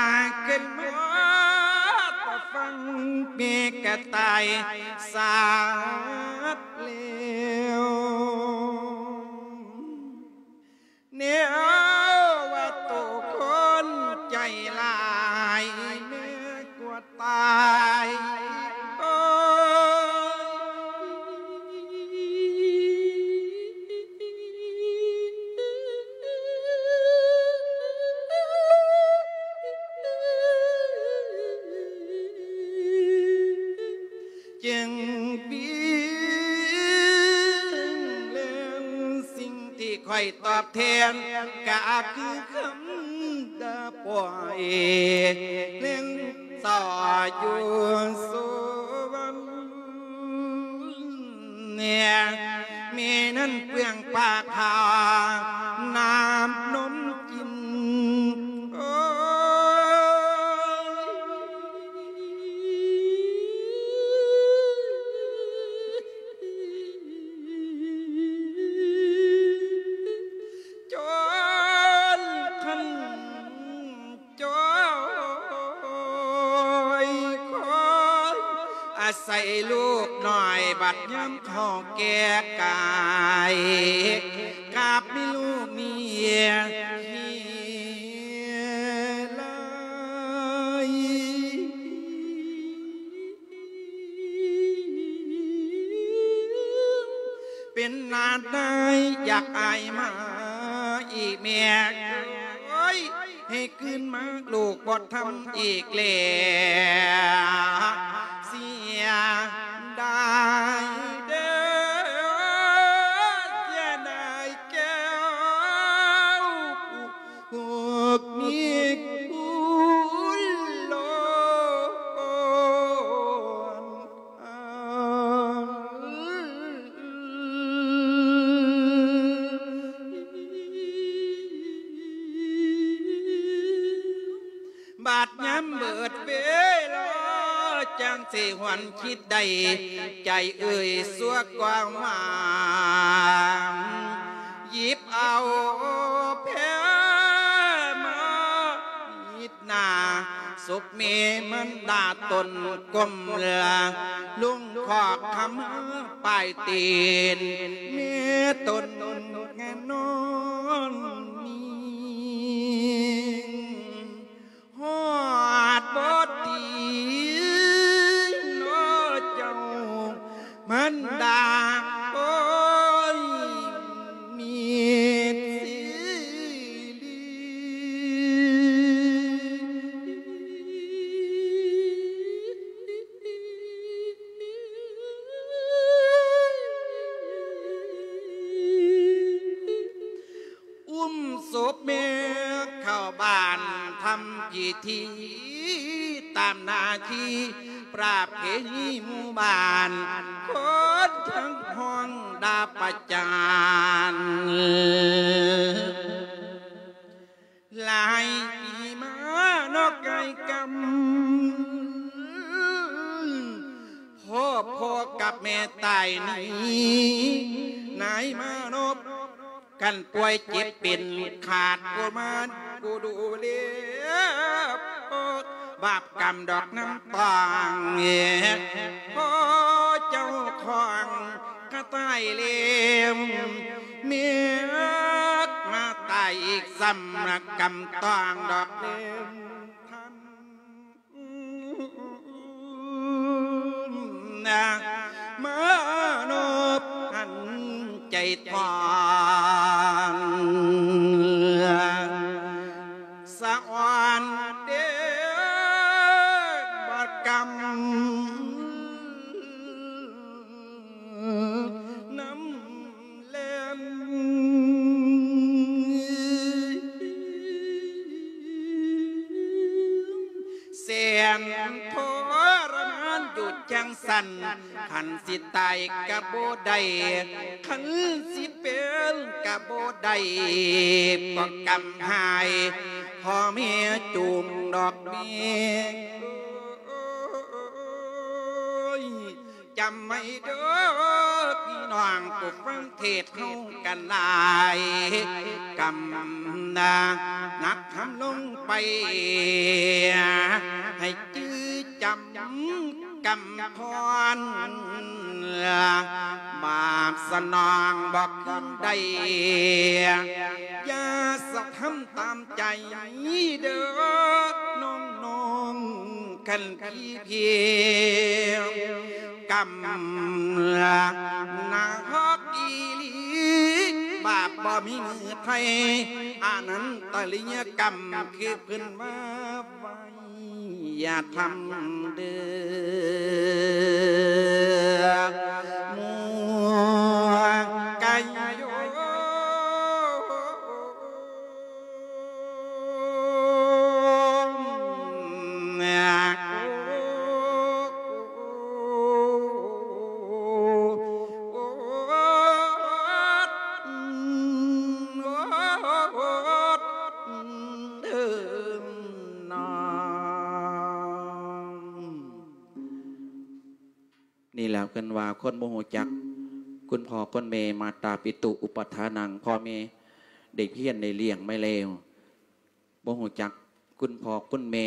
ຂຶ້ນມາ ຕາຟັງເມກະຕາຍສາດແລ້ວ ແນວວ່າໂຕຄົນໃຈຫຼາຍ ແມ່ກວ່າຕາຍ ໂອ້ຍ ຈຶ່ງປີເລື່ອງ ສິ່ງທີ່ຂ້ອຍຕອບແທນ ກະຄືຄຳດາປ່ອຍ ເລື່ອງຕໍ່ຢູ່ສວນ ແມ່ ແມ່ນັ້ນເປືອງປາກຫາ ນ້ຳນົມກິນ ໂອ້ຍ ຈົນຄັນ ຈອຍຄອຍ ອາໄສລູກນ້ອຍ ບັດຍາມເຂົາແກ່ກາຍ ກັບມີລູກເມຍທີ່ຫຼາຍ ເປັນນາດນາຍຢາກອາຍມາອີກແມ່ເອີຍ ໃຫ້ຄືນມາລູກບໍ່ທຳອີກແລ້ວ ເສຍດາຍເດີ້ ເສຍດາຍແກ້ວ ພວກມີຄຸນຫຼອນ ບາດຍາມເບີດເວລາ ຈັ່ງຊິຫວນຄິດໄດ້ ໃຈເອີຍຊົ່ວກວ່າຫວານ ຫຍິບເອົາແພມາ ມິດໜ້າສົບເມມັນດາຕົນກົ້ມລາ ລຸງຂອກຄຳປາຍຕີນ ເມຕົນແງນອນມີ ຮອດບໍ່ຕີນເນາະເຈົ້າ ມັນດາໂອ້ຍ ມີດສີລີ. ທີ່ຕາມໜ້າທີ່ປະເພນີໝູ່ບ້ານ ຄົນທັງຫ້ອງດາປະຈານ ຫຼາຍປີມາເນາະ ກາຍກຳ ພໍ່ ພໍ່ກັບແມ່ຕາຍໜີ ນາຍມານົບ ຄັນປ່ວຍເຈັບເປັນ ຂາດຜູ້ມານຜູ້ດູແລ ບາບກຳດອກນ້ຳຕາງ ພໍ່ເຈົ້າຂອງກະຕາຍແລ້ວ ແມ່ມາຕາຍອີກຊ້ຳ ກຳຕາງດອກເລີນທັນ ມານົບຫັນໃຈທອນ ສະອອນເດ ບາດກຳ ນ້ຳແລ່ນ ແສນທໍລະມານຢູ່ຈັ່ງຊັ້ນ ຄັນຊິຕາຍກະບໍ່ໄດ້ ຄັນຊິເປັນກະບໍ່ໄດ້ ເພາະກຳຫາຍ ພໍ່ແມ່ຈູງດອກແມ່ ໂອ້ຍ ຈຳໄວ້ເດີພີ່ນ້ອງ ຜູ້ຟັງເທດເຮົາກັນຫຼາຍ ກຳນາໜັກທຳລົງໄປ ໃຫ້ຈື່ຈຳກຳພອນ ບາບສະໜອງບໍ່ຄືນໄດ້ ຢ່າສະທຳຕາມໃຈເດີນ້ອງໆ ຄັນ ທີ່ເພຍ ກຳນາຮອກອີຫຼີ ບາບບໍ່ມີມືໄທ ອານັນຕະລິຍະກຳ ຄືເພິ່ນວ່າໄວ້ ຢ່າທຳເດີ ໝູ່ກາຍໂຍ ນີ້ແຫຼະ ເພິ່ນວ່າຄົນບໍ່ຮູ້ຈັກຄຸນພໍ່ຄຸນແມ່ ມາຕາປິຕຸອຸປະທານັງ ພໍ່ແມ່ໄດ້ພຽນໄດ້ລ້ຽງມາແລ້ວ ບໍ່ຮູ້ຈັກຄຸນພໍ່ຄຸນແມ່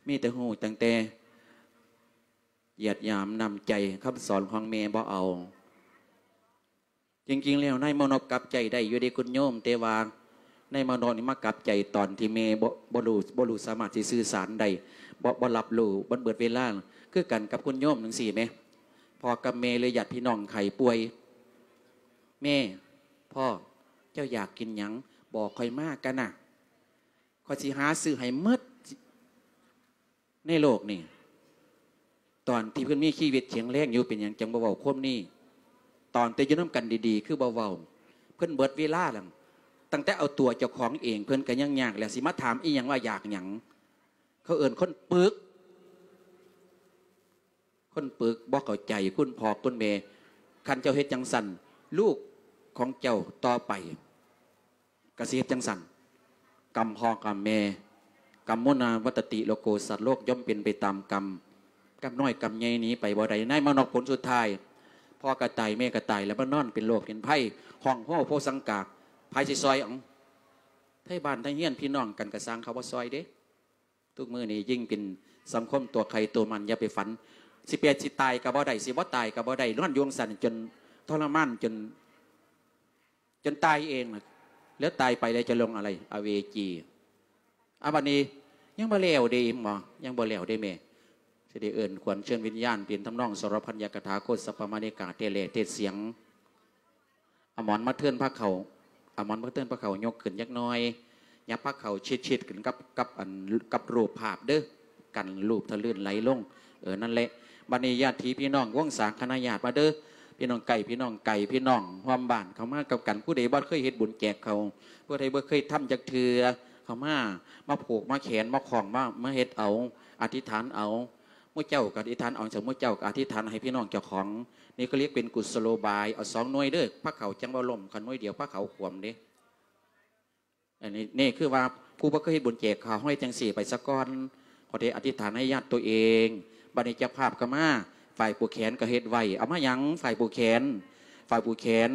ມີແຕ່ຮູ້ຕັ້ງແຕ່ຢຽດຫຍາມນ້ຳໃຈ ຄຳສອນຂອງແມ່ບໍ່ເອົາ. ຈິງໆແລ້ວນາຍມານົບກັບໃຈໄດ້ຢູ່ເດ້ຄຸນໂຍມ ແຕ່ວ່ານາຍມານົບນີ້ມາກັບໃຈຕອນທີ່ແມ່ບໍ່ ບໍ່ຮູ້ ບໍ່ຮູ້ສາມາດຊິສື່ສານໄດ້ ບໍ່ ບໍ່ຮັບຮູ້ ມັນເບິດເວລາ ຄືກັນກັບຄຸນໂຍມຈັ່ງຊີ້ແໝ ພໍ່ກັບແມ່ ຫຼື ຍາດພີ່ນ້ອງໄຂ້ປ່ວຍ ແມ່ ພໍ່ ເຈົ້າຢາກກິນຫຍັງ? ບອກຂ້ອຍມາກະນະ ຂ້ອຍຊິຫາຊື້ໃຫ້ໝົດ ໃນໂລກນີ້ ຕອນທີ່ເພິ່ນມີຊີວິດແຂງແຮງຢູ່ ເປັນຫຍັງຈັ່ງບໍ່ເວົ້າຄວາມນີ້? ຕອນແຕ່ຢູ່ນຳກັນດີໆ ຄືບໍ່ເວົ້າ? ເພິ່ນເບິດເວລາແລ້ວ ຕັ້ງແຕ່ເອົາຕົວເຈົ້າຂອງເອງ ເພິ່ນກະຍັງຍາກແລ້ວ ຊິມາຖາມອີ່ຫຍັງວ່າຢາກຫຍັງ? ເຂົາເອີ້ນຄົນປຶກ ຄົນປຶກບໍ່ເຂົ້າໃຈຄຸນພໍ່ຄຸນແມ່. ຄັນເຈົ້າເຮັດຈັ່ງຊັ້ນ ລູກຂອງເຈົ້າຕໍ່ໄປ ກະຊິເຮັດຈັ່ງຊັ້ນ. ກຳພໍ່ກຳແມ່ ກຳມຸນາວັດຕະຕິໂລໂກ ສັດໂລກຍ່ອມເປັນໄປຕາມກຳ. ກຳນ້ອຍກຳໃຫຍ່ໜີໄປບໍ່ໄດ້. ນາຍມານົບ ຜົນສຸດທ້າຍ ພໍ່ກະຕາຍແມ່ກະຕາຍ ແລ້ວມານອນເປັນໂລກເປັນໄພ ຮ້ອງໂຮໂພສັງກາ ໃຜຊິຊ່ອຍເອົາ? ໄທບ້ານໄທເຮືອນ ພີ່ນ້ອງກັນກະຊ່າງ ເຂົາບໍ່ຊ່ອຍເດ້. ທຸກມື້ນີ້ຍິ່ງເປັນສັງຄົມຕົວໃຄຕົວມັນ ຢ່າໄປຝັນ ຊິເປັນ ຊິຕາຍກະບໍ່ໄດ້ ຊິບໍ່ຕາຍກະບໍ່ໄດ້ ນອນຢູ່ຈັ່ງຊັ້ນຈົນທໍລະມານ ຈົນ ຈົນຕາຍເອງ ແລ້ວຕາຍໄປແລ້ວຈະລົງອະໄລ? ອະເວຈີ. ອາ ບັດນີ້ຍັງບໍ່ແລ້ວເດ້ ເຫັນບໍ່? ຍັງບໍ່ແລ້ວເດ້ແມ່. ຊິໄດ້ເອີ້ນຂວັນເຊີນວິນຍານ ເປັນທຳນອງສອລະພັນຍະກະຖາ ໂຄດສັບປະມານິກາ ເທດແລ່ເທດສຽງ. ອາໝອນມາເທີນພາເຂົ້າ ອາໝອນມາເທີນພາເຂົ້າ ຍົກຂຶ້ນຈັກໜ້ອຍ ຫຍັບພາເຂົ້າຊິດໆຂຶ້ນກັບ ກັບອັນ ກັບຮູບພາບເດີ ກັນຮູບທະລື່ນໄຫຼລົງ. ເອີ ນັ້ນແຫຼະ. ບັດນີ້ຍາດພີ່ພີ່ນ້ອງວົງສາຄະນະຍາດມາເດີ ພີ່ນ້ອງໃກ້ ພີ່ນ້ອງໄກ ພີ່ນ້ອງຮ່ວມບ້ານ ເຂົ້າມາກັບກັນ. ຜູ້ໃດບໍ່ເຄີຍເຮັດບຸນແຈກເຂົ້າ ຜູ້ໃດບໍ່ເຄີຍທຳຈັກເທື່ອ ເຂົ້າມາ ມາຜູກ ມາແຂນ ມາຂ້ອງ ມາ ມາເຮັດເອົາ ອະທິຖານເອົາ. ໝູ່ເຈົ້າກໍອະທິຖານເອົາ ເຈົ້າ ໝູ່ເຈົ້າກໍອະທິຖານໃຫ້ພີ່ນ້ອງເຈົ້າຂອງ. ນີ້ກໍລຽກເປັນກຸສໂລບາຍ. ເອົາສອງໜ່ວຍເດີ້ ພາເຂົ້າຈັ່ງບໍ່ລົ້ມ, ຄັນໜ່ວຍດຽວພາເຂົ້າຂວມເດ້. ອັນນີ້ ນີ້ຄືວ່າຜູ້ບໍ່ເຄີຍເຮັດບຸນແຈກເຂົ້າ ເຮົາເຮັດຈັ່ງຊີ້ໄປສາກ່ອນ. ເຮົາໄດ້ອະທິຖານໃຫ້ຍາດຕົວເອງ, ບາດນີ້ເຈົ້າພາບກໍມາ, ຝ່າຍຜູກແຂນກໍເຮັດໄວ້. ເອົາມາຫຍັງ? ຝ່າຍຜູກແຂນ, ຝ່າຍຜູກແຂນ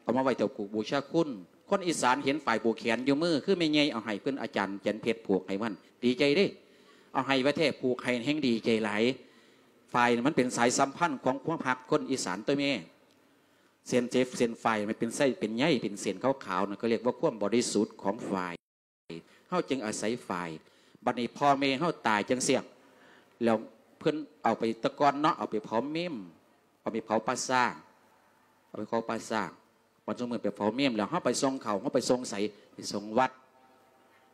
ເອົາມາໄວ້ເຈົ້າປູກບູຊາຄຸນ. ຄົນອີສານເຫັນຝ່າຍຜູກແຂນຢູ່ມື ຄືແມ່ໃຫຍ່ເອົາໃຫ້ເພິ່ນ ອາຈານແຈນເພັດຜູກໃຫ້ມັນ ດີໃຈເດ້. ເອົາໃຫ້ວ່າແທ້ ຜູກໃຫ້ແຮ່ງດີໃຈຫຼາຍ. ຝ້າຍມັນເປັນສາຍສຳພັນຂອງຄວາມຮັກຄົນອີສານຕົວແມ່. ເສັ້ນ ເສັ້ນຝ້າຍມັນເປັນເສັ້ນ ເປັນໃຍ ເປັນເສັ້ນຂາວໆ ນັ້ນກໍລຽກວ່າຄວາມບໍລິສຸດຂອງຝ້າຍ. ເຮົາຈຶ່ງອາໄສຝ້າຍ. ບັດນີ້ພໍ່ແມ່ເຮົາຕາຍຈັ່ງຊີ້ ແລ້ວເພິ່ນເອົາໄປ ແຕ່ກ່ອນເນາະ ເອົາໄປເຜົາເມມ, ເອົາໄປເຜົາປ່າຊ້າ, ເອົາໄປເຜົາປ່າຊ້າ. ບັດຊຸມື້ໄປເຜົາເມມແລ້ວ ເຮົາໄປສົ່ງເຂົ້າ ເຮົາໄປສົ່ງໃສ? ໄປສົ່ງວັດ.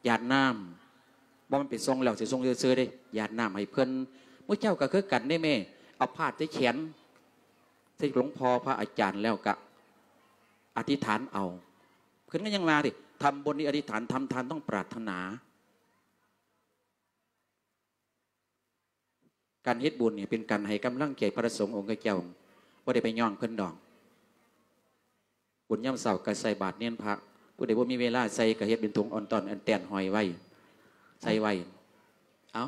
ຢາດນ້ຳ. ບໍ່ແມ່ນໄປສົ່ງແລ້ວຊິສົ່ງຊື່ໆເດ້, ຢາດນ້ຳໃຫ້ເພິ່ນ. ໝູ່ເຈົ້າກໍຄືກັນເດ້ແມ່, ເອົາພາດໃສ່ແຂນ ໃສ່ຫຼວງພໍ່ພະອາຈານແລ້ວກະອະທິຖານເອົາ. ເພິ່ນກໍຍັງວ່າເດ້, ທຳບຸນນີ້ອະທິຖານ, ທຳທານຕ້ອງປາດຖະໜາ. ການເຮັດບຸນນີ້ເປັນການໃຫ້ກຳລັງໃຈພະສົງອົງຄະເຈົ້າ, ບໍ່ໄດ້ໄປຍ້ອງເພິ່ນດອກ. ບຸນຍາມເຊົ້າກໍໃສ່ບາດເນນພະ, ຜູ້ໃດບໍ່ມີເວລາໃສ່ກໍເຮັດເປັນຖົງອ່ອນຕອນອັນແຕນຫ້ອຍໄວ້, ໃສ່ໄວ້. ເອົ້າ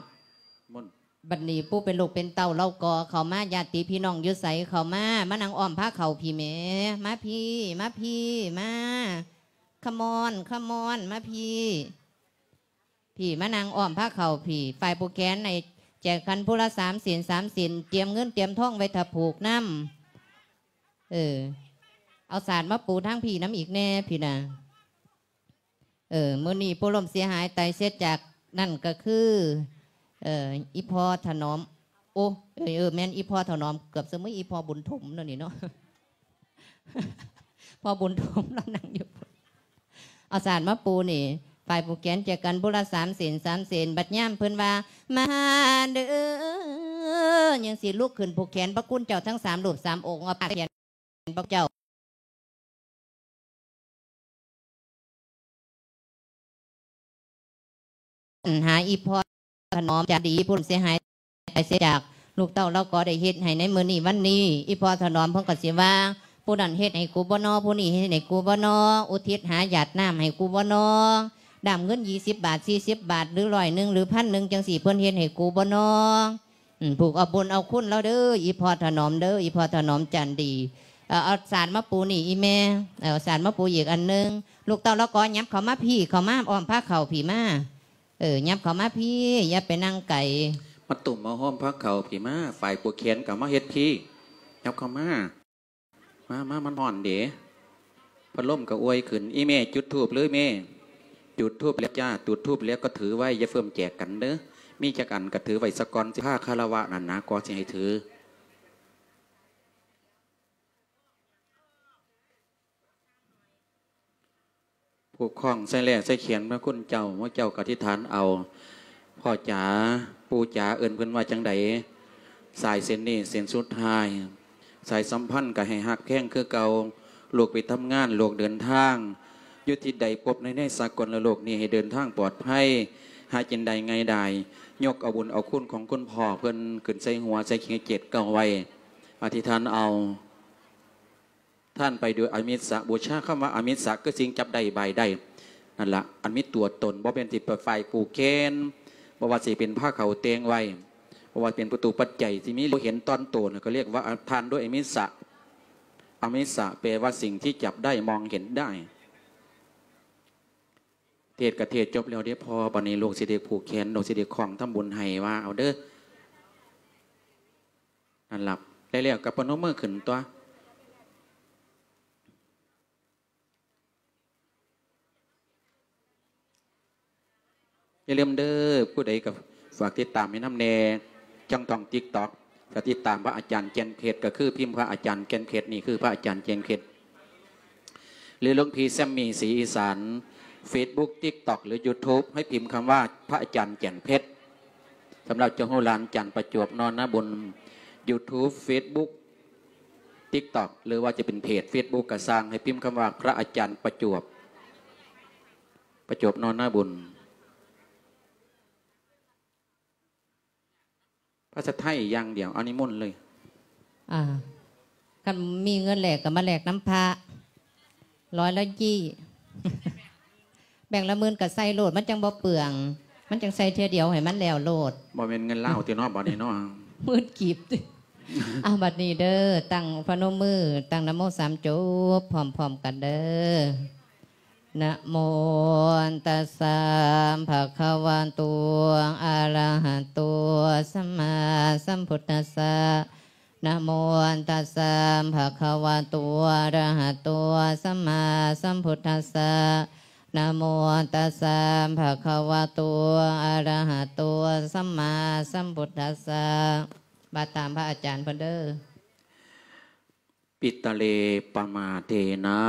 ມົນ. ບັດນີ້ຜູ້ເປັນລູກເປັນເຕົ້າລາວກໍເຂົ້າມາ, ຍາດຕິພີ່ນ້ອງຢູ່ໃສເຂົ້າມາ, ມານັ່ງອ້ອມພາເຂົ້າພີ້ແໝ່, ມາພີ້, ມາພີ້, ມາ. Come on, come on, ມາພີ້. ພີ້ ມານັ່ງອ້ອມພາເຂົ້າພີ້. ຝ່າຍຜູກແຂນໃຫ້ແຈກກັນຜູ້ລະສາມເສັ້ນ ສາມເສັ້ນ, ຕຽມເງິນຕຽມທອງໄວ້ຖ້າຜູກນຳ. ເອີ ເອົາສາດມາປູທາງພີ້ນຳອີກແດ່ພີ້ນະ. ເອີ ມື້ນີ້ຜູ້ລົ້ມເສຍຫາຍຕາຍເສຍຈາກນັ້ນກໍຄື ເອີ ອີ່ພໍ່ຖະໜອມ. ໂອ້ ເອີ ເອີ ແມ່ນອີ່ພໍ່ຖະໜອມ, ເກືອບສະເໝີອີ່ພໍ່ບຸນຖົມເນາະນີ້ເນາະ. ພໍ່ບຸນຖົມລາວນັ່ງຢູ່ພຸ້ນ. ເອົາສາດມາປູນີ້, ຝ່າຍຜູກແຂນແຈກກັນຜູ້ລະສາມເສັ້ນ ສາມເສັ້ນ. ບັດຍາມເພິ່ນວ່າ ມາເດີ ຍັງຊິລຸກຂຶ້ນຜູກແຂນພະຄຸນເຈົ້າທັງສາມຮູບສາມອົງ, ເອົາຜູກແຂນພະເຈົ້າ. ຫາອີ່ພໍ່ຖະໜອມຈານດີ ຜູ້ເສຍຫາຍຕາຍເສຍຈາກລູກເຕົ້າລາວກໍໄດ້ເຮັດໃຫ້ໃນມື້ນີ້ວັນນີ້. ອີ່ພໍ່ຖະໜອມເພິ່ນກໍຊິວ່າ ຜູ້ນັ້ນເຮັດໃຫ້ກູບໍ່ນໍ, ຜູ້ນີ້ເຮັດໃຫ້ກູບໍ່ນໍ, ອຸທິດຫາຢາດນ້ຳໃຫ້ກູບໍ່ນໍ, ດ້າມເງິນຊາວບາດ ສີ່ສິບບາດ ຫຼື ຮ້ອຍໜຶ່ງ ຫຼື ພັນໜຶ່ງ ຈັ່ງຊີ້ ເພິ່ນເຮັດໃຫ້ກູບໍ່ນໍ? ອືມ ຜູກເອົາບຸນເອົາຄຸນລາວເດີ ອີ່ພໍ່ຖະໜອມເດີ ອີ່ພໍ່ຖະໜອມຈັນດີ. ເອີ ເອົາສາດມາປູນີ້ອີ່ແມ່, ເອົາສາດມາປູອີກອັນໜຶ່ງ. ລູກເຕົ້າລາວກໍຫຍັບເຂົ້າມາພີ້ ເຂົ້າມາອ້ອມພາເຂົ້າພີ້ມາ. ເອີ ຫຍັບເຂົ້າມາພີ້ ຢ່າໄປນັ່ງໄກ. ມາຕຸ້ມມາໂຮມພາເຂົ້າພີ້ມາ, ຝ້າຍຜູກແຂນກໍມາເຮັດພີ້ ຫຍັບເຂົ້າມາ. ມາ ມາ ມັນຮ້ອນເດ, ພັດລົມກໍອວຍຂຶ້ນ. ອີ່ແມ່ຈຸດທູບເລີຍແມ່. ຈຸດທູບແລ້ວຈ້າ, ຈຸດທູບແລ້ວກໍຖືໄວ້, ຢ່າເຟີ້ມແຈກກັນເດີ. ມີຈັກອັນກໍຖືໄວ້ສາກ່ອນ, ຊິພາຄາລະວະນັ້ນນະ ກໍຊິໃຫ້ຖື. ຜູກຂ້ອງໃສ່ແຫຼ້ໃສ່ແຂນພະຄຸນເຈົ້າ, ໝູ່ເຈົ້າກໍອະທິຖານເອົາ. ພໍ່ຈ໋າ ປູ່ຈ໋າ ເອີ້ນເພິ່ນວ່າຈັ່ງໃດ? ສາຍເສັ້ນນີ້ເສັ້ນສຸດທ້າຍ, ສາຍສຳພັນກໍໃຫ້ຮັກແພງຄືເກົ່າ. ລູກໄປທຳງານ, ລູກເດີນທາງ, ຢູ່ທີ່ໃດພົບໃນ ໃນສາກົນລະໂລກນີ້ ໃຫ້ເດີນທາງປອດໄພ, ຫາກິນໄດ້ງ່າຍດາຍ. ຍົກເອົາບຸນເອົາຄຸນຂອງຄຸນພໍ່ເພິ່ນຂຶ້ນໃສ່ຫົວ, ໃສ່ເຂງເຈັດເກົ້າໄວ້, ອະທິຖານເອົາ. ທ່ານໄປໂດຍອາມິດສະບູຊາ. ຄຳວ່າອາມິດສະ ຄືສິ່ງຈັບໄດ້ບາຍໄດ້ນັ້ນລະ, ອັນມີຕົວຕົນ, ບໍ່ແມ່ນທີ່ໄປຝ້າຍຜູກແຂນ, ບໍ່ວ່າຊິເປັນພາເຂົ້າແຕ່ງໄວ້, ບໍ່ວ່າເປັນປະຕູປັດໄຈທີ່ມີ ບໍ່ເຫັນຕອນໂຕນະ ກໍລຽກວ່າທານໂດຍອາມິດສະ. ອາມິດສະແປວ່າສິ່ງທີ່ຈັບໄດ້, ມອງເຫັນໄດ້. ເທດກໍເທດຈົບແລ້ວເດ້ພໍ່, ບັດນີ້ລູກຊິໄດ້ຜູກແຂນ, ລູກຊິໄດ້ຄ້ອງທຳບຸນໃຫ້, ວ່າເອົາເດີ້. ນັ້ນລະ ໄດ້ແລ້ວກໍປະນົມມືຂຶ້ນຕົວະ. ຢ່າລືມເດີ້, ຜູ້ໃດກໍຝາກຕິດຕາມໃຫ້ນຳແດ່, ຊ່ອງທາງ TikTok ກໍຕິດຕາມພະອາຈານແກ່ນເພັດ, ກໍຄືພິມພະອາຈານແກ່ນເພັດ, ນີ້ຄືພະອາຈານແກ່ນເພັດ. ຫຼື ຫຼວງພີ່ແຊມມີສີອີສານ, Facebook TikTok ຫຼື YouTube ໃຫ້ພິມຄຳວ່າພະອາຈານແກ່ນເພັດ. ສຳລັບເຈົ້າຮູ້ຫຼານຈັນປະຈວບ ນອນນາບຸນ, YouTube, Facebook, TikTok ຫຼືວ່າຈະເປັນເພຈ Facebook ກໍຊ່າງ, ໃຫ້ພິມຄຳວ່າພະອາຈານປະຈວບ, ປະຈວບ ນອນນາບຸນ. ພາສາໄທຢ່າງດຽວ ເອົານິມົນເລີຍ. ອ່າ ຄັນມີເງິນແລກກໍມາແລກນຳພະ ຮ້ອຍລະຈີ້ ແບ່ງລະໝື່ນກໍໃສ່ໂລດ ມັນຈັ່ງບໍ່ເປືອງ ມັນຈັ່ງໃສ່ເທື່ອດຽວໃຫ້ມັນແລ້ວໂລດ. ບໍ່ແມ່ນເງິນລາວຕິເນາະ ບັດນີ້ເນາະ ໝື່ນກີບ. ເອົາ ບັດນີ້ເດີ ຕັ້ງ ພະນົມມື ຕັ້ງນະໂມສາມຈົບ ພ້ອມໆກັນເດີ. ນະໂມຕັດສະ ພະຄະວະໂຕ ອະລະຫະໂຕ ສຳມາສຳພຸດທັດສະ. ນະໂມຕັດສະ ພະຄະວະໂຕ ອະລະຫະໂຕ ສຳມາສຳພຸດທັດສະ. ນະໂມຕັດສະ ພະຄະວະໂຕ ອະລະຫະໂຕ ສຳມາສຳພຸດທັດສະ. ວ່າຕາມພະອາຈານເພິ່ນເດີ. ປິຕະເລ ປະມາເທນະ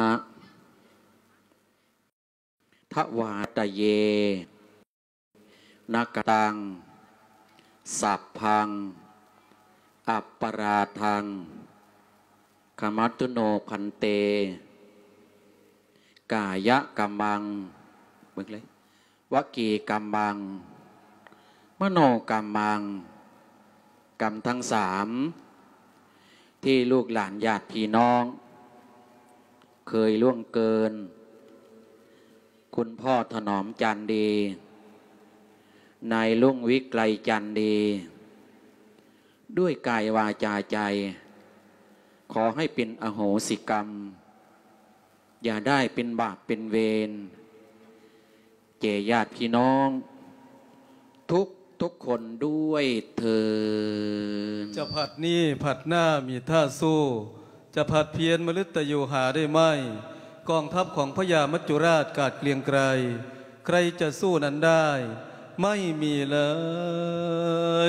ທະວາຕະເຍ ນະກະຕັງ ສັບພັງ ອັບປະລາທັງ ຂະມັດຕຸໂນ ພັນເຕ. ກາຍະກຳມັງ ເບິ່ງເລີຍ ວະຈີກຳມັງ ມະໂນກຳມັງ ກຳທັງສາມ ທີ່ລູກຫຼານຍາດພີ່ນ້ອງເຄີຍລ່ວງເກີນ ຄຸນພໍ່ຖະໜອມຈັນດີ ນາຍລຸງວິໄກລຈັນດີ ດ້ວຍກາຍວາຈາໃຈ ຂໍໃຫ້ເປັນອະໂຫສິກຳ ຢ່າໄດ້ເປັນບາບເປັນເວນ ແກ່ຍາດພີ່ນ້ອງທຸກໆຄົນດ້ວຍເທີ້ນ. ຈະພັດນີ້ພັດໜ້າມີທ່າສູ້ ຈະພັດພຽນມະລຶດຕະຢູ່ຫາໄດ້ໄໝ? ກອງທັບຂອງພະຍາມັດຈຸລາດກາດເກລຽງໄກລ ໃຄຈະສູ້ນັ້ນໄດ້ ໄມ່ມີເລີ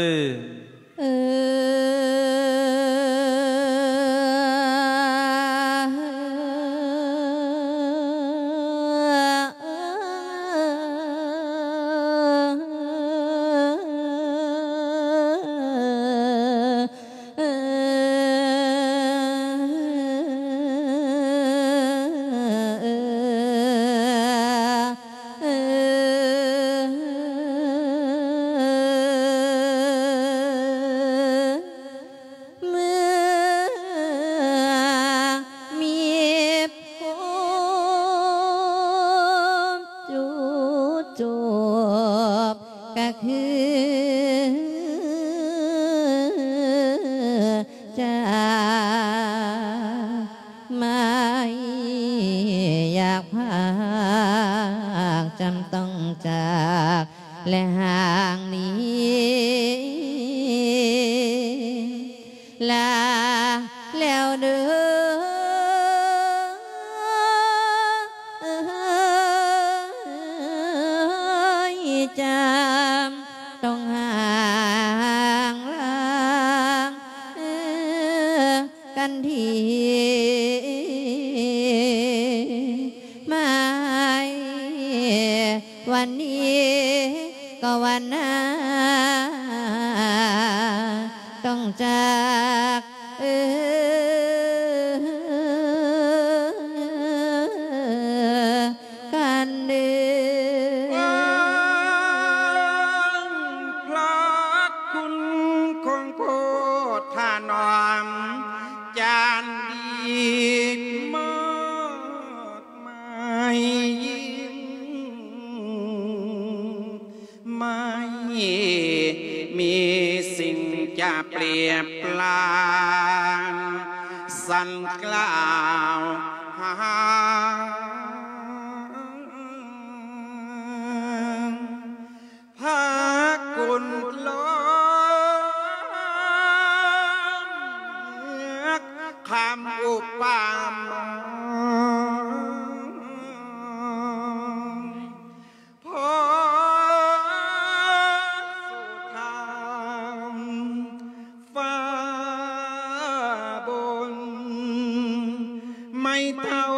ຍ. ເມື່ອມີພົບຈູ່ຈົບ ກະຄືຈາກ ໄມ່ຢາກພາກ ຈຳຕ້ອງຈາກ ແລະຫ່າງໜີ ລາແລ້ວເດີ ຈຳຕ້ອງຫ່າງລາ ກັນທີມາ ວັນນີ້ກໍວັນໜ້າ ຕ້ອງຈາກ ເອີ ກັນເດີ. ພະຄຸນຂອງໂພທະໜອມ ຈັນດີມາກມາຍ ໄມ່ມີສິ່ງຈະເປຍບປານ ສັນກ່າວຫາ ພະຄຸນລ້ອມຄຳອຸປາມາ ພໍ່ສຸທາມຟ້າບົນ ໄມ້ເທົ້າ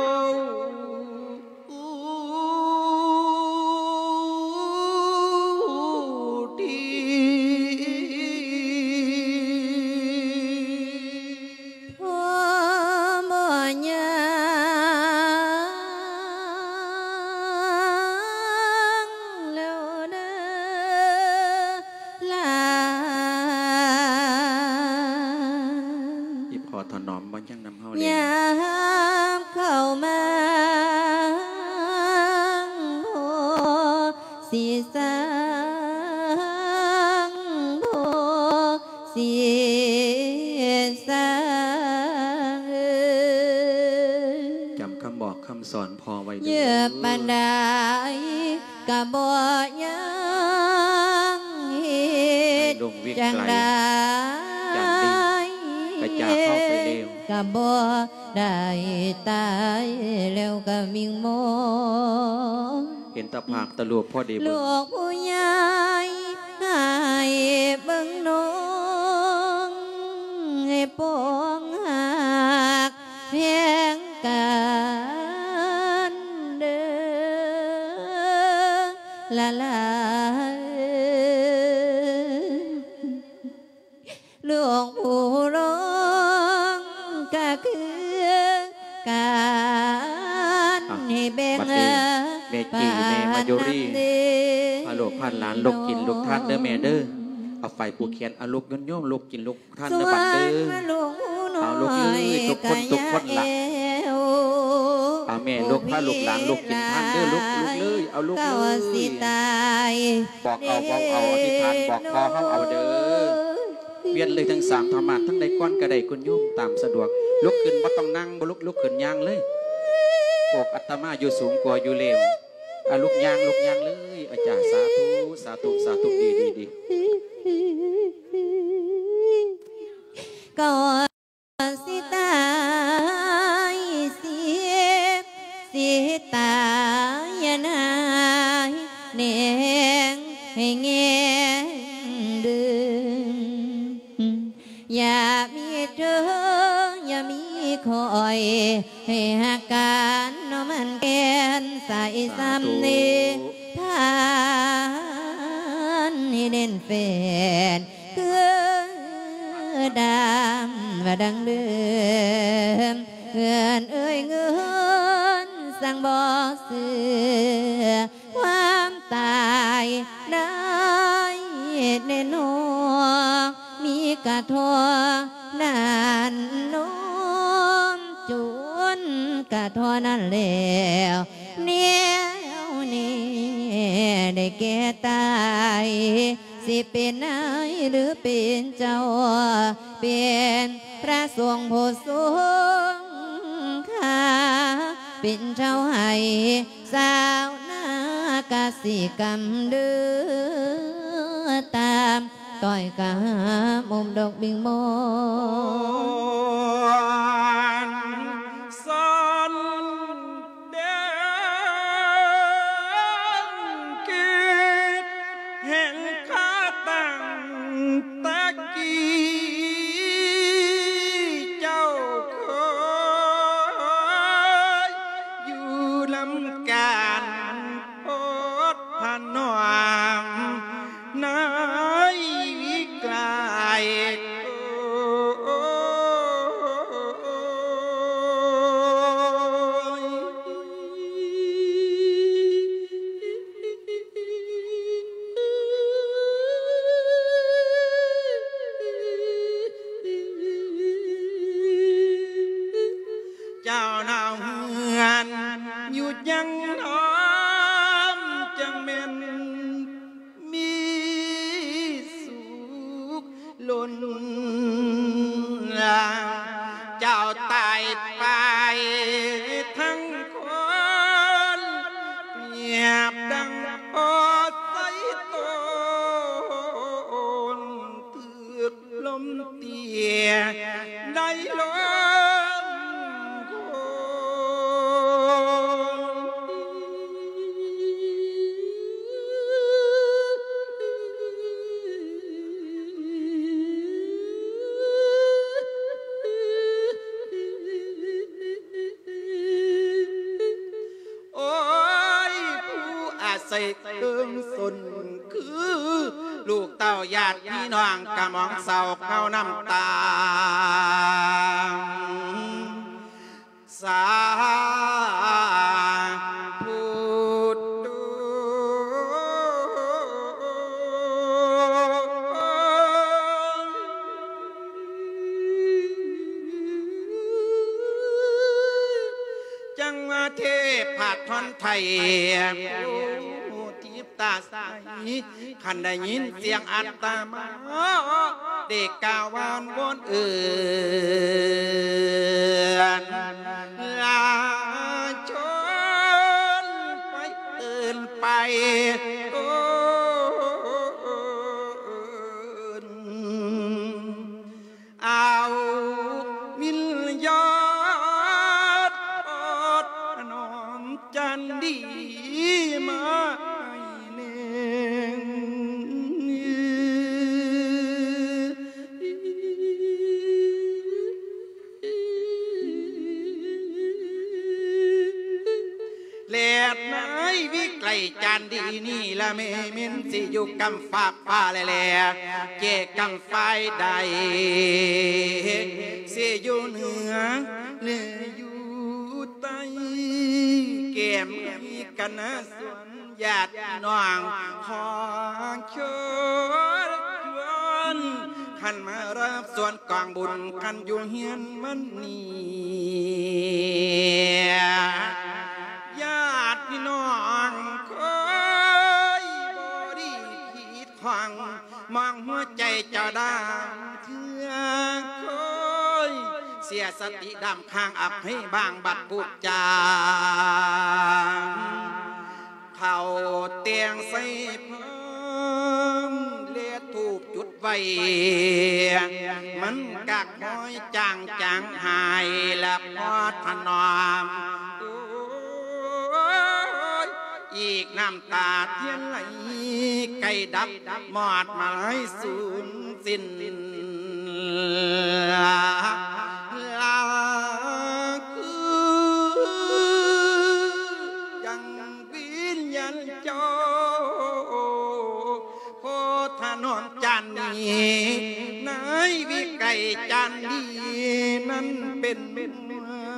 ລາ ບໍ່ຖະໜອມບໍ່ຍັງນຳເຮົາແລ້ວ. ຍາມເຂົ້າມາບໍ່ຊິສັງ ບໍ່ຊິສັງ ຈຳຄຳບອກຄຳສອນພໍ່ໄວ້ເດີ ເຍອະປານໃດ ກະບໍ່ຍັງເຮັດຈັ່ງໃດ ໃຫ້ລຸງວິໄກ ຈານດີ ກະຈາກເຮົາໄປແລ້ວ ກະບໍ່ໄດ້ຕາຍແລ້ວກະວິງວອນ ເຫັນຕາພາກຕາຮູບພໍໄດ້ເບິ່ງ ລູກຜູ້ໃຫຍ່ໃຫ້ເບິ່ງນ້ອງ ໃຫ້ປອງຮັກ ແພງກັນເດີລະລາ ລູກຜູ້ຫຼວງກະຄືກັນ ອ່ະ ໃຫ້ແບ່ງ ບັດນີ້ແມ່ຈີ່ແມ່ມາຍຸຣີ ພາລູກພາຫຼານລຸກກິນລຸກທານເດີແມ່ເດີ ເອົາໄຟຜູກແຂນ ເອົາລູກໂຍມໆ ລຸກກິນລຸກ ທ່ານເດີບັດເດີ ເອົາລູກເອີຍ ທຸກຄົນທຸກຄົນລະ ເອົາແມ່ລູກພາລູກຫຼານລຸກກິນທານເດີ ລູກ ລູກເອີຍ ເອົາລູກເອີຍ ບອກເອົາເວົ້າເອົາ ອະທິຖານບອກພໍ່ເຮົາເອົາເດີ ວຽນເລີຍທັງສາມທຳມາດ ທັງໃດກ່ອນກະໄດ້ ຄຸນໂຍມຕາມສະດວກ ລຸກຂຶ້ນບໍ່ຕ້ອງນັ່ງ ບໍ່ລຸກ ລຸກຂຶ້ນຍ່າງເລີຍ ພວກອາດຕະມາຢູ່ສູງກວ່າຢູ່ແລ້ວ. ອາ ລຸກຍ່າງ ລຸກຍ່າງເລີຍ ອາຈານ ສາທຸ ສາທຸ ສາທຸ ດີ ດີ ດີ ກໍຊິຕາຍຊິ ຊິຕາຍນາຍແນງໃຫ້ແງງດຶງ ຢ່າມີເທີ ຢ່າມີຂ້ອຍ ໃຫ້ຮັກກັນເນາະ ມັນແກ່ນໃສສ່ຳນີ້ ສາທຸ ທ່ານໃຫ້ແໜ້ນແຟ້ນຄືດຳວ່າດັ່ງເດີມ ເງິນເອີຍເງິນ ສັງບໍ່ເຊື່ອ ຄວາມຕາຍໄດ້ແນ່ນອນ ມີກະທໍ່ນັ້ນນອນ ຈົນກະທໍ່ນັ້ນແລ້ວ ແນວນີ້ໄດ້ແກ່ຕາຍ ຊິເປັນນາຍຫຼືເປັນເຈົ້າ ເປັນພະສົງຜູ້ຊົງຄ່າ ເປັນເຈົ້າໃຫ້ ຊາວນາກະສິກຳເດີ ຕາມຕ້ອຍກາມຸມດອກບິງມອນ ສອນແດງ ຄິດເຫັນຄາຕັ້ງ ແຕ່ກີ້ເຈົ້າເຄີຍຢູ່ນຳກັນ ໂພດພະນອມໃນວິໄກ ໂອ້ຍ. ເຈົ້ານາວເຮືອນຢູ່ຈັ່ງນອນ ຈັ່ງແມ່ນມີສຸກລົ້ນລາ ເຈົ້າຕາຍໄປທັງຄົນ ປຽບດັ່ງພໍໃສ່ໂຕນ ຖືກລົມເຕຍໄດ້ລົງໂຄນ ໂອ້ຍ ຜູ້ອາໄສເຄື່ອງຊົນ ຄືລູກເຕົ້າຍາດພີ່ນ້ອງ ກະມອງເສົ້າເງົານ້ຳຕາ ສາທຸໂຕ. ທ່ອນໄທ ໂອ້ ທິບຕາໃສ ຄັນໄດ້ຍິນສຽງອັດຕະມາ ໄດ້ກ່າວວອນວອນເອີ້ນ ລາຊົນໄປເອີ້ນໄປ ເອີ້ນ ເອົາວິນຍານ ທະນອມຈັນດີມາໃຫ້ແດ່ ແລດໃນວິໄກຈັນດີນີ້ລະແມ່ ແມ່ນຊິຢູ່ກຳຟາກຟ້າແລ ແລ ເຈກຳຝ່າຍໃດ ຊິຢູ່ເໜືອ ຫຼື ຢູ່ໃຕ້ ແກ້ມມີກະນະສວນ ຍາດພີ່ນ້ອງ ຂໍເຊີນຊວນ ຄັນມາຮັບສ່ວນກອງບຸນ ຄັນຢູ່ເຮືອນມັນນີ້ ຍາດພີ່ນ້ອງ ເຄີຍບໍ່ດີຜິດຂວາງ ມອງຫົວໃຈເຈົ້າດາງເທື່ອ ເຄີຍເສຍສະຕິດຳຄ້າງ ອັບໃຫ້ບາງບັດພູດຈາງ ເຂົ້າແຕ່ງໃສ່ພານ ແລະ ທູບຈຸດໄວ້ ມັນກະຄ່ອຍຈາງຈາງຫາຍ ແລະ ພໍຖະໜອມ ໂອ້ຍ ອີກນ້ຳຕາທຽນໄຫຼ ໃກ້ດັບມອດມາຍສູນສິ້ນ ລາຄືຈັ່ງວິນຍານເຈົ້າ ພໍຖະໜອມຈັນດີ ໃນວິໄກຈັນດີ ນັ້ນເປັນເມືອ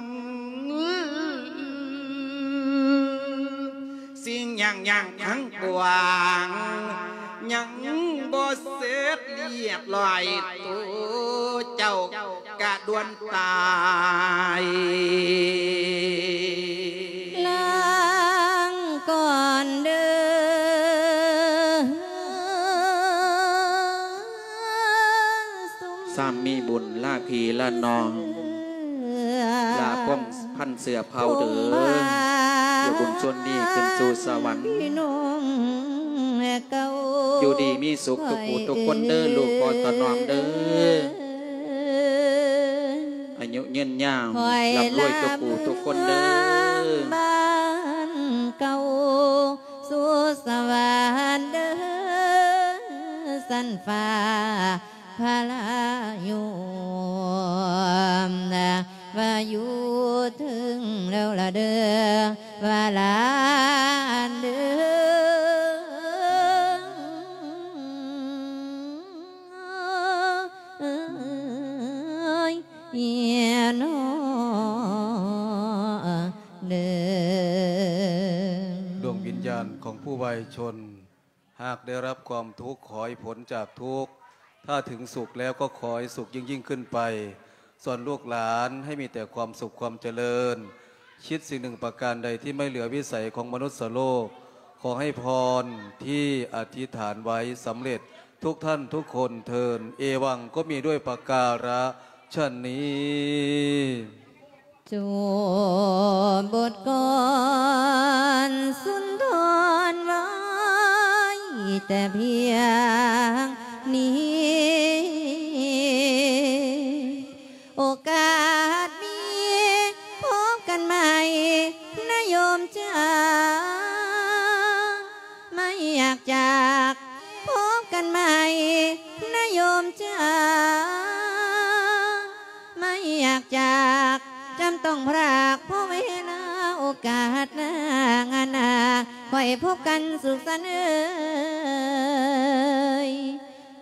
ງ ສິ່ງຫຍັງຫຍັງທັງປວງ ຍັງບໍ່ເສັດລຽບລ້ອຍ ໂຕເຈົ້າກະດ່ວນຕາຍ ລາງກ່ອນເດີ ຊ້ຳມີບຸນລາພີ່ລານ້ອງ ລາພວງພັນເຊື້ອເຜົ່າເດີ ຢູ່ບຸນຊົນນີ້ຂຶ້ນສູ່ສະຫວັນ ຢູ່ດີມີສຸກທຸກຜູ້ທຸກຄົນເດີ ລູກພໍ່ຖະໜອມເດີ ອາຍຸຍືນຍາວ ລ່ຳລວຍທຸກຜູ້ທຸກຄົນເດີ ບ້ານເກົ່າ ສູ່ສະຫວັນເດີ ຊັ້ນຟ້າ ພະລາຢູ່ ວ່າຢູ່ເທິງແລ້ວລະເດີ ວ່າຫຼານເດີ ເອີຍ ເອີຍ ເນາະເດີ. ດວງວິນຍານຂອງຜູ້ວາຍຊົນ ຫາກໄດ້ຮັບຄວາມທຸກ ຂໍໃຫ້ພົ້ນຈາກທຸກ, ຖ້າເຖິງສຸກແລ້ວກໍຂໍໃຫ້ສຸກຍິ່ງໆຂຶ້ນໄປ. ສ່ວນລູກຫຼານໃຫ້ມີແຕ່ຄວາມສຸກຄວາມຈະເລີນ, ຄິດສິ່ງໜຶ່ງປະການໃດທີ່ໄມ່ເຫຼືອວິໄສຂອງມະນຸດສະໂລກ, ຂໍໃຫ້ພອນທີ່ອະທິຖານໄວ້ສຳເລັດທຸກທ່ານທຸກຄົນເທີ້ນ. ເອວັງ ກໍມີດ້ວຍປະກາລະ ຊະນີ້. ຈົບບົດກອນສຸນທອນໄວ້ແຕ່ພຽງນີ້. ໂອກາດມີພົບກັນໃໝ່ນະໂຍມຈ໋າ, ໄມ່ຢາກຈາກ ພົບກັນໃໝ່ນະໂຍມຈ໋າ, ໄມ່ຢາກຈາກ ຈຳຕ້ອງພຣາກ ພໍເວລາໂອກາດໜ້າງານໜ້າ ຄ່ອຍພົບກັນສຸກສັນເອີຍ.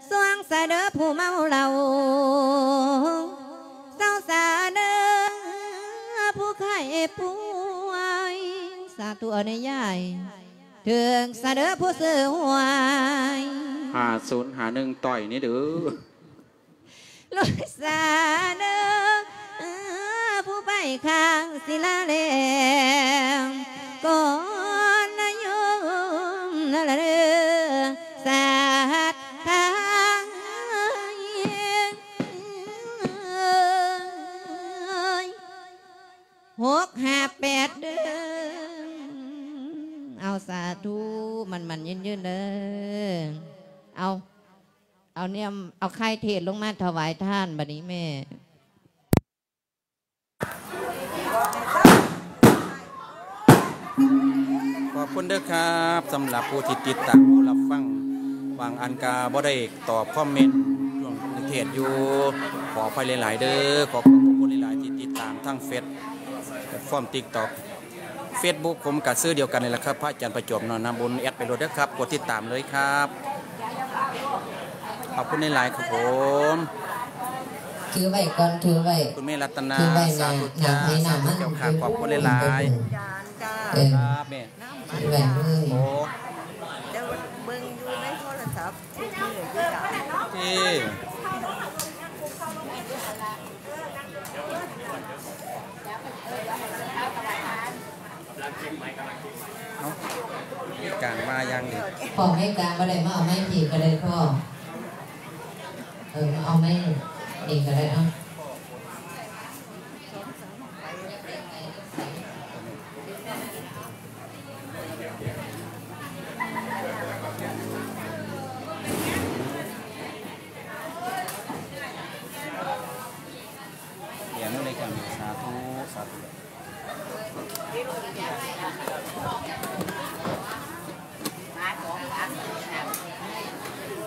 ສວງສາເດີຜູ້ເມົາເຫຼົ້າ ເຊົາສາເດີຜູ້ໄຂ້ປ່ວຍ ສາທຸເອີຍນາຍຍາຍ. ຖືກສາເດີຜູ້ຊື້ຫວຍ ຫ້າສູນຫ້າໜຶ່ງ ຕ່ອຍນີ້ເດີ. ລຸຍສາເດີ ຜູ້ໄປຂ້າງສິລາແລງ ກໍ ຫົກຫ້າແປດເດີ້. ເອົາ ສາທຸ ໝັ້ນໆຍືນໆເດີ້. ເອົາ ເອົາແນມ ເອົາໄຂ່ເທດລົງມາຖວາຍທານບັດນີ້ແມ່. ຂອບຄຸນເດີ້ຄັບ ສຳລັບຜູ້ທີ່ຕິດຕາມ ຜູ້ຮັບຟັງ. ບາງອັນກະບໍ່ໄດ້ຕອບຄອມເມັນຊ່ວງເທດຢູ່ ຂໍອະໄພຫຼາຍໆເດີ້. ຂໍຂອບພະຄຸນຫຼາຍໆທີ່ຕິດຕາມທາງເຟສ ແພລດຟອມຕິກຕັອກ ເຟສບຸກ ຜົມກະຊື່ດຽວກັນນີ້ແຫຼະຄັບ ພະອາຈານປະຈວບ ເນາະ ນາບຸນ. ແອັດໄປໂລດເດີ້ຄັບ ກົດຕິດຕາມເລີຍຄັບ. ຂອບຄຸນຫຼາຍໆຄັບຜົມ. ຖືໄວ້ກ່ອນ ຖືໄວ້ ຄຸນແມ່ລັດຕະນາ ຖືໄວ້ໜ້າ ສາທຸ ໜ້າໃຜໜ້າມັນ ເຈົ້າຂ້າ ຂອບຄຸນຫຼາຍໆ. ເອີ ຄັບແມ່ ຖືໄວ້ເລີຍ. ໂອ້ ແຕ່ວ່າເບິ່ງຢູ່ໃນໂທລະສັບທຸກມື້ຢູ່ຈ້າ. ເອີ ເອົາ ມີການມາຢ່າງດີ. ພໍ່ແມ່ກາງບໍ່ໄດ້ ມາເອົາໄມ້ພີກະໄດ້ພໍ່. ເອີ ມາເອົາໄມ້ນີ້ກະໄດ້ ເອົາ. ສາທຸ ສາທຸ.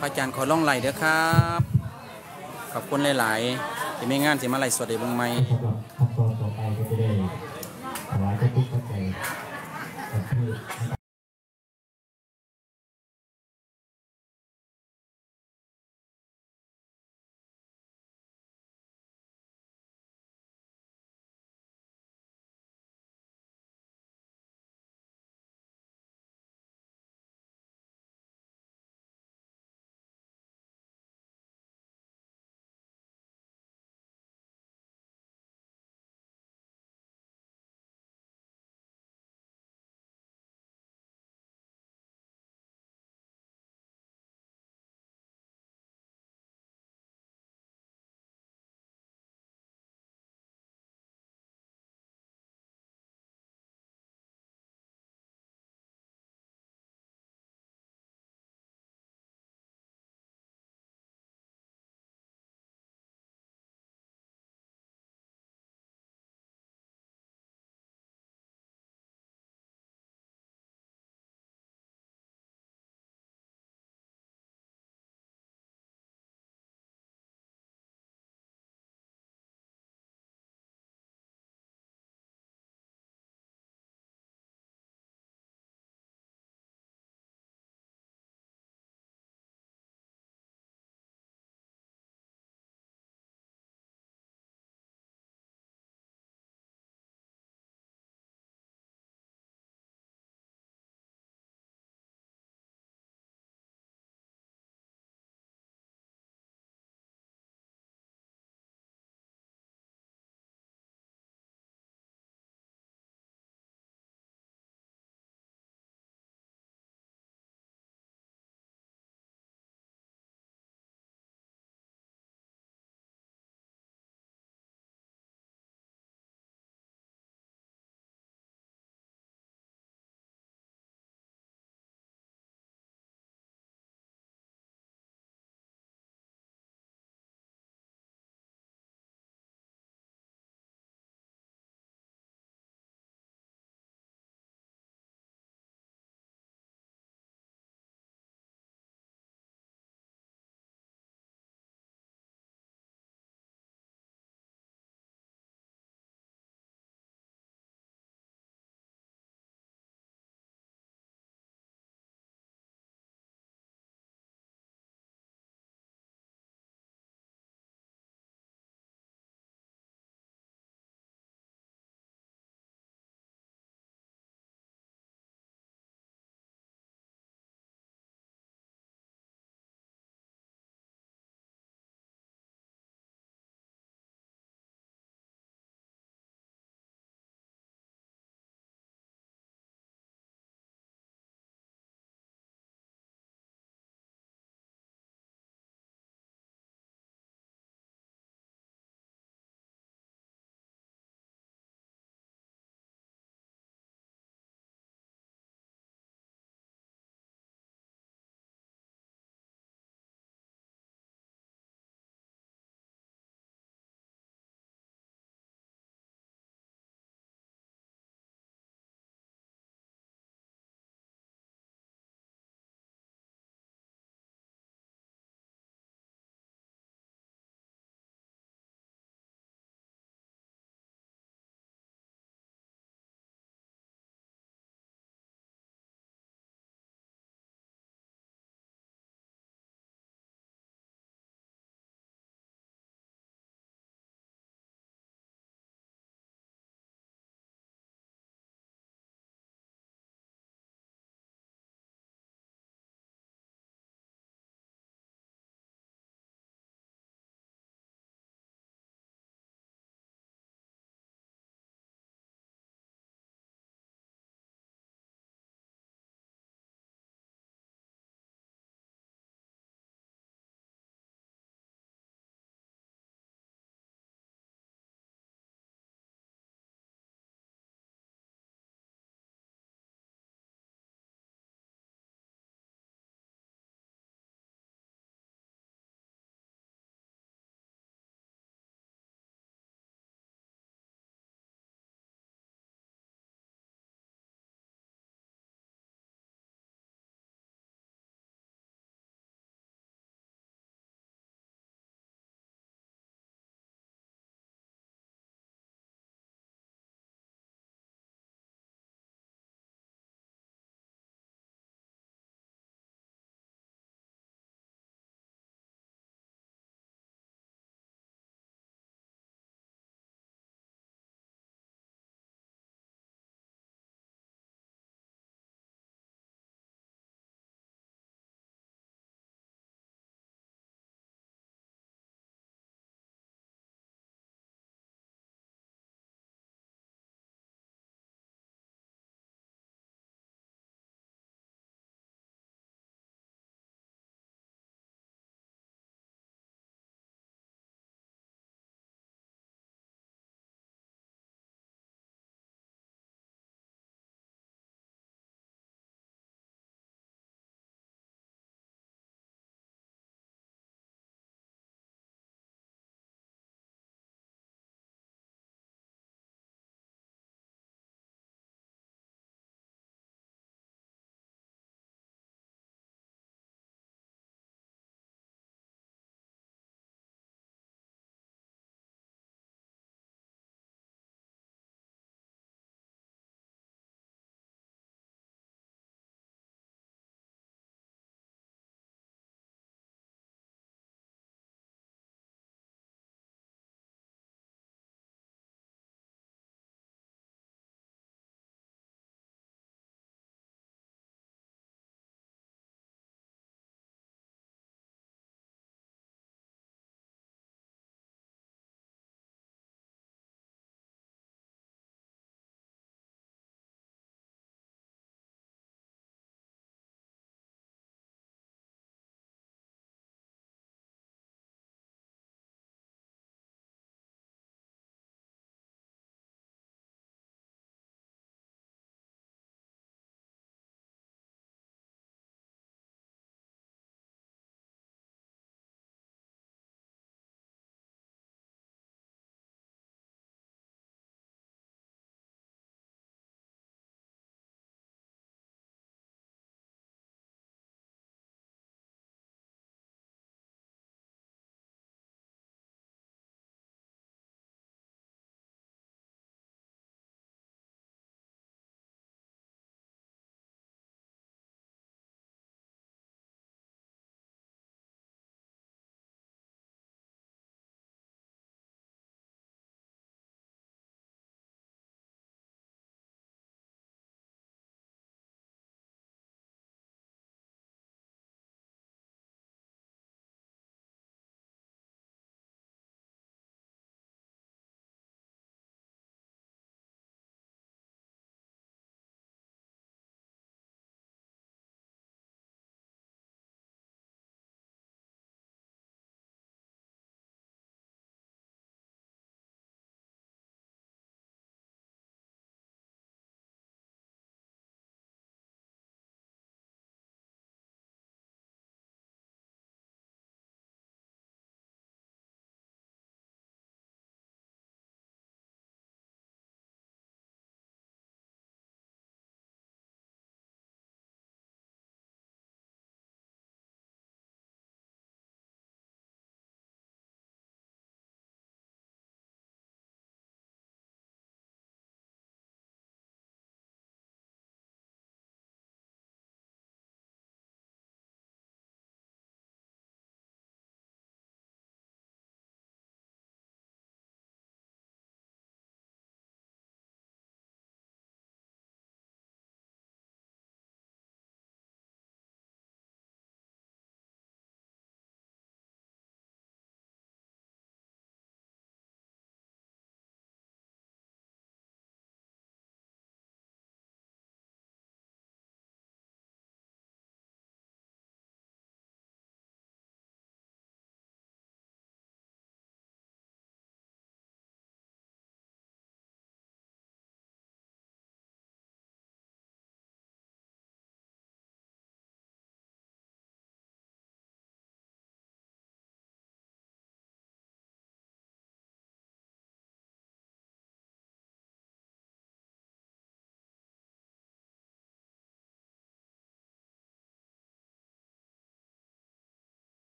ພະອາຈານຂໍລອງໄລເດີ້ຄັບ. ຂອບຄຸນຫຼາຍໆ ທີ່ມີງານຊິມາໄລສົດໃຫ້ເບິ່ງໃໝ່. ສຳລັບຂັ້ນຕອນຕໍ່ໄປກໍຈະໄດ້ຖວາຍພະຄຸນພະໄຈກັບເທດ.